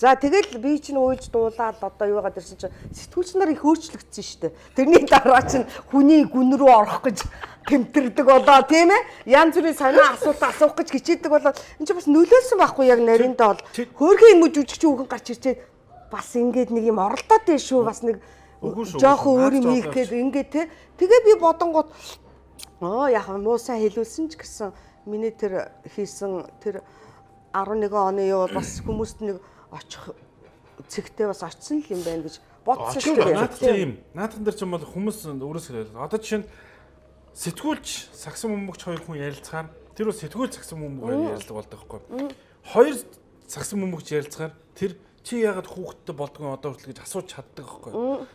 За тэгэл би чинь уйлж дуулаад одоо юу яагаад ирсэн чинь сэтгүүлч нар их өөрчлөгдсөн шүү дээ. Тэрний дараа чинь хүний гүн рүү орох гэж тэмтэрдэг болоо тийм ээ. Янз бүрийн санаа асуулт асуух гэж хичээдэг болоо энэ чинь бас нөлөөлсөн байхгүй яг нариндаа бол хөөрхөн юм жүжигч хүүхэн гарч ирчээд бас ингээд нэг юм оролдоод байна шүү. Бас нэг жоохон өөр юм хийх гээд ингээд те. Тэгээ би бодонгууд яг муусаа хэлүүлсэн ч гэсэн миний тэр хийсэн тэр 11 оны юу бас хүмүүст нэг очих цэгтээ бас очсон л юм байна гэж бодсон шүү дээ. Наадхан юм. Наадхан дээр ч юм бол хүмүүс өөрөөсөө яриад. Одоо жишээ нь сэтгүүлч сагсан бөмбөгч хоёр хүн ярилцахаар тэр бол сэтгүүлч сагсан бөмбөг ярилцлага болдог байхгүй. Хоёр сагсан бөмбөгч ярилцахаар тэр чи яагаад хүүхдтэй болдгоо одоо хүртэл гэж асууж чаддаг байхгүй.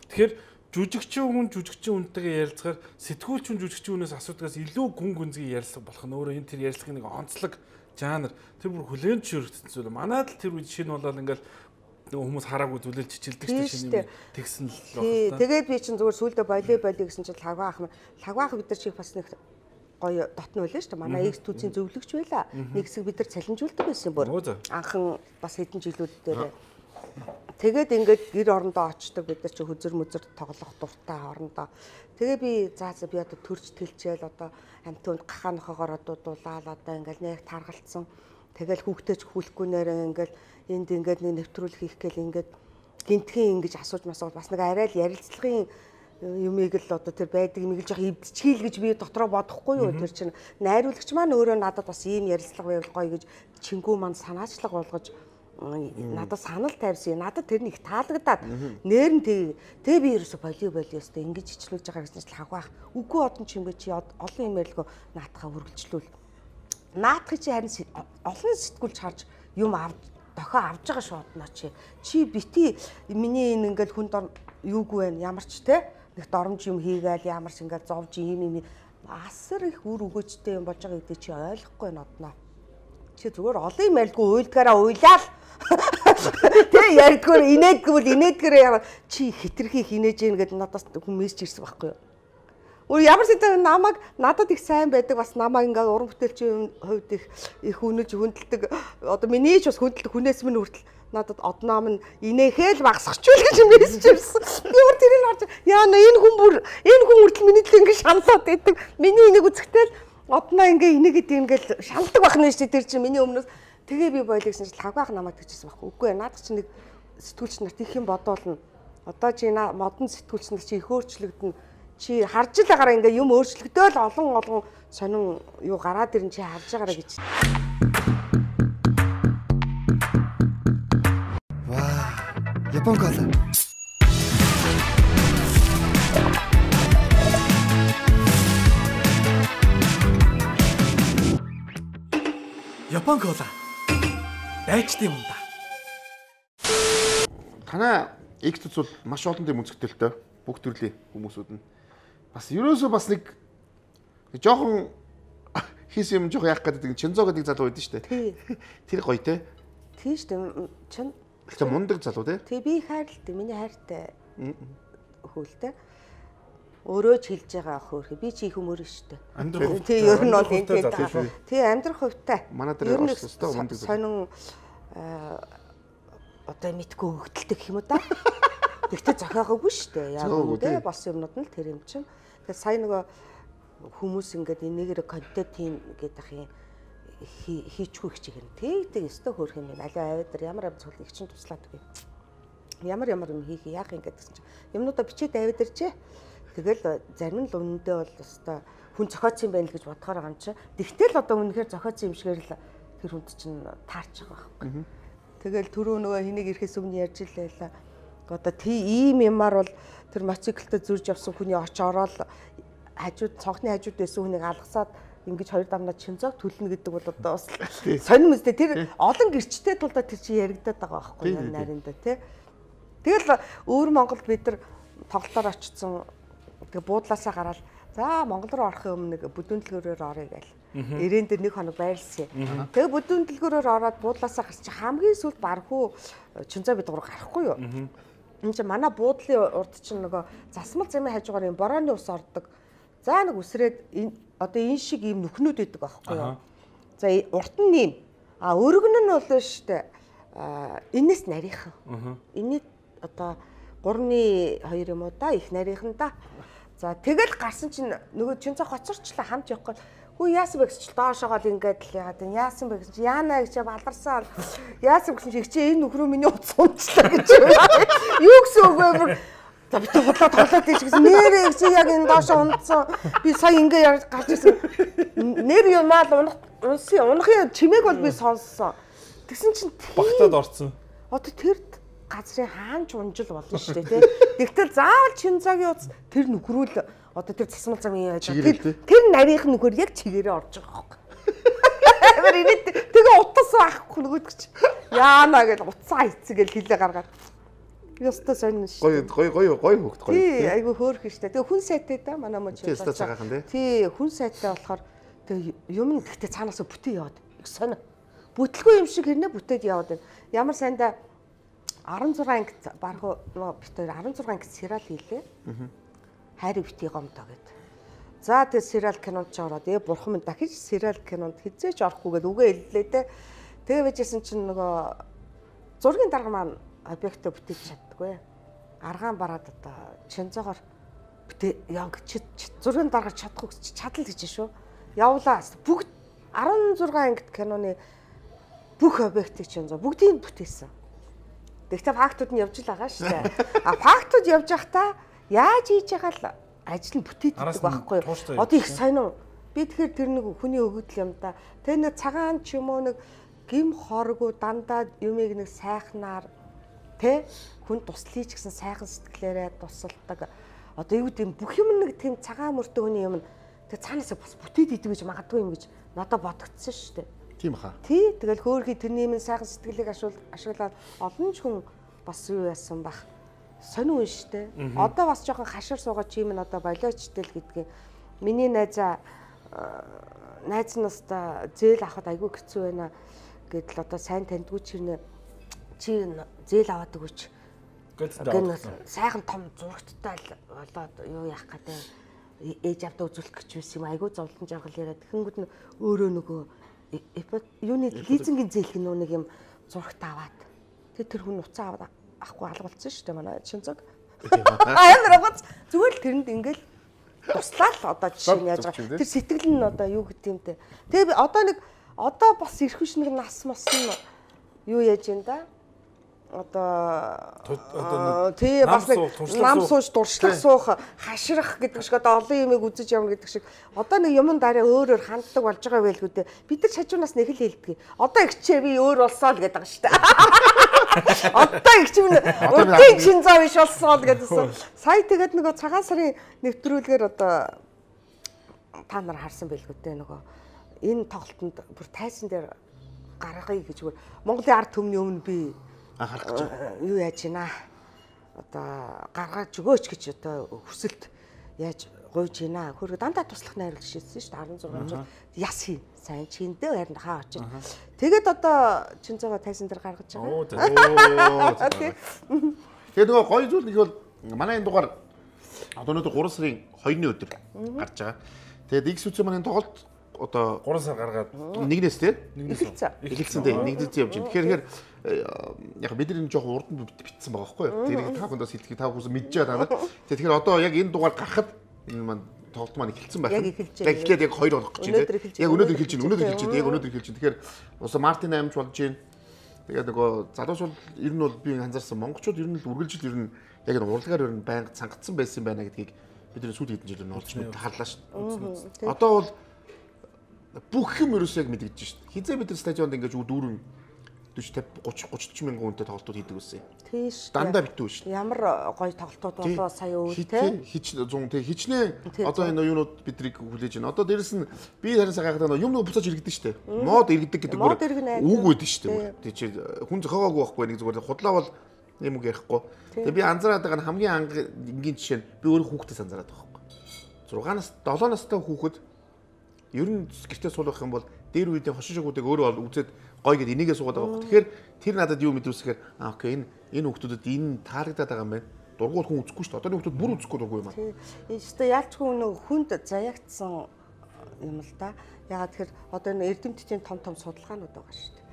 Тэгэхээр жүжигчин үнтэйгээ ярилцахаар сэтгүүлч хүн жүжигчин хүнээс асуудагаас илүү гүн гүнзгий ярилцлага болох нь өөрөө энэ тэр ярилцлагын нэг онцлог жанр тэр бүр хүлээн зөвшөөрөгдсөн зүйл. Манайд л тэр үед шинэ болоод ингээл хүмүүс хараагүй зүйлэл чичилдэг чинь тэгсэн л байна. Тэгээд би чинь зүгээр сүулдэ волейбол гэсэн чинь лагваах бид нар чих бас нэг гоё дотно байлаа шүү дээ. Манай X түүцийн зөвлөгч байла. Нэг хэсэг бид нар цалинжуулдаг байсан бүр. Анхан бас хэдэн жилүүд дээр. Тэгээд ингээд гэр орондоо очдог бид нар чи хөзөр мөзөр тоглох дуртай орондоо. Тэгээ би би одоо төрж тэлчээл одоо амтунд гахаанахаар дуулаад одоо ингээд нэг таргалцсан. Тэгэл хүүхдээч хүлэхгүй нэрээ ингээд энд ингээд нэг нэвтрүүлэг хийх гээл ингээд гинтхэн ингэж асууж масуул бас нэг арай л ярилцлагын юмыг л одоо тэр байдаг юм их жоох эвдчихийл гэж би дотроо бодохгүй юу тэр чинь найруулагч маань өөрөө надад бас ийм ярилцлага байвал гоё гэж чингүү маань санаачлага болгож надад санал тавьсан. Надад тэр нэг таалагдаад нээр нь тэгээ би ерөөсө волейбол ёстой ингэж ичлүүлж байгаа гэсэн чинь хавгаах. Үгүй одон чимгээ чи олон юм ярилгоо наатахаа үргэлжлүүл. Наатахыг чи харин олон сэтгүүлч харж юм дохио авж байгаа шүү одноо чи. Чи бити миний энэ ингээл хүнд юугүй байна ямар ч те нэг доромж юм хийгээл ямар ч ингээл зовж ийм асар их үр өгөөжтэй юм болж байгаа гэдэг чи ойлгохгүй байна одноо. Чи зүгээр олон юм ялгүй уйлдгаараа уйлаал. Тэ ярдгүр инээдгэрээ яа чи хитрхи хинээж ийн гэд надаас хүн мессеж ирсэн байхгүй юу. Ямар ч намайг надад их сайн байдаг бас намайг ингээ уран бүтээлчийн хувьд их үнэж хүндэлдэг. Одоо миний ч бас хүндэлдэг хүнээс минь хүртэл надад одноо минь инээхэл багсахчүүл гэж мессеж ирсэн. Би өөр тэрийг харж яа энэ хүн хүртэл миний төлөө ингээ шаналаад байдаг. Миний энийг үзэхтэл одноо ингээ инээгээд ингээл шаналдаг байх нь шүү дээ тэр чинь миний өмнөөс. Тэгээ би бойлоо гэсэн чинь хавгаах намайг тэгчихсэн байхгүй. Үгүй ээ надад чинь нэг сэтгүүлч нарт их юм бодоолно. Одоо чи модон сэтгүүлч нар чи их өөрчлөгдөн. Чи харж л байгаараа ингээ юм өөрчлөгдөөл олон сонин юу гараад ирэн чи харж байгаараа гэж. Ваа, Япон кола. Япон кола. Байчдын юм да. Танай X бол маш олон юм үзэгтэй л дээ. Бүх төрлийн хүмүүсүүд нь. Бас ерөөсөө бас нэг жоохон хийсэн юм жоохон яах гэдэг Чинзо гэдэг залуу байдсан шүү дээ. Тэр гоё те. Тийм шүү дээ. Чин Тэг мундаг залуу те. Тэг би хайртай. Миний хайртай хөлтэй. Өөрөө ч хэлж байгаа хөөрхи. Би чи их өмөр шүү дээ. Тэг ер нь бол энэ тэг амьдрах хувьтай. Манай дээр өстой мундаг сонин одоо мэдгүй хөгдөлтэй гэх юм уу да. Тэгтээ зохиогоогүй шүү дээ. Яг үнэндээ болсон юмнууд нь тэр юм чинь. Тэгэхээр сая нөгөө хүмүүс ингээд энийгээр контент хийн гэдэг юм хийчихгүй хичээгэн. Тэг өстө хөөх юм. Аливаа аваад ямар цогт их чинь туслаад үгүй. Ямар юм хийх яах юм гэдгсэн чинь юмнуудаа бичээд аваад иржээ. Тэгэл зарим нь л үнэндээ бол өстө хүн зохиоцсон юм байна л гэж бодохоор байгаа юм чи. Тэгтэл одоо үнэхээр зохиоцсон юм шигээр л тэр хүнд чинь таарч байгаа байхгүй. Тэгэл түрүү нөгөө хэнийг ирэхээс өмнө ярьж илээ. Одоо ийм юмар бол тэр мотоциклтэй зурж явсан хүний оч ороод хажууд цонхны хажууд байсан хүнийг алгасаад ингэж хоёр дамнаа чинзог төлнө гэдэг бол одоо бас сонирм үстэй тэр олон гэрчтэй тулдаа тэр чи яригадаад байгаа байхгүй нарийнда тий. Тэгэл өөр Монголд бид нар тоглолтоор очсон тэгээ буудлаасаа гараад за Монгол руу орохын өмнө бүдүүн дэлгүүрээр орё гээл. Ирээн дээр 1 хоног байрлсан. Тэгээ бүдүүн дэлгүүрээр ороод буудлаасаа гарч хамгийн сүүлд бархуу чинзаа бид гур гарахгүй юу? Энд чи манай буудлын урд чинь нөгөө засмал замын хажуугаар юм борооны ус ордог. За нэг үсрээд одоо энэ шиг ийм нүхнүүд байдаг байхгүй юу? За урт нь ийм. Өргөн нь бол штэ энэс нарийнхан. Энийг одоо 3-2 юм уу да их нарийнхан да. За тэгэл гарсан чинь нөгөө чинцаа хоцорчлаа хамт явахгүй. Хүү яасан бэ гэж доошоогоо ингээд л яагаад энэ яасан бэ гэж яана гэж баларсан. Яасан гэж чи энэ нөхрөө миний утас унцлаа гэж. Юу гэсэн үг вэ? За битүү бодлоо тоглоод ийж гэсэн нэрээ чи яг энэ доошоо унтсан. Би сая ингээд гарч ирсэн. Нэр юмаа л унахын чимээг бол би сонссон. Тэгсэн чинь багтаад орцсон. Одоо тэр газрын хаанч унжил болно шүү дээ тий. Тэгтэл заавал Чинзагийн утас тэр нөхрүүл одоо тэр засмал замын яаж тэр нарийнх нөхөр яг чигээрээ орж байгаа байхгүй. Тэгээ утас байхгүй нөгөөдөг чи. Яана гэж утсаа эцэгэл хилээ гаргаад. Ёстой сонин шүү. Гоё хөөхт гоё. Тий, айгу хөөрх штэ. Тэгээ хүн сайтай да манай мөн чи. Тий, хүн сайтай болохоор тэгээ юм гэхдээ цаанаас бүтээ яваад. Их сонио. Бүтлгүй юм шиг хэрнээ бүтээд яваад байна. Ямар сайндаа 16 анги барах бит 16 анги сериал хийлээ. Хайрыг битгий гомдоо гэд. За тэгээ сериал кинонд ч ороод бурхан минь дахиж сериал кинонд хизээч орохгүйгээд үгээ хэллээ те. Тэгээ байжсэн чинь нөгөө зургийн дарга маань объектоо бүтээж чаддаггүй. Аргаан бараад одоо Чинзоогоор бүтээ яг зургийн дарга чадахгүй гэж чадал гэж шүү. Явлаа. Бүгд 16 ангид киноны бүх объектыг Чинзоо бүгдийг бүтээсэн. Тэгтээ фактууд нь явж л байгаа шүү дээ. Фактууд явж байхдаа яаж хийж байгаа л ажил нь бүтээдэг байхгүй юу? Одоо их сонин. Би тэгэхээр тэр нэг хүний өгөгдөл юм да. Тэр нэг цагаан ч юм уу нэг гим хоргүй дандаа юмыг нэг сайхнаар тэ хүн туслая ч гэсэн сайхан сэтгэлээрээ тусалдаг. Одоо юу гэдэм бүх юм нэг тийм цагаан мөртөө хүний юм. Тэг цаанаасаа бас бүтээд идэв гэж магадгүй юм гэж надад бодогдсон шүү дээ. Тийм хаа. Тий, тэгэл хөөрхий тэрний юм сайхан сэтгэлийг ашиглаад олон ч хүн бас юу яасан бах. Сонин үн штэ. Одоо бас жоохон хашир суугаад чи юм н одоо болиочтой л гэдгийг миний найз настаа зээл авахд айгүй хэцүү байна гэдэл одоо сайн таньдгүй чирнэ чи зээл аваад өгөөч. Гэтэл сайхан том зурагттай л болоод юу яах гэдэг ээж авдаа үзүүлэх гэж байсан юм айгүй зовлон жаргал яриад тэгэнгүүт нь өөрөө нөгөө юуны лизингийн зээлх нэг юм зурагт аваад тэр хүн уцаа аваад ахгүй алгуулсан шүү дээ манай Чинзог. Амар гоц зүгээр л тэрэнд ингээл туслаа л одоо жишээ нь яаж байгаа. Тэр сэтгэл нь одоо юу гэдэг юм те. Тэгээ одоо бас ирэх биш нэг нас мас нь юу яаж юм да? Одоо тий бас нэг нам сууж дуршлах суух хаширах гэдэг шиг одоо олон юмыг үзэж явна гэдэг шиг одоо нэг юмн дараа өөрөөр ханддаг болж байгаа байлгүй дээ бид нар шажуунаас нэг л хэлдэг. Одоо ихчээ би өөр болсоо л гэдэг байгаа шүү дээ. Одоо ихчээ урдын Чинзаа биш болсоо л гэдсэн. Сая тэгээд нөгөө цагаан сарын нэвтрүүлгээр одоо та нар харсан байлгүй дээ нөгөө энэ тоглолтод бүр тайсан дээр гаргахыг гэж бүр Монголын ард түмний өмнө би харах гэж юу яаж гинэ одоо гаргаж өгөөч гэж одоо хүсэлт яаж гуйж гинэ хөргө дандаа туслах найруулж шийдсэн шүү дээ 16 жил яс хий сайн чиндээ харин хаа очиж тэгээд одоо Чинзоогоо тайсан дээр гаргаж байгаа. Тэгээд нөгөө гоё зүйл нэг бол манай энэ дугаар одоо өнөөдөр 3 сарын 2-ны өдөр гарч байгаа. Тэгээд X үцэн манай тоглолт одоо 3 сар гаргаад нэгнээс тий эхэлсэн тий нэгдээс явж байна. Тэгэхээр яг бид нар энэ жоохон урд нь битсэн байгаа байхгүй юу. Тэрийг та бүхэндээ хэлхийг та бүхэн мэдж байгаа танаа. Тэгэхээр одоо яг энэ дугаар гарахад энэ маань тоглолт маань эхэлсэн байх. Яг эхэлж байна. Яг эхлээд яг 2 хоног гэж байна. Яг өнөөдөр эхэлж байна. Тэгэхээр уусаа Мартин амж болж байна. Тэгээд нөгөө залуус бол ер нь бол би анзаарсан монголчууд ер нь л үргэлжил ер нь яг энэ урлагаар ер нь байнга цангацсан байсан байна гэдгийг бидний сүүлийн хэдэн жилээр олж мэд харлаа шүү дээ. Одоо бол бүх юм ерөөсөө яг мэдэгдэж шүү дээ. Хизээ бид нар стадионд ингэж дүүрэн 40 30 мянган хүнтэй тоглолтууд хийдэг байсан. Тийш. Дандаа битүү шүү. Ямар гоё тоглолтууд болоо сая өвөл те. Хичнээн одоо энэ юунууд бидрийг хүлээж байна. Одоо дээрэс нь би харин сагаагаад юм нэг буцааж иргэдэж шүү дээ. Мод иргэдэг гэдэг үг байдаг шүү дээ. Тэг чи хүн зохиогоогүй байхгүй нэг зүгээр худлаа бол юм үг ярихгүй. Тэгээ би анзаараад байгаа нь хамгийн ангийн жишээ нь би өөрөө хүүхдээс анзаараад байгаа байхгүй. 6-аас 7 настай хүүхэд ер нь гэртээ суулгах юм бол дээр үеийн хошин шогуудыг өөрөө үзээд гоё гэд энийгээ суугаад байгаа. Тэгэхээр тэр надад юу мэдүүлсэхээр окей энэ хүүхдүүдэд энэ таалагдаад байгаа юм байна. Дургуул хүн үзэхгүй шүү дээ. Одоо хүүхдүүд бүр үзэхгүй дургүй юм аа. Тийм. Өөртөө ялчгүй нэг хүнд заяагдсан юм л да. Ягаад тэгэхээр одоо энэ эрдэмтдийн том судалгаанууд байгаа шүү дээ.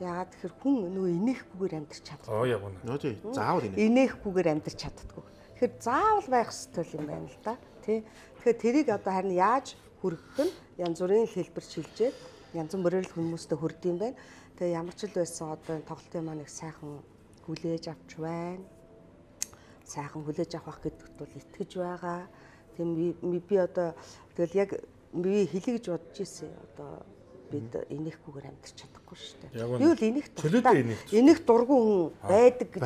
Ягаад тэгэхээр хүн нөгөө инээхгүйгээр амьдрч чаддаг. Яг үнэ. Нөө тий. Заавал инээхгүйгээр амьдрч чаддаггүй. Тэгэхээр заавал байх ёстой юм байна л да. Тий. Тэгэхээр тэрийг одоо харин яаж хүргэх нь янз бүрийн хэлбэр шилжээд янз бүрээр хүмүүстэй хүрдэм юм байна. Тэгээ ямар ч л байсан одоо энэ тоглолтын маань их сайхан хүлээж авч байна. Сайхан хүлээж авах гэдэгт бол итгэж байгаа. Тэгээ би одоо тэгэл яг би хэлийгж бодож ирсэн. Одоо бид инээхгүйгээр амьдрч чадахгүй шүү дээ. Би бол инех дуртай. Инех дургүй хүн байдаг гэж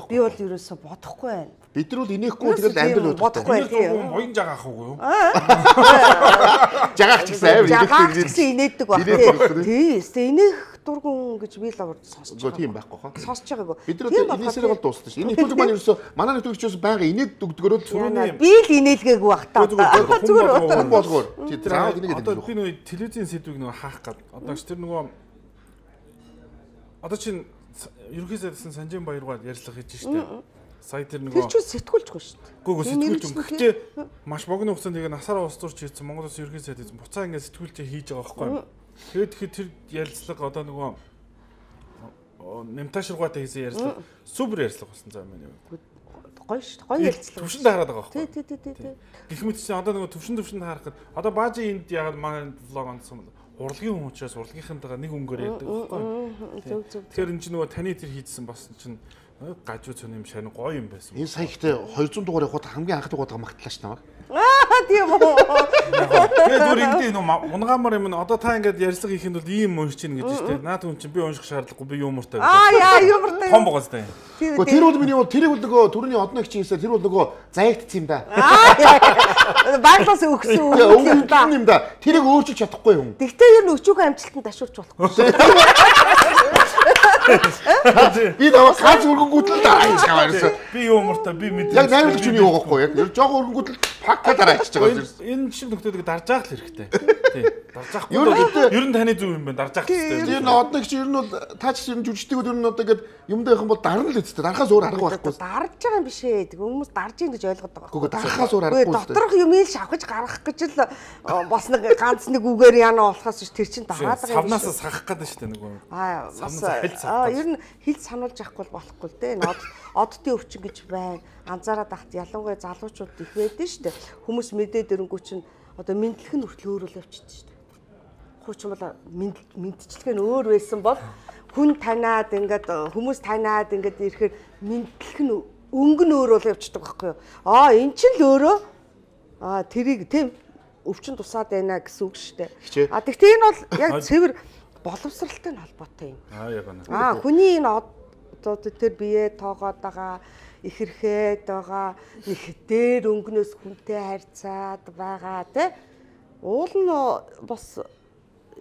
би бол ерөөсө бодохгүй байна. Бид нар бол инехгүй тэгэл амьдрал бодохгүй тийм. Моён жагаах уу юу? Жагаах ч гэсэн жагаах ч гэсэн инээдэг баг. Тийм. Инех дургун гэж би л сонсож байгаа. Тийм байхгүй хаа. Сонсож байгаагүй. Бид нар инээсээр бол дуусна шүү. Энэ нэвтрүүлэг маань ерөөсө манай нэвтрүүлэгчээс байнга инээд өгдөгөрөө би л инээлгээгүй баг та. Зүгээр болгоор. Тийм заавал инээгээд одоо би нөгөө телевизийн сэдвийг нөгөө хаах гад. Одоо ч тэр нөгөө одоо чинь ерөнхий сайдсан Санжин Баяргаа ярьцлага хийж штэ. Сая тэр нөгөө тэр чинь сэтгүүлжгүй шүү дээ. Гүг сэтгүүлж юм. Гэхдээ маш богино хугацаанд яг насаараа ус зурч хийсэн Монгол Улсын ерөнхий сайд буцаа ингээд сэтгүүлж хийж байгаа байхгүй юу? Тэгээд тэр ярилцлага одоо нөгөө нэмташруугатай хийсэн ярилцлага супер ярилцлага болсон заа юм байна. Гоё шүү. Гоё ярилцлага. Төвшөнд хараад байгаа байхгүй юу? Тий. Гэх мэт чинь одоо нөгөө төвшөнд харахад одоо баажи энд яг манай влог онцсон бол урлагийн хүн учраас урлагийнхантайгаа нэг өнгөөр ярьдаг байхгүй юу? Тэгэхээр энэ чинь нөгөө таны тэр хийдсэн бас чинь гажуу цоны юм шань гоё юм байсан. Энэ сая ихтэй 200 дугаар явахад хамгийн анх дугаар магтлаа ш намайг. Тийм үү. Тэгээд бүр ингэдэй нөө унгамар юм одоо та ингээд ярьцлага хийхэд бол ийм уншиж чинь гэж штэ. Наад хүн чинь би унших шаардлагагүй би юмуртай. Яа юмуртай. Том богоостай. Тэр бол миний тэрийг бол нөгөө төрөний одны гिचийн хэлсээр тэр бол нөгөө заягдсан юм да. Баглаас өгсөн юм да. Тэрийг өөрчилж чадахгүй юм. Тэгтээ ер нь өчүүхэн амжилтанд ташуурч болохгүй. Би наваа гац өргөнгүүтэл дараач гаваарсан. Би юмуртай би мэдээ. Яг найруулагч үний уугахгүй яг. Ер жоо өргөнгүүтэл пакка дараач байгаа. Энэ шиг нөхдөдийг дарж яах л хэрэгтэй. Тий. Дарж яахгүй. Ер нь таны зүг юм байна. Дарж яах хэрэгтэй. Тэр нь одны гिच ер нь бол таач ер нь жүжигчдэгүүд ер нь одоо ингээд юмдаа явах юм бол дарна л үстэй. Дарахаас өөр арга байхгүй. Дарж байгаа юм биш ээ. Хүмүүс дарж ийн гэж ойлгоод байгаа. Гэхдээ дарахаас өөр аргагүй үстэй. Доторх юмыг шавхаж гаргах гэж л бас нэг ганц нэг үгээр яана болохоос тэр чинь дараад байгаа юм. Савнаас сахах гэдэг шүү дээ нөгөө. Ер нь хэл сануулж явахгүй болохгүй л дээ. Оддын өвчин гэж байна. Анзаараад ахт ялангуяа залуучууд их байдаг шүү дээ. Хүмүүс мэдээд ирэнгүү чинь одоо мэдлэг нь хүртэл өөр л явчихдаг шүү дээ. Хуучин бол мэдчилгээ нь өөр байсан бол хүн танаад ингээд хүмүүс танаад ингээд ирэхээр мэдлэг нь өнгө нь өөр бол явчихдаг байхгүй юу? Эн чинь л өөрөө тэрийг тийм өвчин тусаад байна гэсэн үг шүү дээ. Тэгтээ энэ бол яг цэвэр боловсралтай нь холбоотой юм. Яг байна. Хүний энэ одоо тэр бие тоогоод байгаа, ихэрхэд байгаа, их дээр өнгнөөс хүнтэй харьцаад байгаа тий. Уул нь бас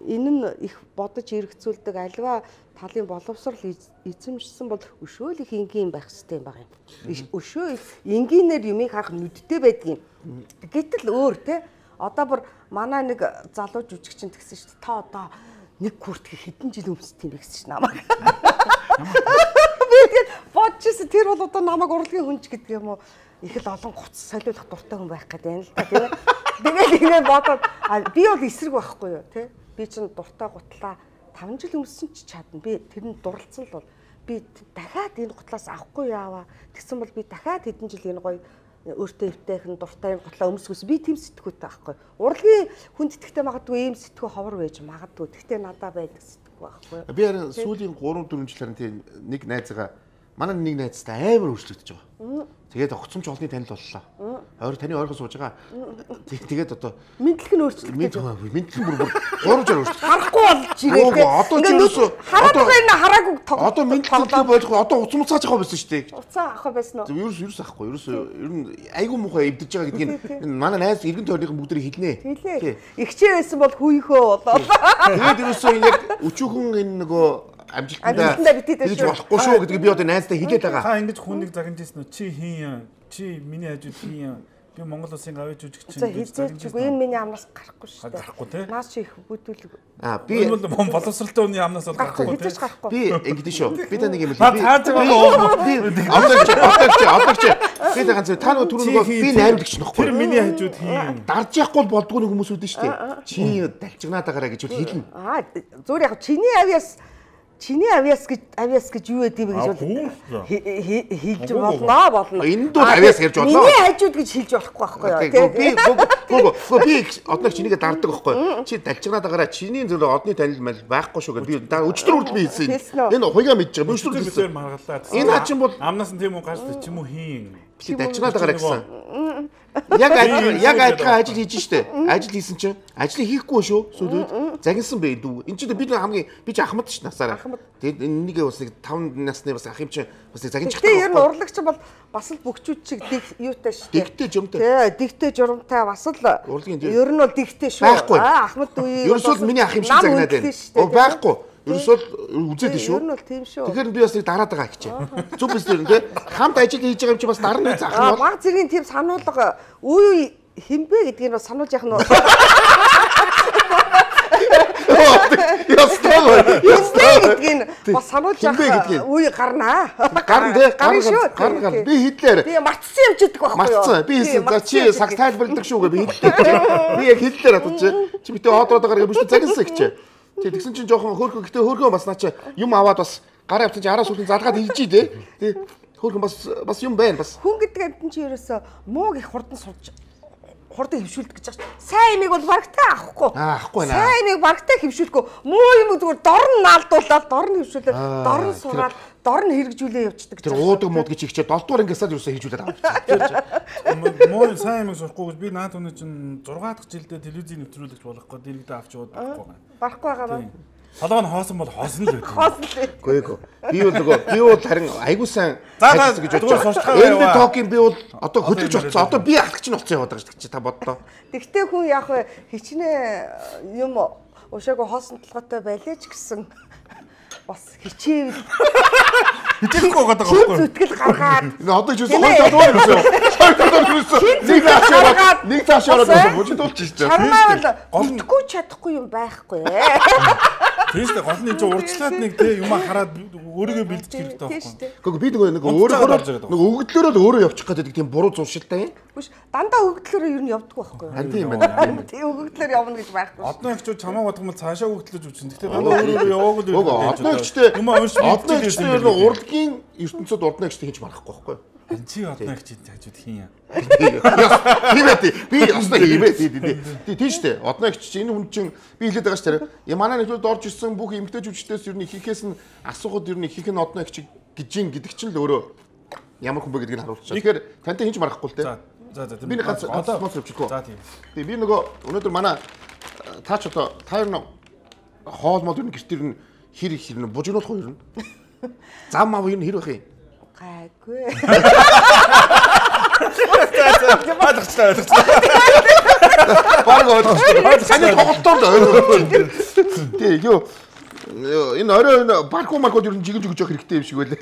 энэ нь их бодож эргцүүлдэг альва талын боловсрал эзэмшсэн бол өшөөл их энгийн байх хэрэгтэй юм байна. Өшөө энгийнээр юмыг харах нүдтэй байдгийн. Гэтэл өөр тий. Одоо бүр манай нэг залуу жүжигчин тэгсэн шүү дээ. Та одоо нэг куртг хэдэн жил өмсдөг юм бэ гэсэн чинь намайг. Би тэгээд бодчихсон тэр бол одоо намайг урлагийн хүнч гэдэг юм уу? Их л олон гоц солиулах дуртай хүн байх гэдэг юм л да тийм. Тэгээд ингэ бодоод би бол эсрэг байхгүй юу тий? Би чинь дуртай гутлаа 5 жил өмссөн ч чадна. Би тэрэнд дурлцсан л бол би дахиад энэ гутлаас авахгүй яаваа. Тэгсэн бол би дахиад хэдэн жил энэ гоё өөртөө өвтэйхэн дуртай юм готлоо өмсгөөс би тийм сэтгүүтэй байхгүй. Урлагийн хүндэтгтэй магадгүй ийм сэтгүү ховор байж магадгүй. Гэхдээ надад байдаг сэтгүү байхгүй. Би харин сүүлийн 3-4 жил харин тийм нэг найзгаа манай нэг найзтай амар өөрчлөгдөж байгаа. Тэгээд огцомч олны танил боллоо. Таны ойрхон сууж байгаа. Тэгээд одоо мэдлэг нь өөрчлөгдөж байгаа. Мэдлэг бүр 3 жил өөрчлөгдөж. Харахгүй болж ирээ. Одоо ч ерөөсөө хараагүй одоо мэдлэг болох одоо уцмцааж байгаа байсан шүү дээ. Уцаа авах байсан уу? Ерөөс авахгүй. Ерөөсөө ер нь айгүй муухай эвдэж байгаа гэдгийг манай найз иргэн тойрныхан бүгдээ хэлнэ. Хэлээ. Игчээ байсан бол хүүийнхөө болоо. Тэгээд ерөөсөө яг өчүүхэн энэ нөгөө амжилтандаа битээд болохгүй шүү гэдгийг би одоо найзтай хэлээд байгаа. Та ингэж хүнийг загнажсэн үү? Чи хийн. Чи миний хажууд хийн. Би Монгол улсын гавьяа жүжигчин гэж загнажгүй. Энэ миний амнаас гарахгүй шүү дээ. Гарахгүй тий. Наас чи их бүтүүлэг. Би боловсралтай хүний амнаас бол гарахгүй тий. Би ингэдэж шүү. Би та нэг юм л. Би та ганц та нөгөө түрүүн би найрамдагч нөхгүй. Тэр миний хажууд хийн. Дарж яахгүй болдгоо нэг хүмүүс үүдэн шүү дээ. Чи далчигнаад байгаараа гэж хэлнэ. Зүгээр яг чиний авьяас гэж юу гэдэг вэ гэж хэлж болно. Энд бол авьяас гэж болно. Миний хажууд гэж хэлж болохгүй байхгүй юу? Би одноо чинийгээ дарддаг байхгүй. Чи далчигнаад байгаараа чиний зөв одны танил мэл байхгүй шүү гэдэг. Би өчтөр хүртэл би хэлсэн. Энэ хуйгаа мэдж байгаа. Өчтөр хэлсэн. Энэ хачин бол амнаас нь тийм үү гарч чи юм уу хийн. Би далчигнаад байгаараа гэсэн. Яг адилхан ажил хийж штэ. Ажил хийсэн чинь ажлыг хийхгүй шүү. Сүүлд загинсан бэ дүү. Энд чинь бид хамгийн би ч ахмад ш насаараа. Тэгээд энэнийг бас нэг 5 насны бас ах юм чинь бас загинж чаддаг. Тэгээд ер нь урлагч бол бас л бөхчүүд чиг юутай штэ. Дигтэй жумтай. Тий, дигтэй журамтай бас л ер нь бол дигтэй шүү. Ахмад үе. Ерөөсөө миний ах юм шиг загнаад байна. Байхгүй. Ерөөсөө үзээд шүү. Ер нь бол тийм шүү. Тэгэхээр би бас нэг дараад байгаа гэчээ. Зүг биз дээ тий. Хамт ажил хийж байгаа юм чи бас дарна заах нь бол. Баг зэргийн тийм сануулга үе химбэ гэдгийг бас сануулж яах нь. Ястаа бас сануулж яах үе гарнаа. Гарна тий. Гарна. Би хэллээр. Би мартсан юм ч гэдэг байхгүй юу? Мартсан. Би хэлсэн. За чи сагс тайлбарладаг шүү гэ би хэллээ. Би яг хэллээр атууч. Чи битээ хоодроод байгаа юм биш үү загинсан гэчээ. Тэгсэн чинь жоохон хөөрхөн гэтээ хөөрхөн бас наа чи юм аваад бас гараа явсан чи араас үлэн залгаад илжий дээ. Тий. Хөөрхөн бас юм байна бас. Хүн гэдэг амтэн чи ерөөсөө мууг их хурдан хурдан хөвшүүлдэг гэж байна. Сайн имийг бол барагтай авахгүй. Авахгүй наа. Сайн имийг барагтай хөвшүүлэхгүй. Муу юм зүгээр дорн наалдуулаад, дорн хөвшүүлээд, дорн сураад, дорн хэрэгжүүлээ явчихдаг. Тэр уудаг мууд гэж ихчээ 7 дугаар ангиасаа юусаа хийжүүлээд авчихсан. Муу сайн имийг сурахгүй би наад өнөө чинь 6 дахь жилдээ телевизийн нэвтрүүлэгч болох гээд дэрэгдээ авч яваад байхгүй. Барахгүй байгаа байна. Толгой нь хоосон бол хоосон л байдаг. Хоосон л. Би бол харин айгуу сайн ажилласан гэж бодож байгаа. Энэ токийн би бол одоо хөдөлж болцсон. Одоо би ахлагч нь болцсон яваад байгаа шүү дээ. Та бодлоо. Тэгтээ хүн яг хичнээн юм уушаагүй хоосон толгойтой байлээ ч гэсэн бас хичээвэл хичээхгүй байгаа байхгүй. Зүтгэл гаргаад. Одоо ч үгүй хоёр талаар юусэн. Нэг цаашаа ороод бужидуулж шүү дээ. Чамаа бол голдохгүй чадахгүй юм байхгүй. Тийш дээ гол нь ч урьдчилаад нэг тий юм хараад өөрийгөө бэлдэж хэрэгтэй байхгүй. Гэхдээ би нэг өөрөө өгөгдлөөрөө л өөрөө явчих гэдэг тийм буруу зуршилтай юм. Биш дандаа өгөгдлөөрөө ер нь явдаггүй байхгүй. Харин тийм байна. Тий өгөгдлөөр явна гэж байхгүй. Одно ихчүүд чамаа бодгомол цаашаа өгөгдлөж үчин. Гэхдээ дандаа өөрөө яваагүй л. Одно ихчтэй урлагийн ертөнцид урдна ихчтэй хийж марахгүй байхгүй. Чи одно ихчид хажууд хийн. Би яснаа хиймээ. Тийш дээ. Одно ихч энэ хүн чинь би хэлээд байгаа ш тэр. Манай нэвтрүүлд орж ирсэн бүх эмгтэй жүжигчдээс ер нь ихээс нь асуухад ер нь ихэнх нь одно ихч гэж гэдэг чинь л өөрөө ямар хүн бэ гэдгийг харуулчихсан. Тэгэхээр тантай хийж марахгүй л дээ. За би нэг ганц спонсор авчихгүй. За тийм. Би нөгөө өнөөдөр манай таач одоо та ер нь хоол мод ер нь гэртэр нь хэр их хэр нь бужигнуулах уу ер нь? Зам мав ер нь хэр байх юм? Гайгүй. Ойлгочлаа. Баг ойлгочлаа. Саний тоглолтоор тий юу энэ орой барку маркууд ер нь жигэж өгч явах хэрэгтэй юм шиг байлаа.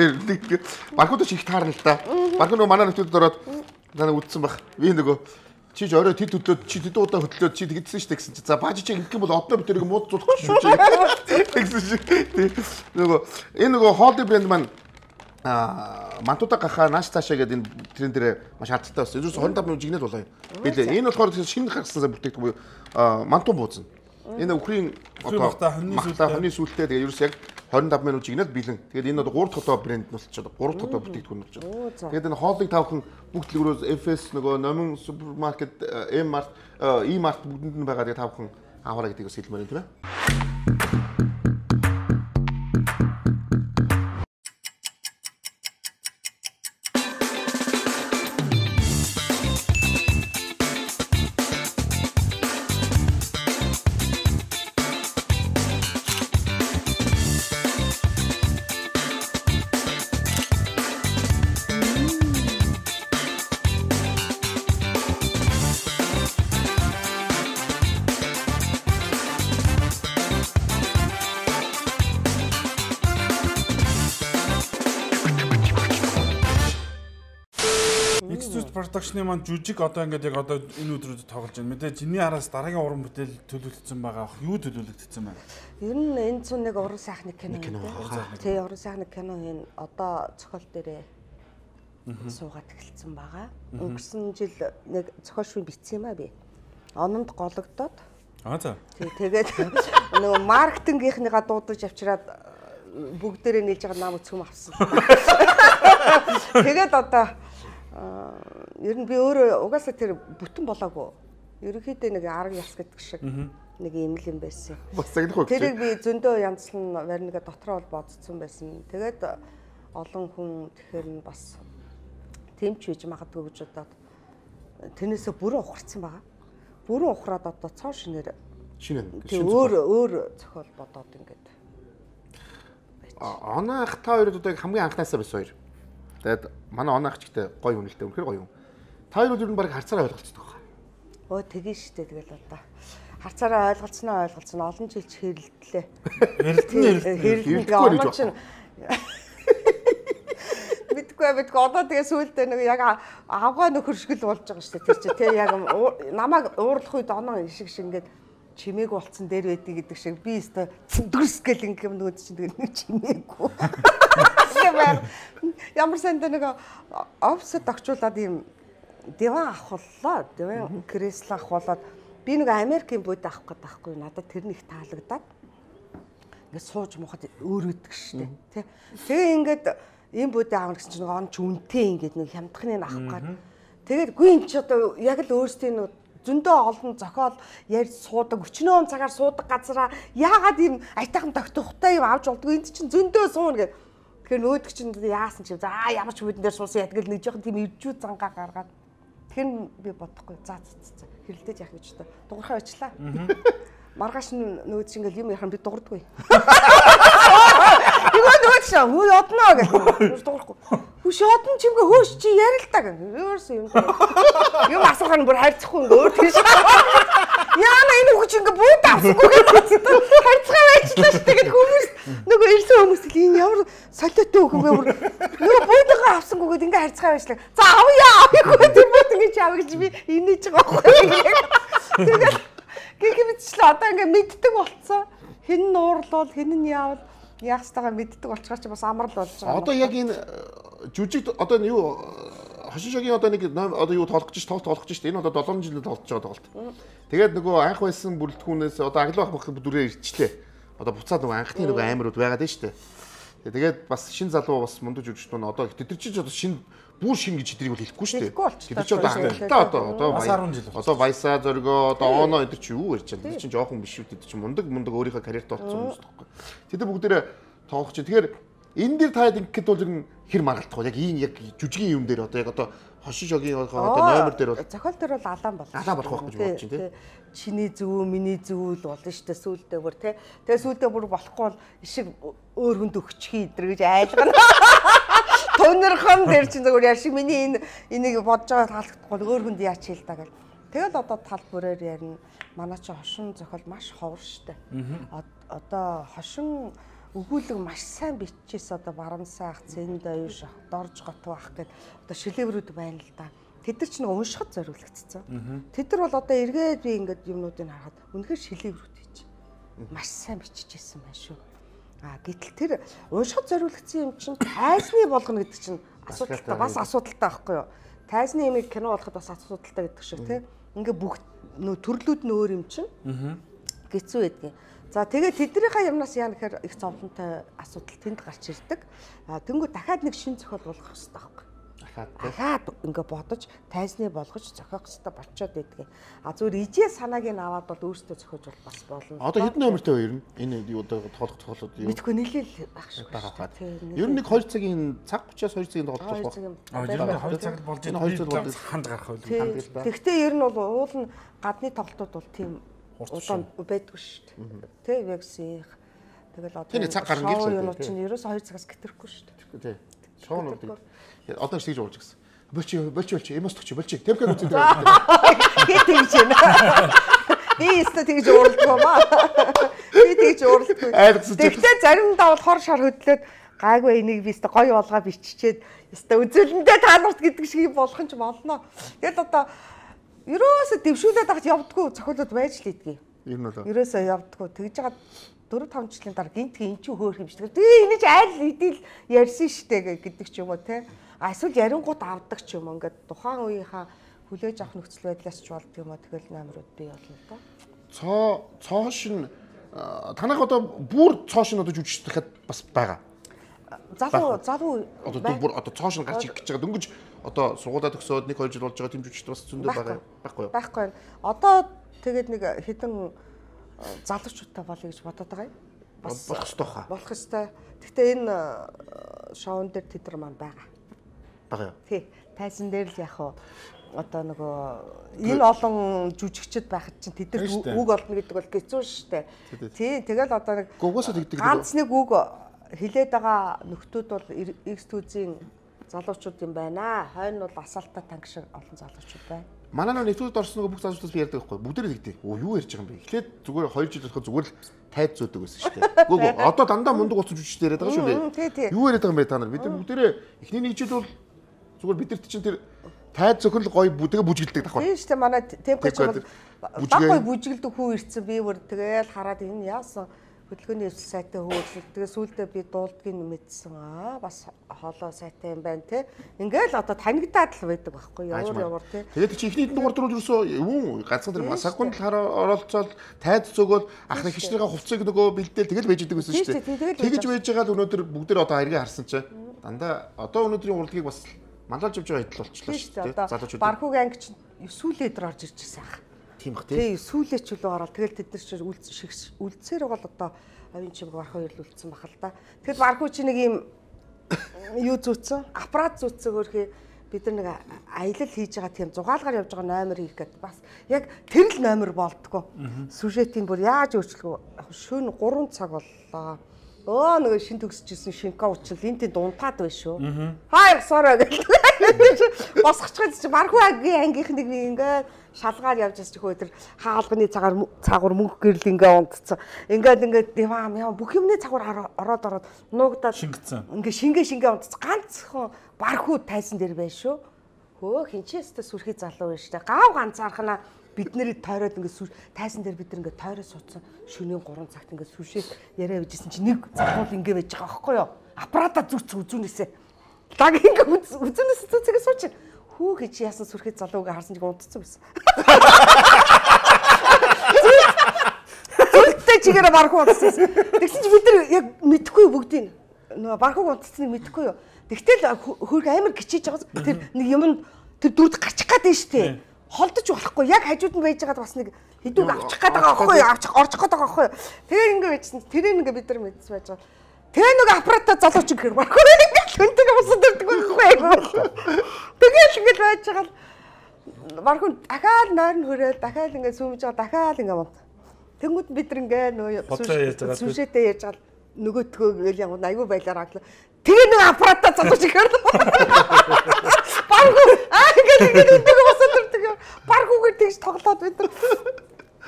Баркуудаа их таарна л да. Барку нөгөө манай нэвтрүүлд ороод надад үдсэн баг. Би нөгөө чи ч орой тэд хөдлөөд чи тэд удаа хөдлөөд чи тэгдсэн шүү дээ гэсэн чи. За бааж чи ингэх юм бол одноо бид тэрийг мууд зулах гэж шүү дээ. Тэгсэн шиг. Нөгөө энэ нөгөө холди брэнд маань мантуудаа гахаа нааш цаашаа гэдэг энэ трен дээр маш хаттай болсон. Ерөөс 25 минут жигнээд болоо. Билээ. Энэ болохоор шинэ гаргасан бүтээгдэхүүн буюу мантуу бууцна. Энэ өхрийн одоо хоньны сүлтэй тэгээ ерөөс яг 25 минут жигнээд бэлэн. Тэгээд энэ одоо 3 дахь удаа брэнд нь болчиход 3 дахь удаа бүтээгдэхүүн болчиход. Тэгээд энэ хоолыг тавхан бүх дэлгүүрөөс FS нөгөө номин супермаркет M-Mart E-Mart бүгдэнд нь байгаа. Тэгээд тавхан аваарай гэдгийг бас хэлмээр байна тийм ээ. Продакшны маань жүжиг одоо ингээд яг одоо энэ өдрүүдэд тоглож байна. Мэдээж энэний араас дараагийн уран бүтээл төлөвлөгдсөн байгаа. Юу төлөвлөгдсөн байна? Ер нь энэ цун нэг уран сайхны кино. Тий, уран сайхны кино энэ одоо зохиол дээрээ суугаад эхэлсэн байгаа. Өнгөрсөн жил нэг зохиол шүүн бичсэн юм аа би. Ононд гологдоод. За. Тий, тэгээд нөгөө маркетингийнхныгаа дуудаж авчираад бүгдээрээ нийлж байгаа нам өцгөм авсан. Тэгээд одоо ер нь би өөрөө угаасаа тэр бүтэн болоогүй. Ерөнхийдөө нэг арга яс гэдэг шиг нэг юм л юм байсан. Бас загнах үү? Тэрийг би зөндөө янзлан варнига дотроо бол бодцсон байсан. Тэгээд олон хүн тэгэхээр нь бас тэмч хийж магадгүй гэж бодоод тэрнээсээ бүрэн ухарсан байгаа. Бүрэн ухраад одоо цоо шинээр өөр зохиол бодоод ингээд. Оноох та хоёрод одоо хамгийн анхнаасаа байсан хоёр. Тэгээд манай оноох ч гэдэг гоё үнэлтэй үнэхээр гоё юм. Та хоёр ер нь баг харцаараа ойлголцдог байна. Оо тэгэн штэ тэгэл одоо харцаараа ойлголцсноо олон жил ч хэрэлдлээ. Хэрэлдэн оноо чинь мэдгүй одоо тэгээ сүүлдээ нэг яг авгаа нөхөршгөл болж байгаа штэ тэр чинь тэг яг намайг уурлах үед оноо шиг ингээд чимээг болцсон дээр байдгийг гэдэг шиг би өстө зүдгэрс гэл ингээм нөгөө чинь тэгээ нэг чимээгүй. Ямар санд нэг офсод огчуулаад ийм диван авахлаа. Диван кресло авахлаад би нэг Америкийн бод авах гэдэг байхгүй надад тэр нэг таалагдаад ингээд сууж мухад өөр өдөг штэ тий. Тэгээ ингээд ийм бод аавна гэсэн чинь он ч үнтэй ингээд нэг хямдхныг авах гад. Тэгээд гүй эн чи одоо яг л өөрсдийн нэг зөндөө олон зохиол ярьж суудаг өчнөө цагаар суудаг газараа яагаад ийм айтайхан тогтохтой юм авч болдгоо энд чинь зөндөө сууна гэх. Тэгэхээр нөөдөг чинь яасан ч юм за ямар ч бүдэн дээр суусан ятгал нэг жоохон тийм өвчүү зангаа гаргаад тэр би бодохгүй за хэрэлдэж яах гэж та дуурхай очлаа. Маргааш нөөд чинь ингээл юм яхан би дуурдаггүй. Юу нөөд шаа хөө одноо гэх. Дуурахгүй. Хүш одон чимгээ хөөш чи ярилтаа гэх. Өөрөөс юм. Юм асуухаар бүр хайрцахгүй өөр тийш. Яана энэ хүч ингээ бууд авахгүй гэж хайрцгаа байчлаа шүү дээ хүмүүс нөгөө ирсэн хүмүүс л энэ ямар солиотой хөнгөө бүр нөгөө буудгаа авсангүйгээд ингээ хайрцгаа байчлаа. За авъя тэр бууд ингээ чаав гэж би инээж байгаа байхгүй. Тэгээд гихмитчлээ одоо ингээ мэддэг болцсон. Хэн нь уурлуул хэн нь яавал яах ёстойгоо мэддэг болчихоор чи бас амар л болж байгаа. Одоо яг энэ жүжиг одоо юу хошин шогийн одоо нэг одоо юу тоолох гэж тоолох гэж энэ одоо 7 жил тоолж байгаа тоглолт. Тэгээд нөгөө анх байсан бүрэлдэхүүнээс одоо аглах бах дүрээ ирчлээ. Одоо буцаад нөгөө анхны нөгөө аймарууд байгаад байна шүү дээ. Тэгээд бас шин залуу бас мундаг жүжигчдүүд нь одоо тэр чинь одоо шин бүр шин гэж тэрийг бол хэлэхгүй шүү дээ. Тэр чинь одоо хангалттай одоо Вайса зоргоо одоо Оно эдэр чи юу ярьж байгаа. Тэр чинь жоохон биш үү. Тэр чинь мундаг өөрийнхөө карьерт олцсон хүмүүс тоххой. Тэд бүгдээрээ тоолох чинь. Тэгэхээр энэ дээр таад ингэхэд бол ер нь хэр маргалдах вэ? Яг ийм яг жүжигийн юм дээр одоо яг одоо хошин шогийн одоо номер дээр бол зохиол дээр бол алаан болох. Алаан болох гэж бодож чинь тий. Чиний зөв миний зөв л болно шүү дээ сүүлдээ бүр тий. Тэгээ сүүлдээ бүр болохгүй бол ишиг өөр хүнд өгчих идэр гэж айлгана. Тонорхон дээр чинь зөвөр яшиг миний энийг бодож байгаа таалагдахгүй өөр хүнд яач хэл та гэл. Тэгэл одоо тал бүрээр ярина. Манай чи хошин зохиол маш ховор шүү дээ. Одоо хошин өгүүлэг маш сайн биччихээс одоо баран сайх, зэн даяр шах, дорж готов ах гэд одоо шилэврүүд байна л да. Тэд нар ч нэг уншихад зориулагдсан. Тэд нар бол одоо эргээд би ингээд юмнуудыг харахад үнэхээр шилэврүүд хийж маш сайн биччихсэн байна шүү. Гэтэл тэр уншихад зориулагдсан юм чинь тайзны болгоно гэдэг чинь асуудалтай бас асуудалтай байхгүй юу? Тайзны юмыг кино болоход бас асуудалтай гэдэг шиг тийм. Ингээ бүх нөө төрлүүд нь өөр юм чинь. Гэцүү байдгийн. За тэгээд тэднийхээ юмнаас яа гэхээр их зовлонтой асуудал тэнд гарч ирдэг. Тэнгүү дахиад нэг шин зохиол болгох хэрэгтэй байхгүй. Дахиад ингээ бодож, тайзны болгож зохиох хэрэгтэй болчоод байдгийн. Зүгээр ижээ санааг нь аваад бол өөртөө зохиож бол бас болно. Одоо хэдэн номертой вэ ер нь? Энэ юу одоо тоглолт юу? Мэдгүй нийлээл байх шиг байна. Ер нь нэг 2 цагийн цаг 30-аас 2 цагийн тоглолт болох. 2 цаг болж байгаа ханд гарах байл. Тэгвэл ер нь бол уул нь гадны тоглолтууд бол тийм удаан байдгүй шүү дээ. Тэ вексих. Тэгэл одоо тийм цаг гарна гэж байна. Юу чинь ерөөсөө 2 цагаас гитэхгүй шүү дээ. Тий. Шоунуудыг одоо ч тэгж уулж гисэн. Болч эмос төгч болч темпэг үзээд байгаа. Хит тэгж байна. Би өстө тэгж ууралдгаа маа. Би тэгж ууралдгүй. Тэгтээ заримдаа бол хор шар хөдлөөд гайгүй энийг би өстө гоё болгоо биччихээд өстө үзүүлэндээ тааларт гэдэг шиг болох юм ч болно. Тэгэл одоо ерөөсө дэвшүүлээд авах явдггүй цохиолууд байж л идэгий. Ер нь бол ерөөсө явдггүй. Тэгж байгаа 4-5 жилийн дараа гинтг эн чинь хөөх юм шиг. Тэгээ энэ ч айл идэл ярьсан штэ гэдэг ч юм уу те. Эсвэл ярингууд авдаг ч юм уу. Ингээд тухайн үеийнхаа хүлээж авах нөхцөл байдлаас ч болд юм аа. Тэгэл номерууд бий болно л доо. Цоошин танах одоо бүр цоошин одоо жүжигчдэхэд бас байгаа. Залуу одоо бүр одоо цоошин гарч ирэх гэж байгаа. Дөнгөж одоо сургуулаа төгсөөд 1-2 жил болж байгаа тийм жүжигчд бас зөндөө байгаа. Байхгүй юу? Байхгүй. Одоо тэгээд нэг хэдэн залуучуудтай болъё гэж бодоод байгаа юм. Бас болох ёстой хаа. Болох ёстой. Гэхдээ энэ шоун дээр тэд нар маань байгаа. Байгаа юу? Тий. Тайзан дээр л яг одоо нөгөө энэ олон жүжигчд байхад чинь тэд нар үг олно гэдэг бол хэцүү шүү дээ. Тий. Тэгэл одоо нэг ганц нэг үг хилээд байгаа нөхдүүд бол X2-ийн залуучууд юм байна. Хойно бол асаалтаа танк шиг олон залуучууд байна. Манай нэвтрүүлэгт орсон нөгөө бүх залуучуудаас би ярьдаг байхгүй. Бүгдээрээ тэгдэг. Юу ярьж байгаа юм бэ? Эхлээд зүгээр 2 жил болохоо зүгээр л тайд зөөдөг байсан шүү дээ. Гүг одоо дандаа мундаг болсон жүжигчтэй яриад байгаа шүү дээ. Юу яриад байгаа юм бэ та нар? Бид нар бүгдээрээ эхний нэг жил бол зүгээр бидэрт чинь тэр тайд зөхөрл гоё бүдэгэ бүжгэлдэг дах байна. Тийм шүү дээ. Манай темпч бол баггүй бүжгэлдэг хүү ирсэн би бүр тэгэл хараад энэ яасан хөдөлгөөний эвсэл сайтай хөөцөл. Тэгээ сүүлдээ би дуулдгийг мэдсэн. Бас хоолоо сайтай юм байна те. Ингээл одоо танигдаад л байдаг байхгүй ямар те. Тэгээд чи ихний дугаар дөрөв ерөөсөө юу ганцхан тэр масагунд оролцоод тайд зөгөөл ахны хичнээн хувцсыг нөгөө бэлдээл тэгэл байж идэг байсан шүү дээ. Тэгэж байж байгаа л өнөөдөр бүгдээр одоо харига харсан чинь дандаа одоо өнөөдрийн урлагийг бас мандалж явж байгаа идэл болчихлоо шүү дээ. Залуучууд Бархуугийн анги чинь сүүлээ дээр орж ирж байсан ах. Тийм бах тий. Сүүлээ ч үлээ ороод тэгэл тэд нар ч үлдсээр бол одоо авийн чимэг Бархуу ирэл үлдсэн бахал та. Тэгэхэд Бархуу чи нэг юм юу зүүцэн аппарат зүүцэн өөрхий бид нар нэг аялал хийж байгаа тийм зугаалгаар явж байгаа номер хийх гэдэг бас яг тэр л номер болдгоо. Сюжетийн бүр яаж өөрчлөх шөнө 3 цаг боллоо. Нөгөө шин төгсөжсэн шинка уучил энэ дунтаад байна шүү. Хаяг сороо гэх. Босгочиход чи Бархуу ангийнх нэг ингээ шалгаар явж байгаа ч хөөдөр хаалганы цагаар мөнгө гэрэл ингээ унтцсан. Ингээд диван бүх юмны цагаар ороод нуугдаад ингээ шингээ унтцсан. Ганцхан Бархуу тайзан дээр байна шүү. Хөө хинчээстэй сүрхий залуу байна штэ. Гав ганцаархнаа бид нарыг тойроод ингээ тайзан дээр бид нар ингээ тойроо суудсан. Шөнийн 3 цагт ингээ сүшээ яриа bijсэн чи нэг залуу ингээ байж байгаа байхгүй юу? Аппарата зүгцүүнээсээ. Даг ингээ үзүүнээс зүцгээ сууч. Хүү гэж яасан сүрхий залууг харсан чиг унтцсан байсан. Зүгтээ чигээр Бархуу унтсан. Тэгсэн чи бид нар яг мэдхгүй бүгдийг нөгөө Бархууг унтцсныг мэдхгүй юу? Тэгтэл хөрг амар гिचиж байгаа. Тэр нэг юм тэр дүрд гарчих гээд нь штэ. Холдож болохгүй. Яг хажууд нь байж байгаад бас нэг хэдүүг авчих гээд байгаа байхгүй юу? Орчих гээд байгаа байхгүй юу? Тэгээ ингээ байжсэн. Тэрийг ингээ бид нар мэдсэн байж байгаа. Тэгээ нэг аппарата залууч гэр Бархуу ингээ хүнтэйг босод ирдэг байхгүй юу? Тэгээд ингээ байж байгаа л Бархуу дахиад нойрн хөрөөл дахиад ингээ сүмж байгаа дахиад ингээ мод. Тэнгүүд бид нар ингээ нөгөө сүшээтэй ярьж байгаа нөгөөтгөө яг аюу байлаар аглаа. Тэгээ нэг аппарата залууч гэр Бархуу ингээ хүнтэйг босод ирдэг. Бархуугаар тэгж тоглоод бид нар.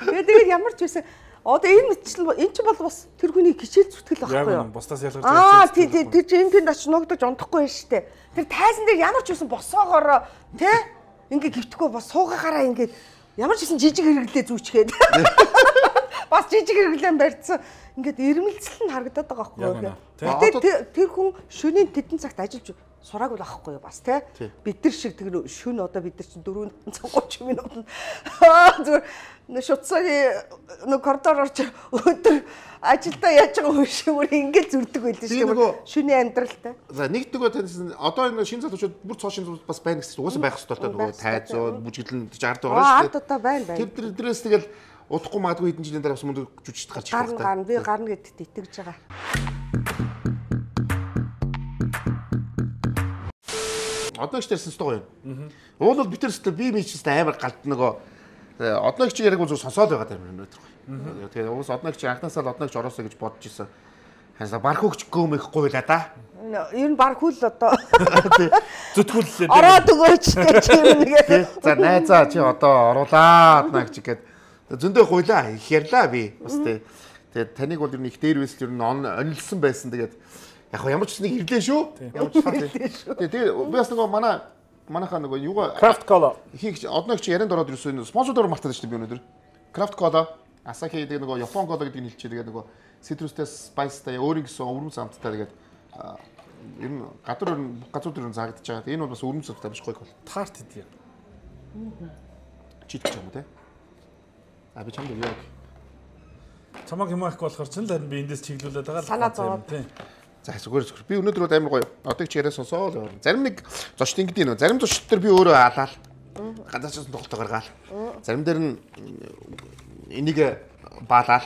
Тэгээд ямар ч байсан одоо энэ мэтчил эн чинь бол бас тэр хүний хичээл зүтгэл байхгүй юу? Бусдаас ялгарч байгаа. Тэр чинь энд очиж ногдож унтахгүй байна штэ. Тэр тайзан дээр ямар ч байсан босоогоор тий ингээ гівтэхгүй бас суугаагаараа ингээ ямар ч байсан жижиг хэрэглээ зүүчгээд. Бас жижиг хэрэглэн барьцсан. Ингээд ирмэлцэл нь харагдаад байгаа байхгүй юу? Тэгээд тэр хүн шөнийн тэдэн цагт ажиллаж сураагүй байхгүй юу бас тий. Бид нар шиг тэр шүн одоо бид нар чинь 4:30 минут зүгээр шуцсагийн коридор орч өдөр ажилдаа яаж байгаа хүн шиг өөр ингэж зүрдэг байлээ шүү дээ. Шүний амьдралтай. За нэгдүгээр таньсан одоо энэ шинэ залуучууд бүр цоо шинэ залуучууд бас байна гэсэн чинь угаасаа байх хэрэгтэй нөгөө тайзууд бүжиглэн 60 байгаа шүү дээ. Одоо байна. Тэр дээрээс тэгэл удахгүй магадгүй хэдэн жилийн дараа бас мөн жүжигчд гарч ирэх хэрэгтэй. Гарна би гарна гэдэгт итгэж байгаа. Одноогч ярьсан шүү дээ. Уул бол битэр өстө би мичс амар галд нөгөө одноогч яриаг зүгээр сонсоод байгаа юм өнөөдөр. Тэгээ уус одноогч анхнаасаа л одноогч ороосоо гэж бодож исэн. Ханасаа бархуугч гөөмөх гуйлаа да. Ер нь бархуул одоо зүтгүүллээ. Ороод өгөөч гэж юм нэгээ. За найзаа чи одоо оруулаа одноогч гээд зөндөө гуйлаа их ярьлаа би. Бас тэгээ таныг бол ер нь их дээр байсан ер нь онилсан байсан тэгээд яг ямар ч нэг ирлээ шүү. Ямар ч ирлээ шүү. Тэгээ би бас нөгөө манайхаа нөгөө юугаа Craft Cola хийх одноогч ярианд ороод ирсэн спонсордоор мартаад шүү дээ би өнөөдөр. Craft Cola, Asahi гэдэг нөгөө Япон кола гэдэг нь хэлчихээ. Тэгээд нөгөө citrusтэй spiceтай өөрийн гэсэн өвөрмөц амттай тэгээд ер нь газар дээр заагдаж байгаа. Энэ бол бас өвөрмөц амттай биш гоё бол. Тарт хийдэг. Чидчих юм те. Би чамд яг чамаг юм аахгүй болохоор ч л харин би эндээс чиглүүлээд байгаа л санаа зовоод тийм. За зүгээр би өнөөдөр бол амар гоё. Одоо ч яриа сонсоо л. Зарим нэг зочд ингэдэг нөө. Зарим зочд төр би өөрөө алаал. Ганцаарч тоглолт гаргаал. Зарим дээр нь энийг баалал.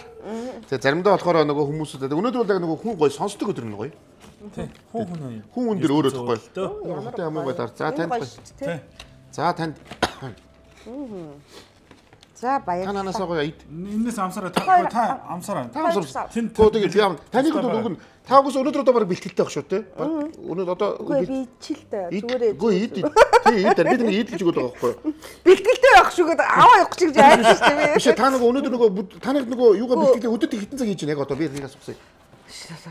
Тэгээ заримдаа болохоор нөгөө хүмүүсүүд өнөөдөр бол яг нөгөө хүн гоё сонсдог өдөр нь гоё. Тийм. Хүн өндөр өөрөө тахгүй. Ямар ямар гоё дар. За танд. За танд. За баярлалаа. Та нанаасаа гоё ид. Энэс амсараа та амсараа. Та амсар. Тэнтэй яг таныг бол үг нь та угс өнөөдөр одоо баг бэлтгэлтэй байх шүү те. Өнөөдөр одоо би ичилтэй зүгээр. Үгүй ид. Тий ид. Би нэг идэлж өгöd байгаа байхгүй. Бэлтгэлтэй байх шүүгээд аваа явах гэж айсан шүү дээ. Биш та нөгөө өнөөдөр нөгөө таныг нөгөө юугаа бэлтгэлээ өдөрт хитэн цаг хийж байна яг одоо би нэгээс усаа.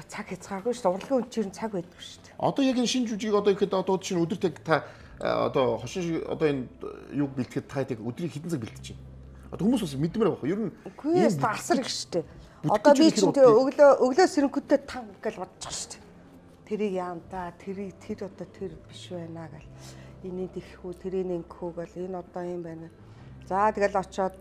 Цаг хязгааргүй шүү дээ. Урлагийн үнчээр цаг байдаг шүү дээ. Одоо яг энэ шинэ жүжиг одоо ихэд одоо шинэ өдөрт яг та одоо хошин одоо энэ юг бэлтгэхэд та яг өдрийн хитэн цаг бэлтэж байна. Одоо хүмүүс бас мэдмээр байгаа. Ер нь үгүй асар их шүү дээ. Одоо би чинь өглөө сэрэнхүүтээ тан гэж бодож шүү дээ. Тэрийг яам та тэр одоо тэр биш байна гэл. Энийг ихэхүү тэрийг ингэхүү гэл энэ одоо юм байна. За тэгэл очоод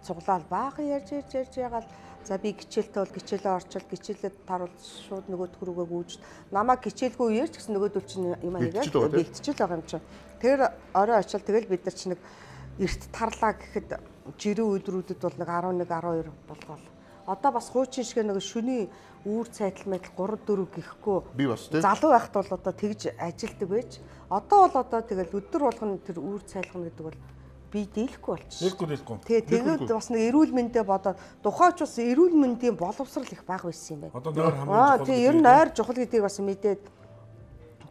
цуглаал баахан ярьж ягаал. За би гिचээлтэй бол гिचээлээ орчвол гिचээлээ таруул шууд нөгөө төрөөгөө гүйж намайг гिचээлгүй ярьж гэсэн нөгөөдөл чинь юм аягаа бэлтчихэл байгаа юм чинь. Тэр орой очил тэгэл бид нар чинь нэг эрт тарлаа гэхэд жирийн өдрүүдэд бол нэг 11 12 болгоол. Одоо бас хуучин шиг нэг шөний үүр цайтал мэдл 3 4 гэхгүй. Би бас тийм. Залуу байхад бол одоо тэгж ажилтдаг байж. Одоо бол одоо тэгэл өдөр болгоно тэр үүр цайлгана гэдэг бол би дийлэхгүй болчихсон. Дийлэхгүй. Тэгээд бас нэг эрүүл мэндэ бодоод тухайч бас эрүүл мэндийн боловсрал их бага байсан юм байна. Одоо нойр хамгийн чухал. Тийм ер нь нойр чухал гэдгийг бас мэдээд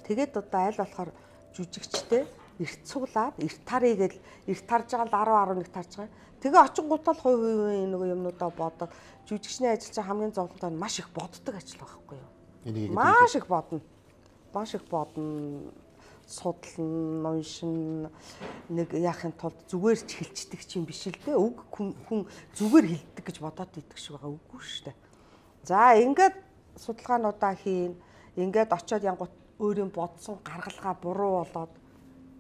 тэгээд одоо аль болохоор жүжигчтэй эрт цуглаад эрт тарыг гэл эрт тарж байгаа л 10 11 тарж байгаа. Тэгээ очингуудаа л хувийн нөгөө юмнуудаа бодоод жүжигчний ажил чинь хамгийн зовлонтой нь маш их боддог ажил байхгүй юу? Маш их бодно. Маш их бодно. Судлан, уншин нэг яахын тулд зүгээр ч хэлцдэг чинь биш л дээ. Үг хүн зүгээр хэлдэг гэж бодоод идэх шиг байгаа үгүй шүү дээ. За ингээд судалгаануудаа хийн. Ингээд очиод янгут өөрийн бодсон гаргалгаа буруу болоод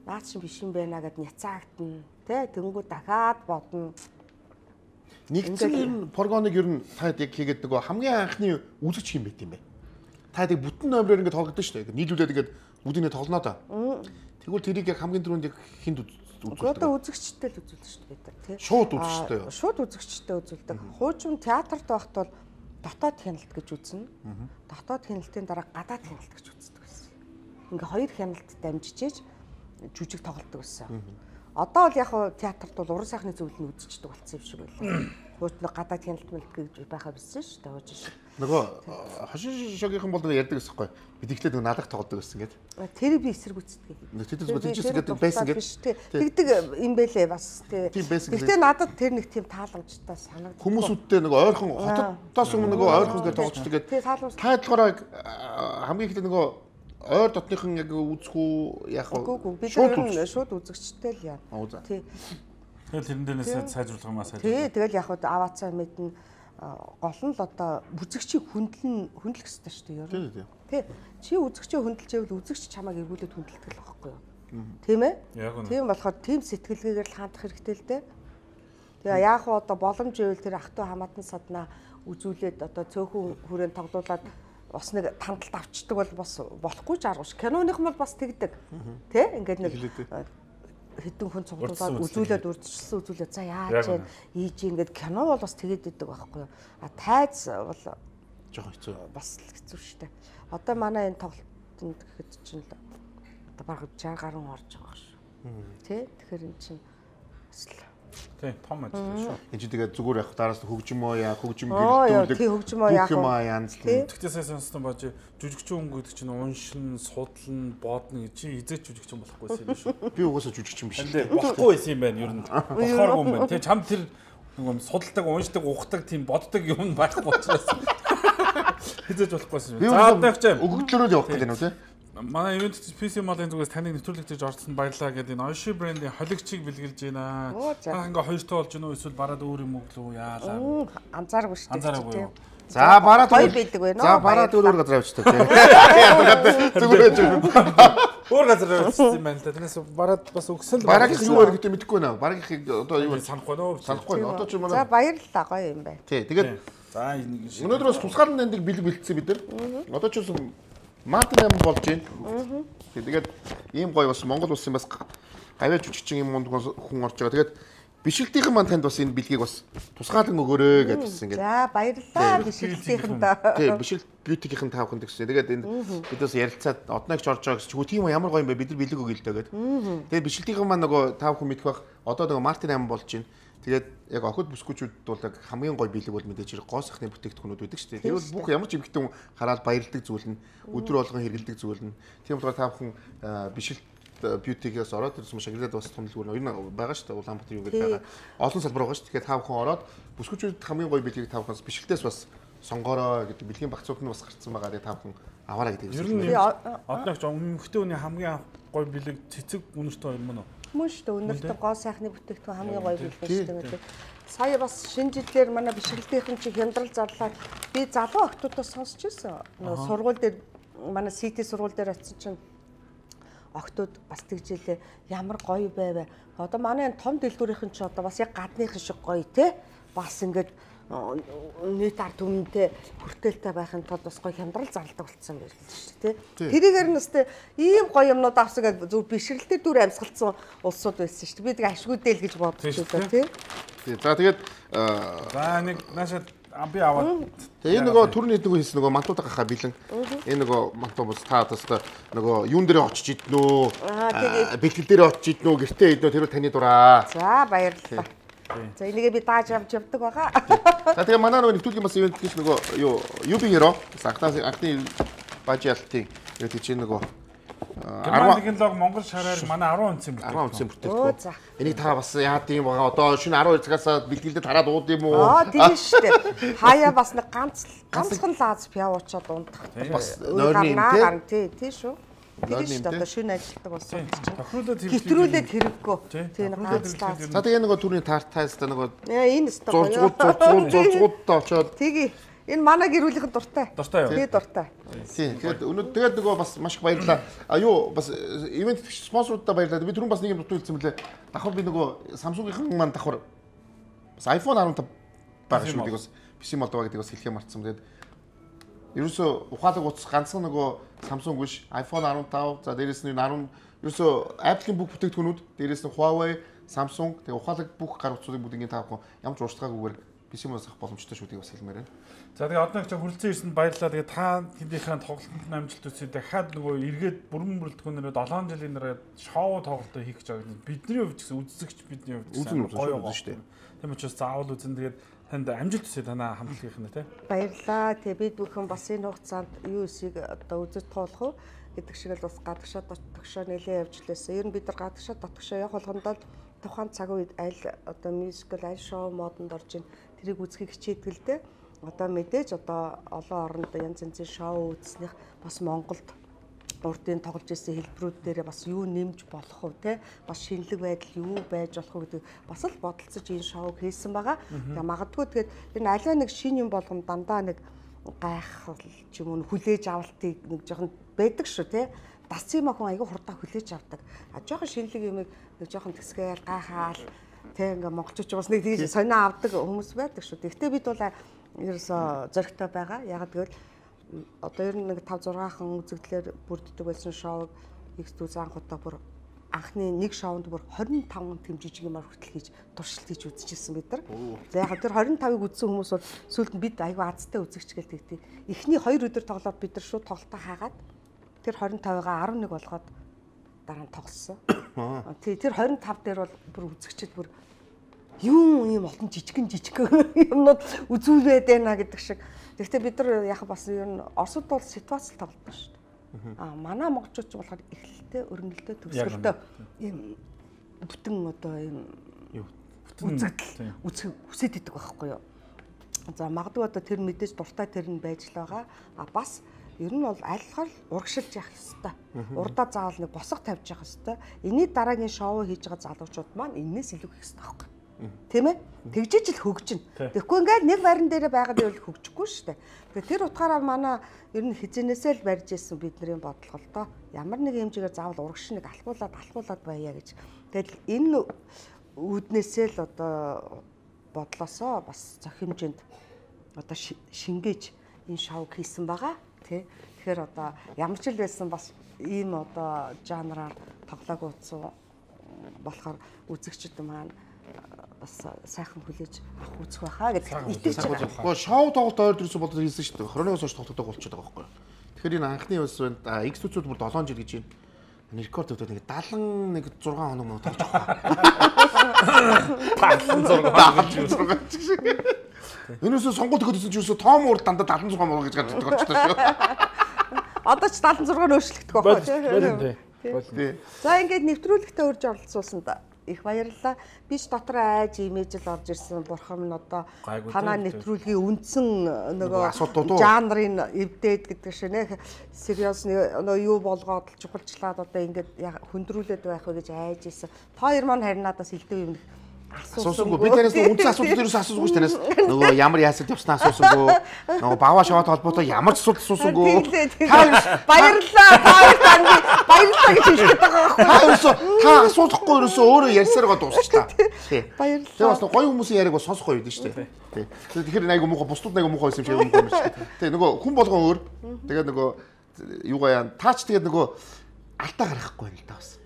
наад чинь биш юм байна гэд няцаагдана. Тэ тэнгүү дахиад бодно. Нэгдсэн ер нь прогоныг ер нь та яг хийгээд нөгөө хамгийн анхны үзэгч юм байт юм бэ. Та яг бүтэн номероор ингээд тоглодог шүү дээ. Нийлүүлээд ингээд бүдинэ тоглоно да. Тэгвэл тэрийг яг хамгийн түрүүнд яг хинд үзүүлдэг. Одоо үзэгчтэй л үзүүлдэг шүү дээ бид тий. Шууд үзэгчтэй. Шууд үзэгчтэй үзүүлдэг. Хуучин театрт байхад бол дотоод хяналт гэж үзнэ. Дотоод хяналтын дараа гадаад хяналт гэж үздэг байсан. Ингээ хоёр хяналт дамжижээж жүжиг тоглодог байсан. Одоо бол яг театрт бол уран сайхны зөвлөл нь үзчихдэг болсон юм шиг байлаа. Хуучин гадаад хяналт мэлт гэж байхаа байсан шүү дээ. Хуучин шиг. Нөгөө хошин шогийнхан бол ярьдаг гэсэн байхгүй. Бид ихлээд нөгөө наадах тоглодог гэсэн гээд. Тэр би эсэргүүцдэг. Тэр зүгтжсэн гэдэг байсан гээд. Тэгдэг юм бэлээ бас тий. Гэтэ надад тэр нэг тийм тааламжтай санагдав. Хүмүүсүүдтэй нөгөө ойрхон хотоос өмнө нөгөө ойрхон гэж тоглоцдог гээд. Та болохоор хамгийн ихтэй нөгөө ойр дотныхан яг үзэх үү яах вэ? Би шууд үзэгчтэй л яа. Тий. Тэгэл тэрэн дээрээс сайжруулах юмаа сайжруулах. Тий, тэгэл яг аваацаа мэднэ. Гол нь л одоо үзэгчийг хөндлөх хэрэгтэй шүү дээ. тий. Чи үзэгчээ хөндлөжэвэл үзэгч чамайг эргүүлээд хөндлөлтгөл байхгүй юу? Тийм ээ? Тийм болохоор тийм сэтгэлгээгээр л хандах хэрэгтэй л дээ. Тэгээ яг хоо одоо боломж ивэл тэр ах トゥ хамаатан саднаа үзүүлээд одоо цөөхөн хүрээнд тоглуулад бас нэг тандалт авчдаг бол бас болохгүй ч аргагүй ш. Киноных нь бол бас тэгдэг. Тэ? Ингээд нэг хэдэн хүн цуглуулад үзүүлээд үрдчилсэн үзүүлээд за яаж вэ? Ийж ингээд кино бол бас тэгээд идэг байхгүй юу? Тайз бол жоохон хэцүү. Бас л хэцүү штэ. Одоо манай энэ тоглолтод гэхэд чинь л одоо баг 60 гаруй орж байгаа шүү. Тэ? Тэгэхээр эн чинь бас л тий, том ажил шүү. Энд чи тэгээд зүгээр явах дараас хөгжмөө яа, хөгжим гэрэлтүүлэг. Тий, хөгжмөө яах юм янз л. Тэгтээ сайн сонстон бааж жүжигчин гэдэг чинь уншин, судлан, боодно гэж чи хизээч жүжигчин болохгүйсэн юм шүү. Би угаасаа жүжигчин биш. Болохгүй байсан юм байна ер нь. Болохооргүй юм байна. Тэ чам тэр нэг судалдаг, уншдаг, ухдаг тийм боддог юм байхгүй учраас. Хизээч болохгүйсэн юм. За одоо ягч өгөгдлөрөө л явах гэдэг юм уу те? Манай event PC Model зүгээс таныг нэвтрүүлэгтэж орсон баярлаа гэдэг энэ Oishi брендийн холигчийг бэлгэлж байна. Та ингээ хоёртой болж гинөө эсвэл бараад өөр юм өглөө яалаа. Анзааргүй шүү дээ. Анзааргүй. За бараад хоёр бэлдэг байна. За бараад өөр газар авчдаг те. Зүгээр өөр газар авчихсан юм байна л да. Тэрнээс бараад бас өгсөн л бараагийнх юу вэ гэдэг мэдэхгүй байна. Бараагийнхыг одоо юу санахгүй нөө. Санахгүй. Одоо ч За баярлалаа гоё юм байна. Тий. Тэгээд за энэ өнөөдөр бас тусгаалan нандыг бэлэг бэлдсэн бид нар. Одоо ч юм Мартин 8 болж байна. Тэгээд ийм гоё бас Монгол улсын бас гавьяа жүжигчин юм хүн орж байгаа. Тэгээд бишгэлтийнхэн маань танд бас энэ бэлгийг бас тусгаалan өгөөрэй гэж хэлсэн ингээд. За баярлалаа бишгэлтийнхэндээ. Тий, бишгэлт бьютигийнхэн таавханд гэсэн. Тэгээд энэ бид бас ярилцаад однооч орж байгаа гэсэн. Хөө тийм ямар гоё юм бэ? Бид нар бэлэг өгье л дээ гэдэг. Тэгээд бишгэлтийнхэн маань нөгөө таавхан мэдэх бах. Одоо нөгөө Мартин 8 болж байна. Тэгээд яг охид бүсгүүчүүд бол яг хамгийн гоё бэлэг бол мэдээж хэрэг гоо сахны бүтээгдэхүүнүүд байдаг шүү дээ. Тэгвэл бүх ямар ч эмэгтэй хүн хараад баярладаг зүйл нь өдөр болгон хэрэгэлдэг зүйл нь. Тийм болохоор та бүхэн бишгэлт бьютигээс ороод ирсэн шагналд бас томлгүй ер нь байгаа шүү дээ. Улаанбаатар юу гэдэг байгаа. Олон салбар байгаа шүү. Тэгэхээр та бүхэн ороод бүсгүүчүүд хамгийн гоё бэлгийг та бүхэн бишгэлтээс бас сонгороо гэдэг бэлгийн багцууд нь бас гарцсан байгаа. Тэгээд та бүхэн аваарай гэдэг. Ер нь одоогч эмэгтэй хүний хамгийн гоё бэлэг цэцэг үнэртэй юм уу? Мөн шүү дээ. Өнөртөө гоо сайхны бүтээгдэхүүн хамгийн гоё билээ шүү дээ. Сая бас шинэ жилээр манай бишгэлтийнхэн чи хямдрал зарлаад би залуу охтуудаас сонсч ирсэн. Нөгөө сургууль дээр манай CT сургууль дээр очсон чинь охтууд бас тэгжээлээ ямар гоё байваа. Одоо манай энэ том дэлгүүрийнхэн чи одоо бас яг гадныхан шиг гоё те. Бас ингээд нийт ард түмэнтэй хүртээлтэй байхын тулд бас гоё хямдрал зарладаг болцсон байл шүү дээ тий. Тэрийгээр нь өстэй ийм гоё юмнууд авсан гэж зөв бишгэлтэй дүр амьсгалсан улсууд байсан шүү дээ. Би тэг ашгүйдэл гэж бодчих шүү дээ тий. За тэгээд за нэг наашаа би аваад тэгээ энэ нөгөө түрний нөгөө хийсэн нөгөө мантуудаа гахаа бэлэн энэ нөгөө мантуу бас та одоо нөгөө юун дээр очиж иднөө бэлтгэл дээр очиж иднөө гэртээ иднөө тэр таны дураа. За баярлалаа. За энийгээ би дааж авч явдаг байгаа. За тэгээ манай нөгөө нэвтрүүлгийн бас ивент гэж нөгөө юу UB Hero анхны бажи алтын тэгээд чинь нөгөө 10 технологи Монгол шараар манай 10 онцын бүтээгдэхүүн. 10 онцын бүтээгдэхүүн. Энийг та бас яад юм байгаа. Одоо шөнө 12 цагаас бэлтгэлдээ тараад ууд юм уу? Тийм шүү дээ. Хаяа бас нэг ганцхан лаз пиавуучаад унтах. Бас нойрны тий шүү. Тэр шүү дээ. Одоо шөнө ажилтдаг болсон чинь. Хэтрүүлээд хэрэггүй. Тий нэг ганц лаз. За тэгээ нөгөө түрний тартайста нөгөө энэ өстой зугуудтай очоод. Тэгээ энэ манай гэр бүлийнхэн дуртай. Дуртай юу? Тий дуртай. Тий. Тэгээд нөгөө бас маш их баярлалаа. А юу бас ивент спонсоруудаа баярлалаа. Би түрүүн бас нэг юм дутуу хэлсэн мөлий. Давхар би нөгөө Samsung-ийн маань давхар бас iPhone 15 байгаа шүү дээ. Бас PC Moldova гэдэг бас хэлхээ марцсан. Тэгээд ерөөсөө ухаалаг утас ганцхан нөгөө Samsung биш iPhone 15 за дээрээс нь 10 ерөөсөө Apple-ийн бүх бүтээгдэхүүнүүд дээрээс нь Huawei, Samsung тэгээд ухаалаг бүх гар утсуудыг бүгдийг таахгүй ямар ч уурчлагаагүйгээр PC Moldova авах боломжтой шүү дээ бас хэлмээр байна. За тэгээ одоо ч хүрэлцэн ирсэнд баярлалаа. Тэгээ та тэндийнхэн тоглолтын амжилт үзье. Дахиад нөгөө эргээд бүрэн бүрэлдэхүүнээрээ 7 жилийн дараа шоу тоглолтоо хийх гэж байгаа. Бидний хувьд гэсэн үзэгч бидний хувьд гэсэн гоё байна шүү дээ. Тийм учраас заавал үзэн тэгээд танд амжилт хүсье танаа хамтлагийнх нь тий. Баярлалаа. Тэгээ бид бүхэн бас энэ хугацаанд юу эсийг одоо үзэж тоолох уу гэдэг шиг л бас гадагшаа дотгошоо нэлээд явж лээсэн. Ер нь бид нар гадагшаа дотгошоо явах болгондоо тухайн цаг үед аль одоо мюзикл аль шоу модонд орж ийн тэрийг үзхийг хичээдэг л дээ. Одоо мэдээж одоо олон оронд янз янзын шоу үзснийх бас Монголд урдын тоглож ирсэн хэлбэрүүд дээр бас юу нэмж болох вэ те бас шинэлэг байдал юу байж болох вэ гэдэг бас л бодолцож энэ шоуг хийсэн байгаа. Тэгээ магадгүй тэгээд энэ аливаа нэг шинэ юм болгоно дандаа нэг гайхал ч юм уу хүлээж авалтыг нэг жоохон байдаг шүү тий. Дасцын охин айгүй хурдан хүлээж авдаг. А жоохон шинэлэг юмыг нэг жоохон тэсгээл гайхаал тий ингээ монголчууд бас нэг тийж сонио авдаг хүмүүс байдаг шүү. Гэхдээ бид бол ерөөсө зөрөгтэй байгаа. Ягаад гэвэл одоо ер нь нэг 5-6хан үзэгдлэр бүрддэг байсан шоуг X2 анхудаа бүр анхны нэг шоунд бүр 25 тэм жижиг юмар хүртэл хийж туршилт хийж үзчихсэн бид нар. За яг тэр 25-ыг үзсэн хүмүүс бол сүүлд нь бид айгүй азтай үзэгч гээл тэгтээ. Эхний 2 өдөр тоглоод бид нар шууд тоглолтоо хаагаад тэр 25-гаа 11 болгоод дараа нь тоглосон. Тий тэр 25 дээр бол бүр үзэгчд бүр юм олон жижигэн юмнууд үзүүлээд байна гэдэг шиг. Гэхдээ бид нар яг бас ер нь Оросд бол ситуацэл тоглодог шүү дээ. Манай монголчууд ч болохоор эхлэлтэй, өрнөлтөө, төгсгөлтөө ийм бүтэн одоо ийм үзэгдэл үсэд идэг байхгүй юу. За магадгүй одоо тэр мэдээж дуртай тэр нь байж л байгаа. Бас ер нь бол айлхаар урагшилж явах ёстой. Урдаа заавал нэг босго тавьж явах ёстой. Эний дараагийн шоу хийж байгаа залуучууд маань энэс илүү хийх ёстой байхгүй. Тийм ээ? Тэгжиж л хөгжинэ. Тэгэхгүй ингээд нэг барин дээр байгаад байвал хөгжихгүй шүү дээ. Тэгэхээр тэр утгаараа манай ер нь хизэнээсээ л барьж ирсэн бидний бодлогол ямар нэг хэмжээгээр заавал урагш нэг алхуулаад байя гэж. Тэгэл энэ үүднээсээ л одоо бодлосоо бас зохимжинд одоо шингээж энэ шоуг хийсэн байгаа. Тэ. Тэгэхээр одоо ямар ч л байсан бас ийм одоо жанраар тоглоагүй утсан болохоор үзэгчд маань бас сайхан хүлээж авах үзэх байхаа гэдэг итгэж байгаа. Гэхдээ шоу тоглолт ойр дөрөс болоод хийсэн шүү дээ. 22-оос хойш тоглодог болчиход байгаа байхгүй. Тэгэхээр энэ анхны бас X2-д бүр 7 жил гэж юм. Рекорд өгдөг нэг 76 хоног мөн тоглож байгаа. 76 жил. Энэсээ сонгуульд өгсөн чи юусоо том уур дандаа 76 муу гэж гаддаг болчихсон шүү. Одоо ч 76 нөөшлөгдөх байхгүй. За ингээд нэвтрүүлэгтээ урьж оролцуулсан да. Их баярлалаа. Би ч дотор айж имижл орж ирсэн. Бурхан минь одоо танаа нэвтрүүлгийн үндсэн нөгөө жанрын эвдээд гэдэг шинэ сериус юу болгоод чухалчлаад одоо ингээд хөндрүүлээд байх вэ гэж айж ирсэн. Та хоёр маань харин надаас илдэв юм асуусангүй. Би танаас үндсэн асуудал ерөөс асуусангүй ш танаас. Нөгөө ямар яасад явснаа асуусангүй. Нөгөө багва шаваад холбоотой ямар ч асуудал асуусангүй. Баярлалаа. Баярлалаа гэж хэлэх байгаа байхгүй. Та асуулахгүй ерөөсөө өөрөө ярьсаар гоо дуусчлаа. Тий. Баярлалаа. Тэгээ бас гоё хүмүүсийн яриаг бас сонсох гоё байдаг шүү дээ. Тий. Тэгэхээр айгу муухай бусдууд айгу муухай байсан юм шиг юм байна шүү дээ. Тий. Нөгөө хүн болгон өөр. Тэгээд нөгөө юугаа яа таач тэгээд нөгөө алдаа гаргахгүй юм л да бас.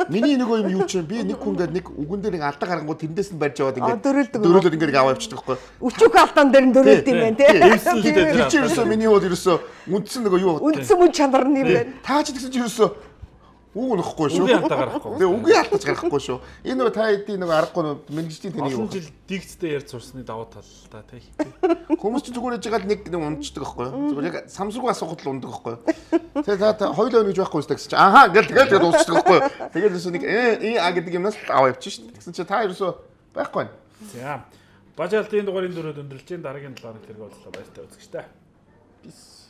Миний нөгөө юм юу ч юм би нэг хүн гээд нэг үгэн дээр нэг алдаа гаргангууд тэрнээс нь барьж яваад ингээд дөрөөлөд ингээд аваа явчихдаг байхгүй. Өчүүх алдаан дээр нь дөрөөлд юм байна тий. Тэр чинь ерөөсөө миний хувьд ерөөсөө үндсэн нөгөө юу үндсэн мөн чанар нь юм байна. Таач гэсэн чинь ерөөсөө үг нөхгүй шүү. Үгийн алдаа гаргахгүй. Тэгээ үгийн алдаач гаргахгүй шүү. Энэ нөгөө та хэдийн нөгөө аргагүй мэрэгжлийн тэний юу. Олон жил дигцтэй ярьж сурсны давуу тал та тий. Хүмүүс ч зүгээр яж байгаа нэг унцдаг байхгүй юу? Зүгээр яг самсруу асуухад л ундаг байхгүй юу? Тэгээ та хоёулаа өнөж байхгүй үстэй гэсэн чинь ахаа гэл тэгээд дуусчихдаг байхгүй юу? Тэгээд ерөөсөө нэг гэдэг юмнаас аваа явчих шүү дээ. Тэгсэн чинь та ерөөсөө байхгүй байна. За. Бажаалтын дугаарыг дөрөв өндөрлж чинь дараагийн 7 хоног тэргээ уулзлаа баяртай үзэгчтэй. Peace.